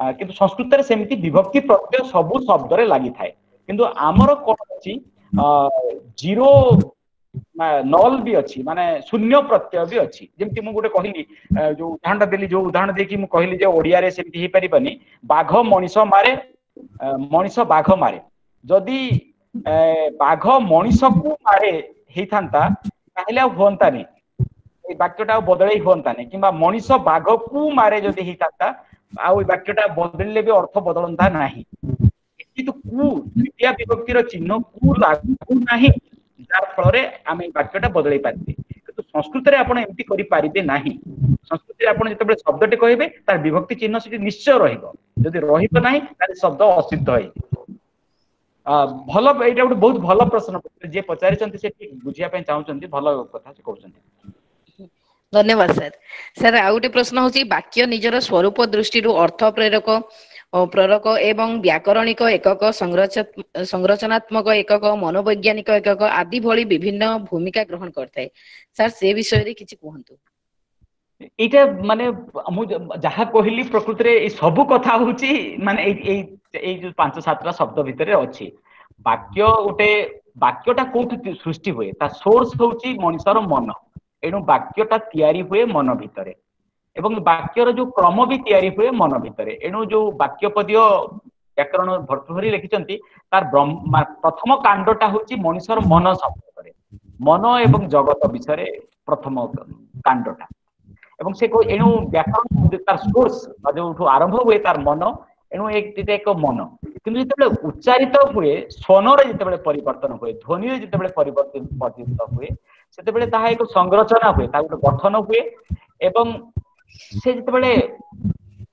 किंतु संस्कृत रे सेमिति विभक्ति प्रत्यय सब शब्द रे लागि थाए, किंतु आमर कोन अछि जीरो नल भी अछि, माने शून्य प्रत्यय भी अछि। जेमति मु गोटे कहली जो उदाहरण देली, जो उदाहरण देकी मु कहली जे ओडिया रे सेमति हे परिबनी, बाघ मनीष मारे, मनीष बाघ मारे। जदि बाघ मनीष को मारे हेइथांता ताहेले आ होंता नै, ए वाक्यटा बदलई होंता नै, किंबा मनीष बाघ को मारे जदि हेइथांता आ वाक्यटा बदलिले भी अर्थ बदलंता नाही। किंतु कु द्वितीय विभक्तिर चिन्ह कु लागू नाही, जार फलरे आमे वाक्यटा बदलई पारिबे। किंतु संस्कृत रे आपण एमति करि पारिबे नाही। संस्कृत रे आपण जेतेबेले शब्दटे कहबे तार विभक्ति चिन्ह सेठी निश्चय रहिबो, जदि रहिबो नाही ताले शब्द असिद्ध होई। भल एटा गोटे बहुत भल प्रश्न जे पचारिसंती से ठीक बुझिया पई चाहुसंती, भल कथा से कहउसंती।
धन्यवाद सर। सर आ गोटे प्रश्न होची, वाक्य निजर स्वरूप दृष्टिरु अर्थ प्रेरक प्रेरक एवं व्याकरणिक एकक, संरचनात्मक एकक, मनोवैज्ञानिक एकक आदि भଳି विभिन्न भूमिका ग्रहण करଥାଏ। सर से विषय रे किछि कहंतु।
एटा माने मु जहा कहली प्रकृति रे ए सब कथा होची, माने ए ए जो 5-7 शब्द भितरे अछि। वाक्य गोटे वाक्यटा कोठु सृष्टि हुए, ता सोर्स होची मनिषर मन। एणु वाक्यटा तयारी हुए मन भितरे एवं वाक्यर जो क्रम भी तयारी हुए मन भितरे। एणु जो वाक्यपदीय व्याकरण भर्तृहरि लिखिछंती तार प्रथम कांडटा होची मनिषर मन सम्पर्करे, मन एवं जगत विषय प्रथम कांडटा। एवं से एणु व्याकरण तार सोर्स जो आरंभ हुए तार मन, एणु एक एक मन। किन्तु जेतेबेले उच्चारित हुए स्वनरे जेतेबेले परिवर्तन हुए, ध्वनिरे जेतेबेले परिवर्तित हुए, सेतेबेले ताहा एक संरचना हुए, ता गोटे गठन हुए। एवं से जेतेबेले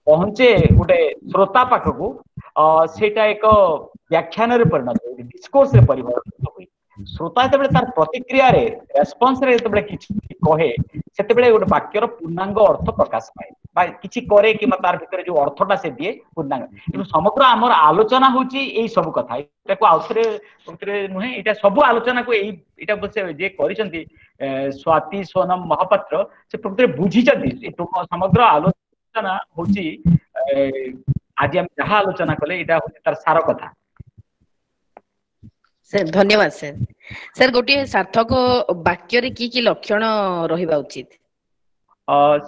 पहुंचे गोटे श्रोता पाखकु सेटा एक व्याख्यान रे परिणत हुए, डिस्कोर्स रे परिवर्तित हुए। ଶ୍ରୋତା ଯେତେବେଳେ ତାର ପ୍ରତିକ୍ରିୟାରେ, ରେସ୍ପନ୍ସରେ ଯେତେବେଳେ କିଛି କହେ, ସେତେବେଳେ ଗୋଟେ ବାକ୍ୟର ପୂର୍ଣ୍ଣାଙ୍ଗ ଅର୍ଥ ପ୍ରକାଶ ପାଏ, ବା କିଛି କରେ କିମ୍ବା ତାର ଭିତରେ ଯୋଉ ଅର୍ଥଟା ସେ ଦିଏ ପୂର୍ଣ୍ଣାଙ୍ଗ। କିନ୍ତୁ ସମଗ୍ର ଆମର ଆଲୋଚନା ହଉଛି ଏଇ ସବୁ କଥା। ଏଇଟାକୁ ଆଉଥରେ ନୁହେଁ, ଏଇଟା ସବୁ ଆଲୋଚନାକୁ ଏଇଟା ଯିଏ କରିଛନ୍ତି ସ୍ୱାତି ସୋନମ ମହାପାତ୍ର, ସେ ପ୍ରକୃତରେ ବୁଝିଛନ୍ତି। ସମଗ୍ର ଆଲୋଚନା ହଉଛି ଆଜି ଆମେ ଯାହା ଆଲୋଚନା କଲେ ଏଇଟା ହଉଛି ତାର ସାର କଥା।
ସାର୍ ଧନ୍ୟବାଦ ସାର୍। ସାର୍, ଗୋଟିଏ ସାର୍ଥକ ବାକ୍ୟରେ କି କି ଲକ୍ଷଣ ରହିବା ଉଚିତ?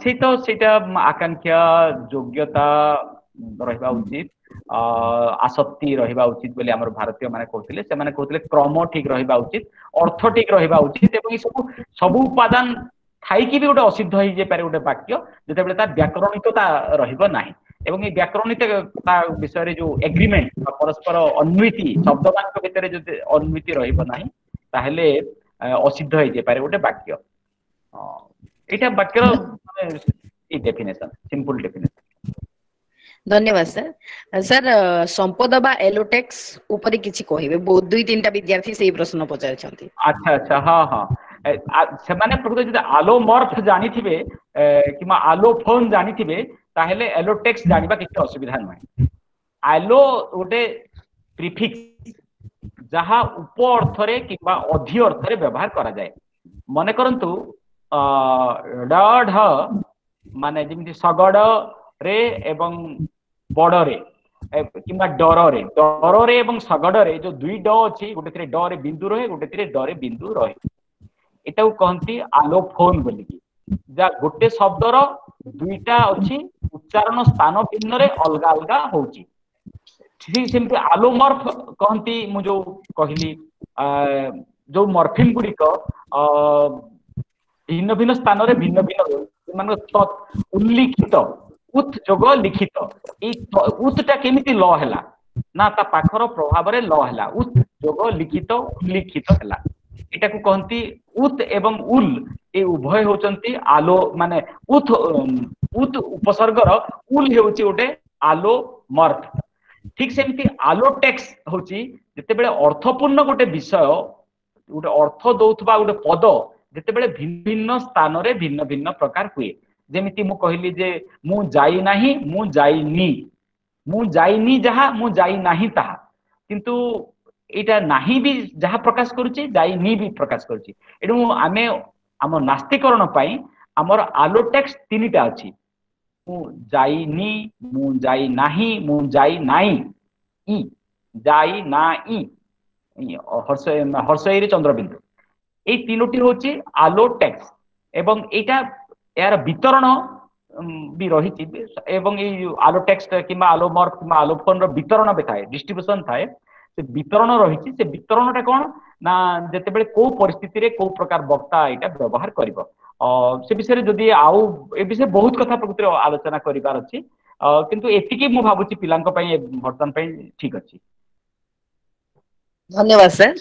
ସେଇ ତ ସେଇଟା ଆକାଂକ୍ଷା, ଯୋଗ୍ୟତା ରହିବା ଉଚିତ, ଆସକ୍ତି ରହିବା ଉଚିତ ବୋଲି ଆମର ଭାରତୀୟ ମାନେ କହୁଥିଲେ। ସେମାନେ କହୁଥିଲେ କ୍ରମ ଠିକ ରହିବା ଉଚିତ, ଅର୍ଥ ଠିକ ରହିବା ଉଚିତ, ଏବଂ ଏ ସବୁ ସବୁ ଉପାଦାନ ଥାଇକି ବି ଗୋଟେ ଅସିଦ୍ଧ ହେଇଯାଇପାରେ ଗୋଟେ ବାକ୍ୟ, ଯେତେବେଳେ ତାର ବ୍ୟାକରଣିକତା ରହିବ ନାହିଁ। ଏବଂ ଏଇ ବ୍ୟାକରଣିକତା ବିଷୟରେ ଯୋଉ ଏଗ୍ରିମେଣ୍ଟ ବା ପରସ୍ପର ଅନ୍ୱିତି, ଶବ୍ଦମାନଙ୍କ ଭିତରେ ଯଦି ଅନ୍ୱିତି ରହିବ ନାହିଁ, ତାହେଲେ ଅସିଦ୍ଧ ହେଇଯାଇପାରେ ଗୋଟେ ବାକ୍ୟ। ଏଇଟା ବାକ୍ୟର ଏଇ ଡେଫିନେସନ, ସିମ୍ପଲ ଡେଫିନେସନ।
ଧନ୍ୟବାଦ ସାର୍। ସାର୍, ସମ୍ପଦ ବା ଏଲୋଟେକ୍ସ ଉପରେ କିଛି କହିବେ? ବହୁତ 2-3ଟା ବିଦ୍ୟାର୍ଥୀ ସେଇ ପ୍ରଶ୍ନ ପଚାରିଛନ୍ତି।
ଆଚ୍ଛା ଆଚ୍ଛା, ହଁ ହଁ। ସେମାନେ ପ୍ରକୃତରେ ଯଦି ଆଲୋମର୍ଫ ଜାଣିଥିବେ କିମ୍ବା ଆଲୋଫୋନ ଜାଣିଥିବେ, ତାହେଲେ ଏଲୋଟେକ୍ସ ଜାଣିବା କିଛି ଅସୁବିଧା ନୁହେଁ। ଆଲୋ ଗୋଟେ ପ୍ରିଫିକ୍ସ, ଯାହା ଉପ ଅର୍ଥରେ କିମ୍ବା ଅଧି ଅର୍ଥରେ ବ୍ୟବହାର କରାଯାଏ। ମନେ କରନ୍ତୁ ଡ ଢ ମାନେ ଯେମିତି ଶଗଡରେ ଏବଂ ବଡରେ କିମ୍ବା ଡରରେ, ଡରରେ ଏବଂ ଶଗଡରେ ଯୋଉ ଦୁଇ ଡ ଅଛି, ଗୋଟେ ଡରେ ବିନ୍ଦୁ ରହେ, ଗୋଟେ ଡରେ ବିନ୍ଦୁ ରହେ। ଏଟାକୁ କହନ୍ତି ଆଲୋଫୋନ ବୋଲିକି। ଯା ଗୋଟେ ଶବ୍ଦର ଦୁଇଟା ଅଛି, ଉଚ୍ଚାରଣ ସ୍ଥାନ ଭିନ୍ନରେ ଅଲଗା ଅଲଗା ହଉଛି। ଠିକ ସେମିତି ଆଲୋମର୍ଫ କହନ୍ତି। ମୁଁ ଯୋଉ କହିଲି ଯୋଉ ମର୍ଫିମ ଗୁଡିକ ଭିନ୍ନ ଭିନ୍ନ ସ୍ଥାନରେ ଭିନ୍ନ ଭିନ୍ନ, ସେମାନଙ୍କ ଉଲ୍ଲିଖିତ ଉତ୍ ଯୋଗ ଲିଖିତ, ଏଇ ଉତ୍ ଟା କେମିତି ଲ ହେଲା ନା ତା ପାଖର ପ୍ରଭାବରେ ଲ ହେଲା, ଉତ୍ ଯୋଗ ଲିଖିତ ଉଲ୍ଲିଖିତ ହେଲା। ଏଟାକୁ କହନ୍ତି ଉତ୍ ଏବଂ ଉଲ୍, ଏ ଉଭୟ ହଉଛନ୍ତି ଆଲୋ, ମାନେ ଉତ୍ ଉତ୍ ଉପସର୍ଗର ଉଲ୍ ହେଉଛି ଗୋଟେ ଆଲୋମର୍ଫ। ଠିକ ସେମିତି ଆଲୋଟେକ୍ସ ହଉଛି ଯେତେବେଳେ ଅର୍ଥପୂର୍ଣ୍ଣ ଗୋଟେ ବିଷୟ, ଗୋଟେ ଅର୍ଥ ଦଉଥିବା ଗୋଟେ ପଦ ଯେତେବେଳେ ଭିନ୍ନ ସ୍ଥାନରେ ଭିନ୍ନ ଭିନ୍ନ ପ୍ରକାର ହୁଏ। ଯେମିତି ମୁଁ କହିଲି ଯେ ମୁଁ ଯାଇନାହିଁ, ମୁଁ ଯାଇନି, ମୁଁ ଯାଇନି ଯାହା, ମୁଁ ଯାଇନାହିଁ ତାହା, କିନ୍ତୁ ଏଇଟା ନାହିଁ ବି ଯାହା ପ୍ରକାଶ କରୁଛି, ଯାଇନି ବି ପ୍ରକାଶ କରୁଛି। ଏଣୁ ଆମେ ଆମ ନାସ୍ତିକରଣ ପାଇଁ ଆମର ଆଲୋଟେକ୍ସ 3ଟା ଅଛି। ମୁଁ ଯାଇନି, ମୁଁ ଯାଇନାହିଁ, ମୁଁ ଯାଇନାଇଁ, ଇ ଯାଇ ନା ଇ ହର୍ଷଇରେ ଚନ୍ଦ୍ରବିନ୍ଦୁ, ଏଇ 3ଟି ହଉଛି ଆଲୋଟେକ୍ସ। ଏବଂ ଏଇଟା ଏହାର ବିତରଣ ବି ରହିଛି, ଏବଂ ଏଇ ଆଲୋଟେକ୍ସ କିମ୍ବା ଆଲୋମର୍ଫ କିମ୍ବା ଆଲୋଫୋନ ର ବିତରଣ ବି ଥାଏ, ଡିଷ୍ଟ୍ରିବ୍ୟୁସନ ଥାଏ। ସେ ବିତରଣ ରହିଛି। ସେ ବିତରଣଟା କଣ ନା ଯେତେବେଳେ କୋଉ ପରିସ୍ଥିତିରେ କୋଉ ପ୍ରକାର ବକ୍ତା ଏଇଟା ବ୍ୟବହାର କରିବ, ସେ ବିଷୟରେ ଯଦି ଆଉ ଏ ବିଷୟରେ ବହୁତ କଥା ପ୍ରକୃତରେ ଆଲୋଚନା କରିବାର ଅଛି, କିନ୍ତୁ ଏତିକି ମୁଁ ଭାବୁଛି ପିଲାଙ୍କ ପାଇଁ ବର୍ତ୍ତମାନ ପାଇଁ ଠିକ ଅଛି।
ଧନ୍ୟବାଦ ସାର୍।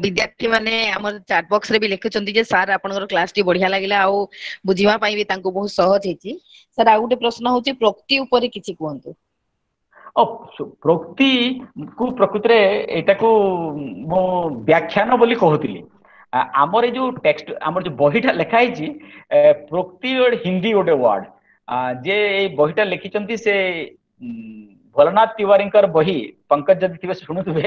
ବିଦ୍ୟାର୍ଥୀ ମାନେ ଆମର ଚାଟ ବକ୍ସ ରେ ବି ଲେଖୁଛନ୍ତି ଯେ ସାର୍ ଆପଣଙ୍କର କ୍ଲାସ ଟି ବଢିଆ ଲାଗିଲା ଆଉ ବୁଝିବା ପାଇଁ ବି ତାଙ୍କୁ ବହୁତ ସହଜ ହେଇଛି। ସାର୍, ଆଉ ଗୋଟେ ପ୍ରଶ୍ନ ହଉଛି ପ୍ରୋକ୍ତି ଉପରେ କିଛି କୁହନ୍ତୁ।
ପ୍ରୋକ୍ତି କୁ ପ୍ରକୃତରେ ଏଇଟାକୁ ମୁଁ ବ୍ୟାଖ୍ୟାନ ବୋଲି କହୁଥିଲି। ଆମର ଏଇ ଯୋଉ ଟେକ୍ସଟ, ଆମର ଯୋଉ ବହିଟା ଲେଖା ହେଇଛି, ପ୍ରୋକ୍ତି ଗୋଟେ ହିନ୍ଦୀ ଗୋଟେ ୱାର୍ଡ। ଯିଏ ଏଇ ବହିଟା ଲେଖିଛନ୍ତି ସେ ଭୋଲାନାଥ ତିୱାରୀଙ୍କର ବହି, ପଙ୍କଜ ଯଦି ଥିବେ ଶୁଣୁଥିବେ,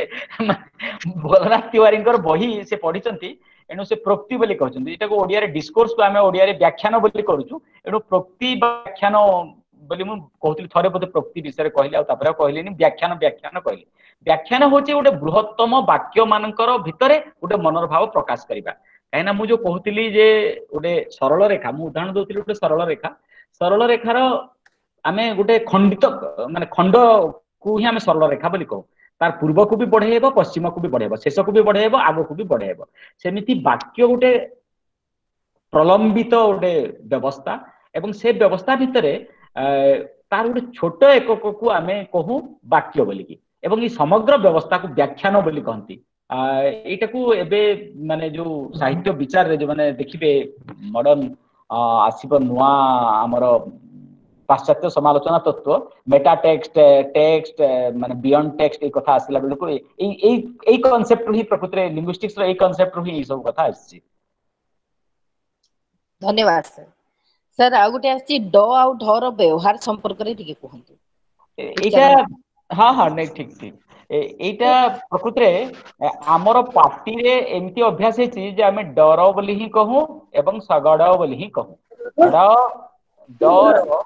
ଭୋଲାନାଥ ତିୱାରୀଙ୍କର ବହି ସେ ପଢିଛନ୍ତି, ଏଣୁ ସେ ପ୍ରୋକ୍ତି ବୋଲି କହୁଛନ୍ତି। ଏଟାକୁ ଓଡିଆରେ ଡିସ୍କୋର୍ସକୁ ଆମେ ଓଡିଆରେ ବ୍ୟାଖ୍ୟାନ ବୋଲି କରୁଛୁ। ଏଣୁ ପ୍ରୋକ୍ତି ବ୍ୟାଖ୍ୟାନ ବୋଲି ମୁଁ କହୁଥିଲି। ଥରେ ବୋଧେ ପ୍ରୋକ୍ତି ବିଷୟରେ କହିଲି, ଆଉ ତାପରେ ଆଉ କହିଲିନି, ବ୍ୟାଖ୍ୟାନ ବ୍ୟାଖ୍ୟାନ କହିଲି। ବ୍ୟାଖ୍ୟାନ ହଉଛି ଗୋଟେ ବୃହତ୍ତମ ବାକ୍ୟ ମାନଙ୍କର ଭିତରେ ଗୋଟେ ମନର ଭାବ ପ୍ରକାଶ କରିବା। କାହିଁକିନା ମୁଁ ଯୋଉ କହୁଥିଲି ଯେ ଗୋଟେ ସରଳ ରେଖା, ମୁଁ ଉଦାହରଣ ଦଉଥିଲି ଗୋଟେ ସରଳ ରେଖା, ସରଳ ରେଖାର ଆମେ ଗୋଟେ ଖଣ୍ଡିତ ମାନେ ଖଣ୍ଡକୁ ହିଁ ଆମେ ସରଳ ରେଖା ବୋଲି କହୁ। ତାର ପୂର୍ବକୁ ବି ବଢେଇବ, ପଶ୍ଚିମକୁ ବି ବଢେଇବ, ଶେଷକୁ ବି ବଢେଇବ, ଆଗକୁ ବି ବଢେଇବ। ସେମିତି ବାକ୍ୟ ଗୋଟେ ପ୍ରଲମ୍ବିତ ଗୋଟେ ବ୍ୟବସ୍ଥା, ଏବଂ ସେ ବ୍ୟବସ୍ଥା ଭିତରେ ତାର ଗୋଟେ ଛୋଟ ଏକକକୁ ଆମେ କହୁ ବାକ୍ୟ ବୋଲିକି, ଏବଂ ଏଇ ସମଗ୍ର ବ୍ୟବସ୍ଥାକୁ ବ୍ୟାଖ୍ୟାନ ବୋଲି କହନ୍ତି। ଏଇଟାକୁ ଏବେ ମାନେ ଯୋଉ ସାହିତ୍ୟ ବିଚାରରେ ଯୋଉମାନେ ଦେଖିବେ ମଡର୍ନ ଆସିବ ନୂଆ ଆମର ପାଶ୍ଚାତ୍ୟ ସମାଲୋଚନା ତତ୍ତ୍ୱ, ମେଟା ଟେକ୍ସଟ, ଟେକ୍ସଟ ମାନେ ବିୟଣ୍ଡ ଟେକ୍ସଟ, ଏଇ କଥା ଆସିଲା ବେଳକୁ ଏଇ ଏଇ ଏଇ କନସେପ୍ଟରୁ ହିଁ, ପ୍ରକୃତରେ ଲିଙ୍ଗୁଇଷ୍ଟିକ୍ସ ର ଏଇ କନସେପ୍ଟରୁ ହିଁ ଏଇ ସବୁ କଥା ଆସିଛି।
ଧନ୍ୟବାଦ ସାର୍। ସାର୍, ଆଉ ଗୋଟେ ଆସିଛି, ଡ ଆଉ ଢ ର ବ୍ୟବହାର ସମ୍ପର୍କରେ ଟିକେ କୁହନ୍ତୁ।
ଏଇଟା ହଁ ହଁ, ନାଇଁ, ଠିକ ଠିକ। ଏଇଟା ପ୍ରକୃତରେ ଆମର ପାଟିରେ ଏମିତି ଅଭ୍ୟାସ ହେଇଛି ଯେ ଆମେ ଡର ବୋଲି ହିଁ କହୁ ଏବଂ ଶଗଡ ବୋଲି ହିଁ କହୁ। ଡ ଡର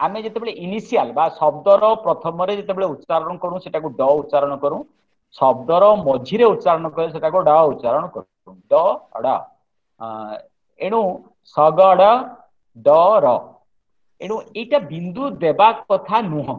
ଆମେ ଯେତେବେଳେ ଇନିସିଆଲ ବା ଶବ୍ଦର ପ୍ରଥମରେ ଯେତେବେଳେ ଉଚ୍ଚାରଣ କରୁ, ସେଟାକୁ ଡ ଉଚ୍ଚାରଣ କରୁ। ଶବ୍ଦର ମଝିରେ ଉଚ୍ଚାରଣ କରେ, ସେଟାକୁ ଡ ଉଚ୍ଚାରଣ କରୁ, ଡ ଡ। ଏଣୁ ଶଗଡ ଡ ର। ଏଣୁ ଏଇଟା ବିନ୍ଦୁ ଦେବା କଥା ନୁହଁ।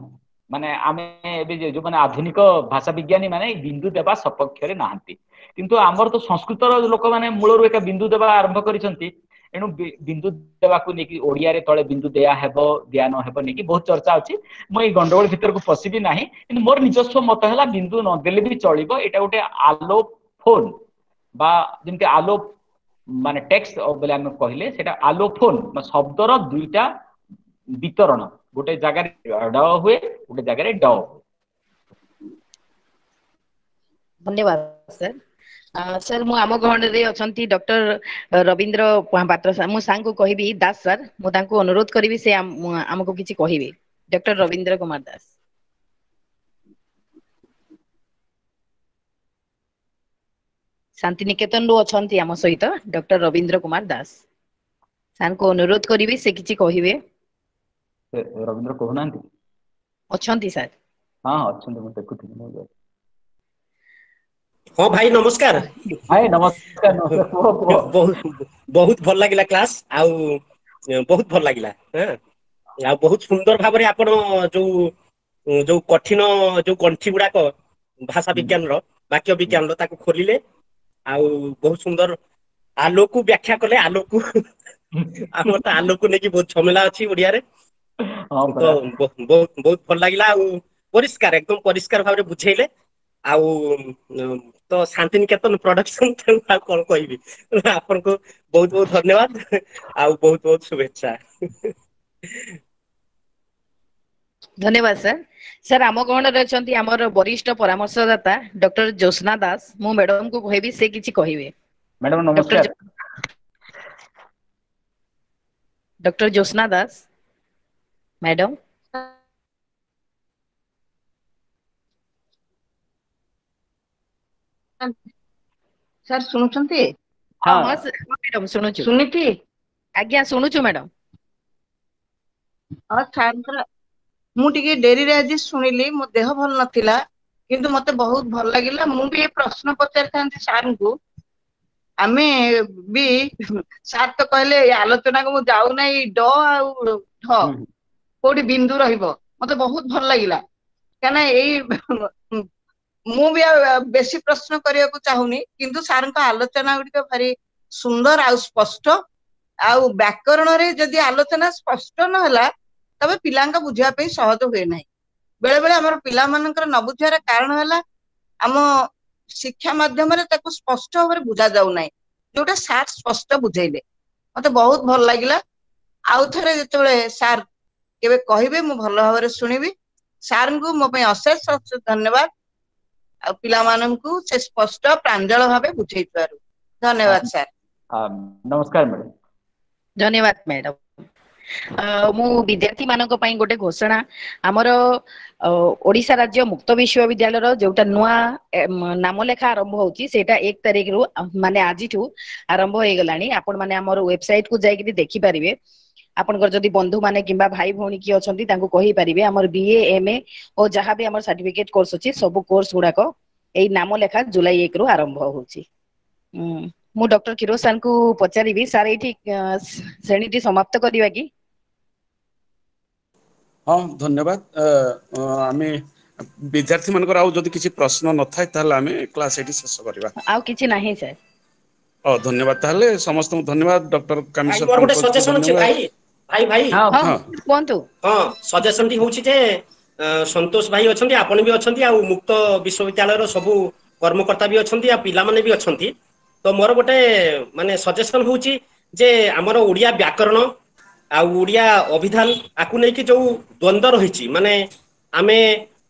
ମାନେ ଆମେ ଏବେ ଯୋଉମାନେ ଆଧୁନିକ ଭାଷା ବିଜ୍ଞାନୀ ମାନେ ବିନ୍ଦୁ ଦେବା ସପକ୍ଷରେ ନାହାନ୍ତି, କିନ୍ତୁ ଆମର ତ ସଂସ୍କୃତର ଲୋକମାନେ ମୂଳରୁ ଏକା ବିନ୍ଦୁ ଦେବା ଆରମ୍ଭ କରିଛନ୍ତି। ଏଣୁ ବିନ୍ଦୁ ଦେବାକୁ ନେଇକି, ଓଡିଆରେ ତଳେ ବିନ୍ଦୁ ଦିଆ ହେବ ଦିଆ ନ ହେବ ନେଇକି ବହୁତ ଚର୍ଚ୍ଚା ଅଛି। ମୁଁ ଏଇ ଗଣ୍ଡଗୋଳ ଭିତରକୁ ପଶିବି ନାହିଁ, କିନ୍ତୁ ମୋର ନିଜସ୍ୱ ମତ ହେଲା ବିନ୍ଦୁ ନଦେଲେ ବି ଚଳିବ। ଏଇଟା ଗୋଟେ ଆଲୋଫୋନ ବା ଯେମିତି ଆଲୋ ମାନେ ଟେକ୍ସଟ ବୋଲି ଆମେ କହିଲେ, ସେଇଟା ଆଲୋଫୋନ, ଶବ୍ଦର ଦୁଇଟା ବିତରଣ, ଗୋଟେ ଜାଗାରେ ଡ ହୁଏ, ଗୋଟେ ଜାଗାରେ ଡ ହୁଏ।
ଧନ୍ୟବାଦ ସାର୍। ସାର୍, ମୁଁ ଆମ ଗହଣରେ ଅଛନ୍ତି ଡକ୍ଟର ରବୀନ୍ଦ୍ର ପାତ୍ର ସାର୍। ମୁଁ ସାର୍ଙ୍କୁ କହିବି, ଦାସ ସାର୍, ମୁଁ ତାଙ୍କୁ ଅନୁରୋଧ କରିବି ସେ ଆମକୁ କିଛି କହିବେ। ଡକ୍ଟର ରବୀନ୍ଦ୍ର କୁମାର ଦାସ ଶାନ୍ତିନିକେତନରୁ ଅଛନ୍ତି ଆମ ସହିତ। ଡକ୍ଟର ରବୀନ୍ଦ୍ର କୁମାର ଦାସ ସାର୍ଙ୍କୁ ଅନୁରୋଧ କରିବି, ସେ କିଛି କହିବେ।
ରବୀନ୍ଦ୍ର କହୁନାହାନ୍ତି?
ଅଛନ୍ତି ସାର୍?
ହଁ, ଅଛନ୍ତି, ମୁଁ ଦେଖୁଥିଲି ମୁଁ।
ହଁ ଭାଇ, ନମସ୍କାର।
ଭାଇ ନମସ୍କାର, ନମସ୍କାର, କୁହ କୁହ।
ବହୁତ ବହୁତ ଭଲ ଲାଗିଲା କ୍ଲାସ, ଆଉ ବହୁତ ଭଲ ଲାଗିଲା। ଆଉ ବହୁତ ସୁନ୍ଦର ଭାବରେ ଆପଣ ଯୋଉ ଯୋଉ କଠିନ ଯୋଉ ଗଣ୍ଠି ଗୁଡାକ ଭାଷା ବିଜ୍ଞାନର, ବାକ୍ୟ ବିଜ୍ଞାନର, ତାକୁ ଖୋଲିଲେ ଆଉ ବହୁତ ସୁନ୍ଦର ଆଲୋକୁ ବ୍ୟାଖ୍ୟା କଲେ। ଆଲୋକୁ, ଆମର ତ ଆଲୋକୁ ନେଇକି ବହୁତ ଝମେଲା ଅଛି ଓଡିଆରେ। ତ ବହୁତ ବହୁତ ଭଲ ଲାଗିଲା, ଆଉ ପରିଷ୍କାର, ଏକଦମ ପରିଷ୍କାର ଭାବରେ ବୁଝେଇଲେ। ଆଉ ତ ଶାନ୍ତିନିକେତନ ପ୍ରଡକ୍ସନ, ତେଣୁ ଆଉ କଣ କହିବି? ଆପଣଙ୍କୁ ବହୁତ ବହୁତ ଧନ୍ୟବାଦ ଆଉ ବହୁତ ବହୁତ ଶୁଭେଚ୍ଛା।
ଧନ୍ୟବାଦ ସାର୍। ସାର୍, ଆମ ଗହଣରେ ଅଛନ୍ତି ଆମର ବରିଷ୍ଠ ପରାମର୍ଶଦାତା ଡକ୍ଟର ଜ୍ୟୋତ୍ସ୍ନା ଦାସ। ମୁଁ ମ୍ୟାଡମଙ୍କୁ କହିବି, ସେ କିଛି କହିବେ।
ମ୍ୟାଡମ ନମସ୍କାର।
Doctor Jyotsna Das madam.
Sir, ଶୁଣୁଛନ୍ତି?
ହଁ ମ୍ୟାଡମ, ଶୁଣୁଛୁ।
ସୁନୀତି।
ଆଜ୍ଞା, ଶୁଣୁଛୁ ମ୍ୟାଡମ।
ହଁ ସାର୍ଙ୍କର ମୁଁ ଟିକେ ଡେରିରେ ଆଜି ଶୁଣିଲି, ମୋ ଦେହ ଭଲ ନଥିଲା, କିନ୍ତୁ ମତେ ବହୁତ ଭଲ ଲାଗିଲା। ମୁଁ ବି ଏ ପ୍ରଶ୍ନ ପଚାରିଥାନ୍ତି ସାର୍ଙ୍କୁ। ଆମେ ବି ସାର୍ ତ କହିଲେ ଏ ଆଲୋଚନାକୁ ମୁଁ ଯାଉନାହିଁ। ଡ ଆଉ ଢ କୋଉଠି ବିନ୍ଦୁ ରହିବ, ମତେ ବହୁତ ଭଲ ଲାଗିଲା। କାହିଁକିନା ଏଇ ମୁଁ ବି ଆଉ ବେଶୀ ପ୍ରଶ୍ନ କରିବାକୁ ଚାହୁଁନି, କିନ୍ତୁ ସାର୍ଙ୍କ ଆଲୋଚନା ଗୁଡିକ ଭାରି ସୁନ୍ଦର ଆଉ ସ୍ପଷ୍ଟ। ଆଉ ବ୍ୟାକରଣରେ ଯଦି ଆଲୋଚନା ସ୍ପଷ୍ଟ ନହେଲା, ତେବେ ପିଲାଙ୍କ ବୁଝିବା ପାଇଁ ସହଜ ହୁଏ ନାହିଁ। ବେଳେ ବେଳେ ଆମର ପିଲାମାନଙ୍କର ନ ବୁଝିବାର କାରଣ ହେଲା ଆମ ଶିକ୍ଷା ମାଧ୍ୟମରେ ତାକୁ ସ୍ପଷ୍ଟ ଭାବରେ ବୁଝା ଯାଉନାହିଁ, ଯୋଉଟା ସାର୍ ସ୍ପଷ୍ଟ ବୁଝେଇଲେ, ମତେ ବହୁତ ଭଲ ଲାଗିଲା। ଆଉ ଥରେ ଯେତେବେଳେ ସାର୍ କେବେ କହିବେ, ମୁଁ ଭଲ ଭାବରେ ଶୁଣିବି। ସାର୍ଙ୍କୁ ମୋ ପାଇଁ ଅଶେଷ ଅଶେଷ ଧନ୍ୟବାଦ, ଆଉ ପିଲାମାନଙ୍କୁ ସେ ସ୍ପଷ୍ଟ ପ୍ରାଞ୍ଜଳ ଭାବେ ବୁଝେଇଥିବାରୁ ଧନ୍ୟବାଦ ସାର୍।
ନମସ୍କାର ମ୍ୟାଡାମ।
ଧନ୍ୟବାଦ ମ୍ୟାଡାମ। ମୁଁ ବିଦ୍ୟାର୍ଥୀ ମାନଙ୍କ ପାଇଁ ଗୋଟେ ଘୋଷଣା। ଆମର ଓଡିଶା ରାଜ୍ୟ ମୁକ୍ତ ବିଶ୍ୱବିଦ୍ୟାଳୟର ଯୋଉଟା ନୂଆ ନାମ ଲେଖା ଆରମ୍ଭ ହଉଛି, ସେଇଟା 1 ତାରିଖରୁ, ମାନେ ଆଜିଠୁ ଆରମ୍ଭ ହେଇଗଲାଣି। ଆପଣ ମାନେ ଆମର ୱେବସାଇଟ କୁ ଯାଇକିରି ଦେଖିପାରିବେ। ଆପଣଙ୍କର ଯଦି ବନ୍ଧୁ ମାନେ କିମ୍ବା ଭାଇ ଭଉଣୀ କିଏ ଅଛନ୍ତି, ତାଙ୍କୁ କହିପାରିବେ। ଆମର ବିଏ, ଏମ ଏ ଓ ଯାହା ବି ଆମର ସାର୍ଟିଫିକେଟ କୋର୍ସ ଅଛି, ସବୁ କୋର୍ସ ଗୁଡାକ ଏଇ ନାମ ଲେଖା ଜୁଲାଇ 1 ରୁ ଆରମ୍ଭ ହଉଛି। ମୁଁ ଡକ୍ଟର କ୍ଷୀରୋଦ ସାର୍ ଙ୍କୁ ପଚାରିବି, ସାର୍, ଏଇଠି ଶ୍ରେଣୀଟି ସମାପ୍ତ କରିବା କି?
ହଁ, ଧନ୍ୟବାଦ। ଆମେ ବିଦ୍ୟାର୍ଥୀ ମାନଙ୍କର ଆଉ ଯଦି କିଛି ପ୍ରଶ୍ନ ନଥାଏ, ତାହେଲେ ଆମେ କ୍ଲାସ ଏଇଠି ଶେଷ କରିବା।
ଆଉ କିଛି ନାହିଁ ସାର୍।
ହଉ, ଧନ୍ୟବାଦ ତାହେଲେ ସମସ୍ତଙ୍କୁ। ଧନ୍ୟବାଦ ଡକ୍ଟର
ଭାଇ,
କାମେଶ୍ୱର
ମୋର ଗୋଟେ
ପଙ୍କଜକୁ
ସଜେସନ ଅଛି।
ଧନ୍ୟବାଦ।
ଭାଇ ଭାଇ ଭାଇ।
ହଁ।
ହଁ।
କୁହନ୍ତୁ।
ହଁ, ସଜେସନ ଟି ହଉଛି ଯେ ସନ୍ତୋଷ ଭାଇ ଅଛନ୍ତି, ଆପଣ ବି ଅଛନ୍ତି, ଆଉ ମୁକ୍ତ ବିଶ୍ୱବିଦ୍ୟାଳୟର ସବୁ କର୍ମକର୍ତ୍ତା ବି ଅଛନ୍ତି, ଆଉ ପିଲାମାନେ ବି ଅଛନ୍ତି। ତ ମୋର ଗୋଟେ ମାନେ ସଜେସନ ହଉଛି ଯେ ଆମର ଓଡିଆ ବ୍ୟାକରଣ ଆଉ ଓଡ଼ିଆ ଅଭିଧାନ ଆକୁ ନେଇକି ଯୋଉ ଦ୍ୱନ୍ଦ୍ୱ ରହିଛି, ମାନେ ଆମେ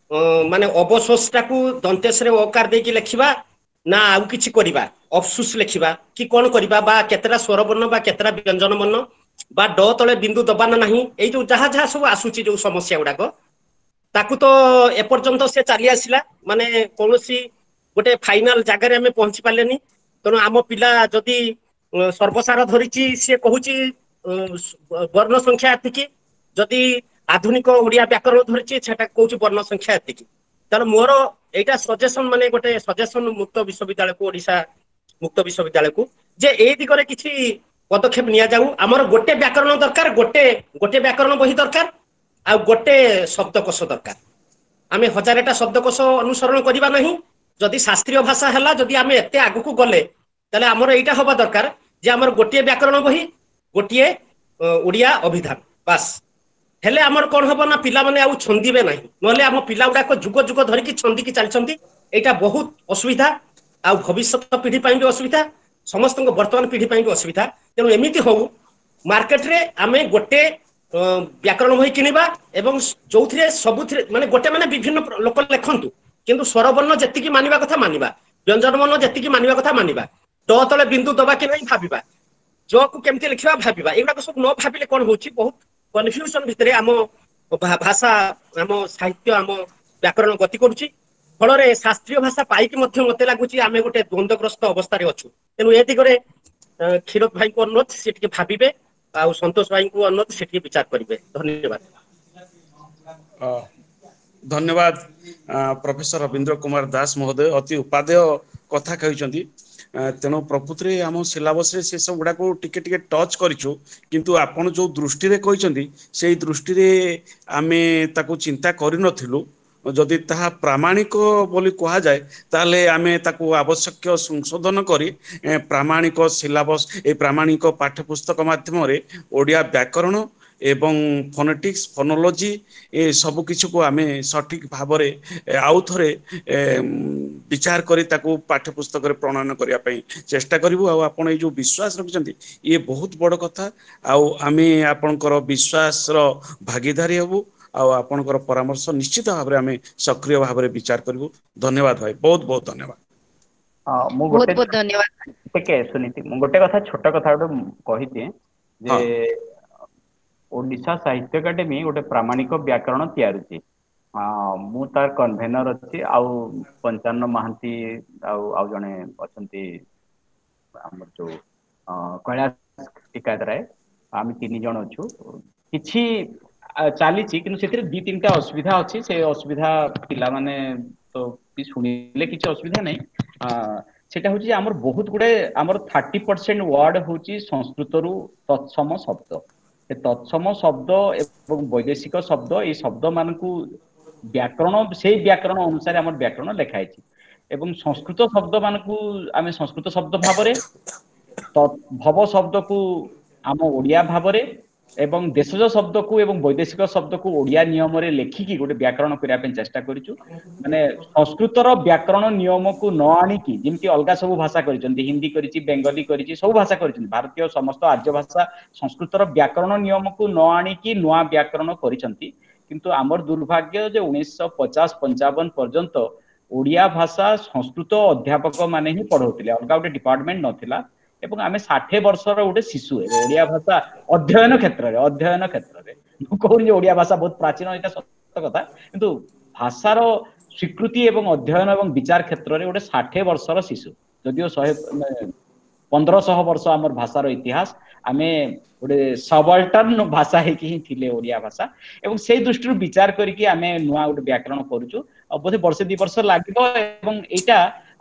ମାନେ ଅବଶୋଷଟାକୁ ଦନ୍ତେଶରେ ଅକାର ଦେଇକି ଲେଖିବା ନା ଆଉ କିଛି କରିବା, ଅଫସୁସ ଲେଖିବା କି କଣ କରିବା, ବା କେତେଟା ସ୍ୱରବର୍ଣ୍ଣ ବା କେତେଟା ବ୍ୟଞ୍ଜନ ବର୍ଣ୍ଣ ବା ଡ ତଳେ ବିନ୍ଦୁ ଦବା ନା ନାହିଁ, ଏଇ ଯୋଉ ଯାହା ଯାହା ସବୁ ଆସୁଛି ଯୋଉ ସମସ୍ୟା ଗୁଡାକ, ତାକୁ ତ ଏପର୍ଯ୍ୟନ୍ତ ସେ ଚାଲି ଆସିଲା, ମାନେ କୌଣସି ଗୋଟେ ଫାଇନାଲ ଜାଗାରେ ଆମେ ପହଞ୍ଚି ପାରିଲେନି। ତେଣୁ ଆମ ପିଲା ଯଦି ସର୍ବସାର ଧରିଛି, ସିଏ କହୁଛି ବର୍ଣ୍ଣ ସଂଖ୍ୟା ଏତିକି, ଯଦି ଆଧୁନିକ ଓଡିଆ ବ୍ୟାକରଣ ଧରିଛି ସେଟା କହୁଛି ବର୍ଣ୍ଣ ସଂଖ୍ୟା ଏତିକି। ତେଣୁ ମୋର ଏଇଟା ସଜେସନ, ମାନେ ଗୋଟେ ସଜେସନ ମୁକ୍ତ ବିଶ୍ୱବିଦ୍ୟାଳୟକୁ, ଓଡିଶା ମୁକ୍ତ ବିଶ୍ୱବିଦ୍ୟାଳୟକୁ, ଯେ ଏଇ ଦିଗରେ କିଛି ପଦକ୍ଷେପ ନିଆଯାଉ। ଆମର ଗୋଟେ ବ୍ୟାକରଣ ଦରକାର, ଗୋଟେ ଗୋଟେ ବ୍ୟାକରଣ ବହି ଦରକାର, ଆଉ ଗୋଟେ ଶବ୍ଦକୋଷ ଦରକାର। ଆମେ ହଜାରଟା ଶବ୍ଦକୋଷ ଅନୁସରଣ କରିବା ନାହିଁ। ଯଦି ଶାସ୍ତ୍ରୀୟ ଭାଷା ହେଲା, ଯଦି ଆମେ ଏତେ ଆଗକୁ ଗଲେ, ତାହେଲେ ଆମର ଏଇଟା ହବା ଦରକାର ଯେ ଆମର ଗୋଟିଏ ବ୍ୟାକରଣ ବହି, ଗୋଟିଏ ଓଡିଆ ଅଭିଧାନ, ବାସ୍। ହେଲେ ଆମର କଣ ହବ ନା ପିଲାମାନେ ଆଉ ଛନ୍ଦିବେ ନାହିଁ। ନହେଲେ ଆମ ପିଲା ଗୁଡାକ ଯୁଗ ଯୁଗ ଧରିକି ଛନ୍ଦିକି ଚାଲିଛନ୍ତି। ଏଇଟା ବହୁତ ଅସୁବିଧା, ଆଉ ଭବିଷ୍ୟତ ପିଢି ପାଇଁ ବି ଅସୁବିଧା, ସମସ୍ତଙ୍କ ବର୍ତ୍ତମାନ ପିଢି ପାଇଁ ବି ଅସୁବିଧା। ତେଣୁ ଏମିତି ହଉ, ମାର୍କେଟରେ ଆମେ ଗୋଟେ ବ୍ୟାକରଣ ବହି କିଣିବା ଏବଂ ଯୋଉଥିରେ ସବୁଥିରେ ମାନେ ଗୋଟେ, ମାନେ ବିଭିନ୍ନ ଲୋକ ଲେଖନ୍ତୁ, କିନ୍ତୁ ସ୍ୱରବର୍ଣ୍ଣ ଯେତିକି ମାନିବା କଥା ମାନିବା, ବ୍ୟଞ୍ଜନ ବର୍ଣ୍ଣ ଯେତିକି ମାନିବା କଥା ମାନିବା, ଡ ତଳେ ବିନ୍ଦୁ ଦବା କି ନାହିଁ ଭାବିବା, ଜ କୁ କେମିତି ଲେଖିବା ଭାବିବା। ଏଗୁଡାକ ସବୁ ନ ଭାବିଲେ କଣ ହଉଛି, ବହୁତ କନଫ୍ୟୁଜନ ଭିତରେ ଆମ ଭାଷା, ଆମ ସାହିତ୍ୟ, ଆମ ବ୍ୟାକରଣ ଗତି କରୁଛି। ଫଳରେ ଶାସ୍ତ୍ରୀୟ ଭାଷା ପାଇକି ମଧ୍ୟ ମତେ ଲାଗୁଛି ଆମେ ଗୋଟେ ଦ୍ୱନ୍ଦ୍ୱଗ୍ରସ୍ତ ଅବସ୍ଥାରେ ଅଛୁ। ତେଣୁ ଏ ଦିଗରେ କ୍ଷୀରୋଦ ଭାଇଙ୍କୁ ଅନୁରୋଧ, ସେ ଟିକେ ଭାବିବେ, ଆଉ ସନ୍ତୋଷ ଭାଇଙ୍କୁ ଅନୁରୋଧ, ସେ ଟିକେ ବିଚାର କରିବେ। ଧନ୍ୟବାଦ।
ଧନ୍ୟବାଦ ପ୍ରଫେସର ରବୀନ୍ଦ୍ର କୁମାର ଦାସ ମହୋଦୟ, ଅତି ଉପାଦେୟ କଥା କହିଛନ୍ତି। ତେଣୁ ପ୍ରକୃତିରେ ଆମ ସିଲାବସରେ ସେ ସବୁ ଗୁଡାକୁ ଟିକେ ଟିକେ ଟଚ୍ କରିଛୁ, କିନ୍ତୁ ଆପଣ ଯୋଉ ଦୃଷ୍ଟିରେ କହିଛନ୍ତି ସେଇ ଦୃଷ୍ଟିରେ ଆମେ ତାକୁ ଚିନ୍ତା କରିନଥିଲୁ। ଯଦି ତାହା ପ୍ରାମାଣିକ ବୋଲି କୁହାଯାଏ, ତାହେଲେ ଆମେ ତାକୁ ଆବଶ୍ୟକୀୟ ସଂଶୋଧନ କରି ପ୍ରାମାଣିକ ସିଲାବସ, ଏ ପ୍ରାମାଣିକ ପାଠ୍ୟପୁସ୍ତକ ମାଧ୍ୟମରେ ଓଡ଼ିଆ ବ୍ୟାକରଣ ଏବଂ ଫୋନେଟିକ୍ସ, ଫୋନୋଲୋଜି ଏ ସବୁ କିଛିକୁ ଆମେ ସଠିକ ଭାବରେ ଆଉ ଥରେ ବିଚାର କରି ତାକୁ ପାଠ୍ୟପୁସ୍ତକରେ ପ୍ରଣୟନ କରିବା ପାଇଁ ଚେଷ୍ଟା କରିବୁ। ଆଉ ଆପଣ ଏଇ ଯୋଉ ବିଶ୍ୱାସ ରଖିଛନ୍ତି, ଇଏ ବହୁତ ବଡ଼ କଥା, ଆଉ ଆମେ ଆପଣଙ୍କର ବିଶ୍ୱାସର ଭାଗିଦାରୀ ହେବୁ, ଆଉ ଆପଣଙ୍କର ପରାମର୍ଶ ନିଶ୍ଚିତ ଭାବରେ ଆମେ ସକ୍ରିୟ ଭାବରେ ବିଚାର କରିବୁ। ଧନ୍ୟବାଦ ଭାଇ, ବହୁତ ବହୁତ ଧନ୍ୟବାଦ।
ମୁଁ
ବହୁତ
ଗୋଟେ
ବହୁତ ଧନ୍ୟବାଦ।
ଟିକେ ସୁନୀତି, ମୁଁ ଗୋଟେ କଥା, ଛୋଟ କଥା ଗୋଟେ କହିଦିଏ ଯେ ଓଡିଶା ସାହିତ୍ୟ ଏକାଡେମୀ ଗୋଟେ ପ୍ରାମାଣିକ ବ୍ୟାକରଣ ତିଆରୁଛି। ମୁଁ ତାର କନଭେନର ଅଛି, ଆଉ ପଞ୍ଚାନନ ମହାନ୍ତି ଆଉ ଆଉ ଜଣେ ଅଛନ୍ତି ଆମର ଯୋଉ କୈଳାସ ଟିକାୟତ ରାୟ, ଆମେ 3 ଜଣ ଅଛୁ। କିଛି ଚାଲିଛି, କିନ୍ତୁ ସେଥିରେ 2 3ଟା ଅସୁବିଧା ଅଛି। ସେ ଅସୁବିଧା ପିଲାମାନେ ତ ବି ଶୁଣିଲେ କିଛି ଅସୁବିଧା ନାହିଁ। ସେଟା ହଉଛି ଆମର ବହୁତ ଗୁଡେ, ଆମର 30% ୱାର୍ଡ ହଉଛି ସଂସ୍କୃତରୁ ତତ୍ସମ ଶବ୍ଦ। ସେ ତତ୍ସମ ଶବ୍ଦ ଏବଂ ବୈଦେଶିକ ଶବ୍ଦ, ଏଇ ଶବ୍ଦ ମାନଙ୍କୁ ବ୍ୟାକରଣ, ସେଇ ବ୍ୟାକରଣ ଅନୁସାରେ ଆମର ବ୍ୟାକରଣ ଲେଖା ହେଇଛି, ଏବଂ ସଂସ୍କୃତ ଶବ୍ଦ ମାନଙ୍କୁ ଆମେ ସଂସ୍କୃତ ଶବ୍ଦ ଭାବରେ, ଭବ ଶବ୍ଦକୁ ଆମ ଓଡ଼ିଆ ଭାବରେ, ଏବଂ ଦେଶଜ ଶବ୍ଦକୁ ଏବଂ ବୈଦେଶିକ ଶବ୍ଦକୁ ଓଡ଼ିଆ ନିୟମରେ ଲେଖିକି ଗୋଟେ ବ୍ୟାକରଣ କରିବା ପାଇଁ ଚେଷ୍ଟା କରିଛୁ। ମାନେ ସଂସ୍କୃତର ବ୍ୟାକରଣ ନିୟମକୁ ନ ଆଣିକି, ଯେମିତି ଅଲଗା ସବୁ ଭାଷା କରିଛନ୍ତି, ହିନ୍ଦୀ କରିଛି, ବେଙ୍ଗଲୀ କରିଛି, ସବୁ ଭାଷା କରିଛନ୍ତି, ଭାରତୀୟ ସମସ୍ତ ଆର୍ଯ୍ୟ ଭାଷା ସଂସ୍କୃତର ବ୍ୟାକରଣ ନିୟମକୁ ନ ଆଣିକି ନୂଆ ବ୍ୟାକରଣ କରିଛନ୍ତି। କିନ୍ତୁ ଆମର ଦୁର୍ଭାଗ୍ୟ ଯେ 1950-55 ପର୍ଯ୍ୟନ୍ତ ଓଡ଼ିଆ ଭାଷା ସଂସ୍କୃତ ଅଧ୍ୟାପକ ମାନେ ହିଁ ପଢଉଥିଲେ, ଅଲଗା ଗୋଟେ ଡିପାର୍ଟମେଣ୍ଟ ନଥିଲା। ଏବଂ ଆମେ 60 ବର୍ଷର ଗୋଟେ ଶିଶୁ ଏବେ ଓଡ଼ିଆ ଭାଷା ଅଧ୍ୟୟନ କ୍ଷେତ୍ରରେ, ମୁଁ କହୁନି ଯେ ଓଡ଼ିଆ ଭାଷା ବହୁତ ପ୍ରାଚୀନ, ଏଇଟା ସତ କଥା, କିନ୍ତୁ ଭାଷାର ସ୍ୱୀକୃତି ଏବଂ ଅଧ୍ୟୟନ ଏବଂ ବିଚାର କ୍ଷେତ୍ରରେ ଗୋଟେ 60 ବର୍ଷର ଶିଶୁ, ଯଦିଓ 1500 ବର୍ଷ ଆମର ଭାଷାର ଇତିହାସ, ଆମେ ଗୋଟେ ସବଲ୍ଟର୍ନ ଭାଷା ହେଇକି ହିଁ ଥିଲେ ଓଡ଼ିଆ ଭାଷା। ଏବଂ ସେଇ ଦୃଷ୍ଟିରୁ ବିଚାର କରିକି ଆମେ ନୂଆ ଗୋଟେ ବ୍ୟାକରଣ କରୁଛୁ। ଆଉ ବୋଧେ ବର୍ଷେ 2 ବର୍ଷ ଲାଗିବ, ଏବଂ ଏଇଟା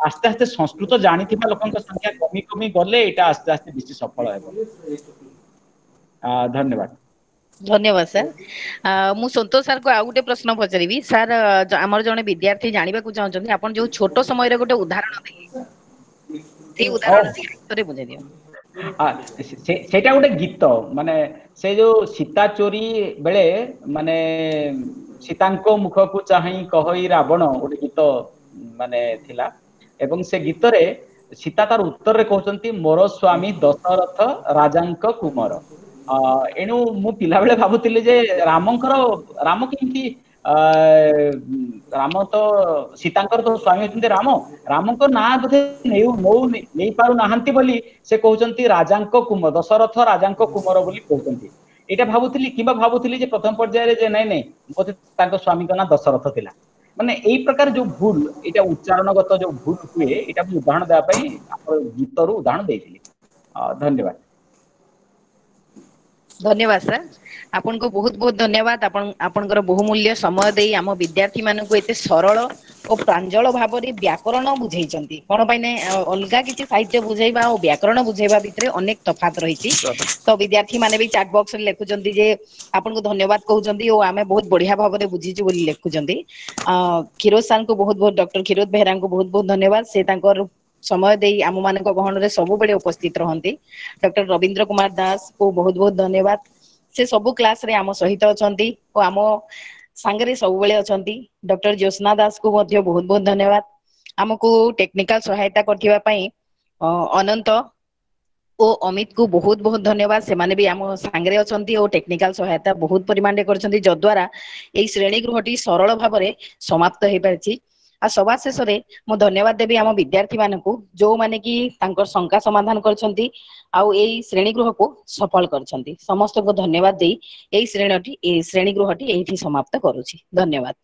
ଆସ୍ତେ ଆସ୍ତେ ସଂସ୍କୃତ ଜାଣିଥିବା ଲୋକଙ୍କ ସଂଖ୍ୟା କମି କମି ଗଲେ ଏଇଟା ଆସ୍ତେ ଆସ୍ତେ ବେଶୀ ସଫଳ ହେବ। ଧନ୍ୟବାଦ।
ଧନ୍ୟବାଦ ସାର୍। ମୁଁ ସନ୍ତୋଷ ସାର୍ କୁ ଆଉ ଗୋଟେ ପ୍ରଶ୍ନ ପଚାରିବି। ସାର୍, ଆମର ଜଣେ ବିଦ୍ୟାର୍ଥୀ ଜାଣିବାକୁ ଚାହୁଁଛନ୍ତି, ଆପଣ ଯୋଉ ଛୋଟ ସମୟରେ ଗୋଟେ ଉଦାହରଣ ଦେଲେ, ସେଇ ଉଦାହରଣ ଥରେ ବୁଝେଇ ଦିଅନ୍ତୁ।
ସେଇଟା ଗୋଟେ ଗୀତ, ମାନେ ସେ ଯୋଉ ସୀତା ଚୋରି ବେଳେ ମାନେ ସୀତାଙ୍କ ମୁଖକୁ ଚାହିଁ କହଇ ରାବଣ, ଗୋଟେ ଗୀତ ମାନେ ଥିଲା, ଏବଂ ସେ ଗୀତରେ ସୀତା ତାର ଉତ୍ତରରେ କହୁଛନ୍ତି ମୋର ସ୍ଵାମୀ ଦଶରଥ ରାଜାଙ୍କ କୁମର। ଏଣୁ ମୁଁ ପିଲାବେଳେ ଭାବୁଥିଲି ଯେ ରାମଙ୍କର, ରାମ କେମିତି, ରାମ ତ ସୀତାଙ୍କର ତ ସ୍ଵାମୀ ଅଛନ୍ତି ରାମ, ରାମଙ୍କ ନାଁ ବୋଧେ ନେଇ ପାରୁନାହାନ୍ତି ବୋଲି ସେ କହୁଛନ୍ତି ରାଜାଙ୍କ କୁମର, ଦଶରଥ ରାଜାଙ୍କ କୁମର ବୋଲି କହୁଛନ୍ତି। ଏଇଟା ଭାବୁଥିଲି, କିମ୍ବା ଭାବୁଥିଲି ଯେ ପ୍ରଥମ ପର୍ଯ୍ୟାୟରେ ଯେ ନାଇଁ ନାଇଁ ବୋଧେ ତାଙ୍କ ସ୍ଵାମୀଙ୍କ ନାଁ ଦଶରଥ ଥିଲା। ମାନେ ଏଇ ପ୍ରକାର ଯୋଉ ଭୁଲ, ଏଇଟା ଉଚ୍ଚାରଣଗତ ଯୋଉ ଭୁଲ ହୁଏ, ଏଇଟା ମୁଁ ଉଦାହରଣ ଦେବା ପାଇଁ ଆମର ଗୀତରୁ ଉଦାହରଣ ଦେଇଥିଲି। ଧନ୍ୟବାଦ।
ଧନ୍ୟବାଦ ସାର୍, ଆପଣଙ୍କୁ ବହୁତ ବହୁତ ଧନ୍ୟବାଦ। ଆପଣ ଆପଣଙ୍କର ବହୁମୂଲ୍ୟ ସମୟ ଦେଇ ଆମ ବିଦ୍ୟାର୍ଥୀ ମାନଙ୍କୁ ଏତେ ସରଳ ଓ ପ୍ରାଞ୍ଜଳ ଭାବରେ ବ୍ୟାକରଣ ବୁଝେଇଛନ୍ତି। କଣ ପାଇଁ ନା ଅଲଗା କିଛି ସାହିତ୍ୟ ବୁଝେଇବା ଆଉ ବ୍ୟାକରଣ ବୁଝେଇବା ଭିତରେ ଅନେକ ତଫାତ ରହିଛି। ତ ବିଦ୍ୟାର୍ଥୀ ମାନେ ବି ଚାଟ ବକ୍ସ ରେ ଲେଖୁଛନ୍ତି ଯେ ଆପଣଙ୍କୁ ଧନ୍ୟବାଦ କହୁଛନ୍ତି ଓ ଆମେ ବହୁତ ବଢିଆ ଭାବରେ ବୁଝିଛୁ ବୋଲି ଲେଖୁଛନ୍ତି। କ୍ଷୀରୋଦ ସାର୍ଙ୍କୁ ବହୁତ ବହୁତ, ଡକ୍ଟର କ୍ଷୀରୋଦ ବେହେରାଙ୍କୁ ବହୁତ ବହୁତ ଧନ୍ୟବାଦ। ସେ ତାଙ୍କର ସମୟ ଦେଇ ଆମ ମାନଙ୍କ ଗହଣରେ ସବୁବେଳେ ଉପସ୍ଥିତ ରହନ୍ତି। ଡକ୍ଟର ରବୀନ୍ଦ୍ର କୁମାର ଦାସ କୁ ବହୁତ ବହୁତ ଧନ୍ୟବାଦ। ସେ ସବୁ କ୍ଲାସ ରେ ଆମ ସହିତ ଅଛନ୍ତି ଓ ଆମ ସାଙ୍ଗରେ ସବୁବେଳେ ଅଛନ୍ତି। ଡକ୍ଟର ଜ୍ୟୋତ୍ସ୍ନା ଦାସ କୁ ମଧ୍ୟ ବହୁତ ବହୁତ ଧନ୍ୟବାଦ। ଆମକୁ ଟେକ୍ନିକାଲ ସହାୟତା କରିଥିବା ପାଇଁ ଅନନ୍ତ ଓ ଅମିତ କୁ ବହୁତ ବହୁତ ଧନ୍ୟବାଦ। ସେମାନେ ବି ଆମ ସାଙ୍ଗରେ ଅଛନ୍ତି ଓ ଟେକ୍ନିକାଲ ସହାୟତା ବହୁତ ପରିମାଣରେ କରିଛନ୍ତି, ଯଦ୍ୱାରା ଏଇ ଶ୍ରେଣୀ ଗୃହଟି ସରଳ ଭାବରେ ସମାପ୍ତ ହେଇପାରିଛି। ଆଉ ସବା ଶେଷରେ ମୁଁ ଧନ୍ୟବାଦ ଦେବି ଆମ ବିଦ୍ୟାର୍ଥୀ ମାନଙ୍କୁ, ଯୋଉମାନେ କି ତାଙ୍କର ଶଙ୍କା ସମାଧାନ କରିଛନ୍ତି ଆଉ ଏଇ ଶ୍ରେଣୀ ଗୃହକୁ ସଫଳ କରିଛନ୍ତି। ସମସ୍ତଙ୍କୁ ଧନ୍ୟବାଦ ଦେଇ ଏଇ ଶ୍ରେଣୀ ଗୃହଟି ଏଇଠି ସମାପ୍ତ କରୁଛି। ଧନ୍ୟବାଦ।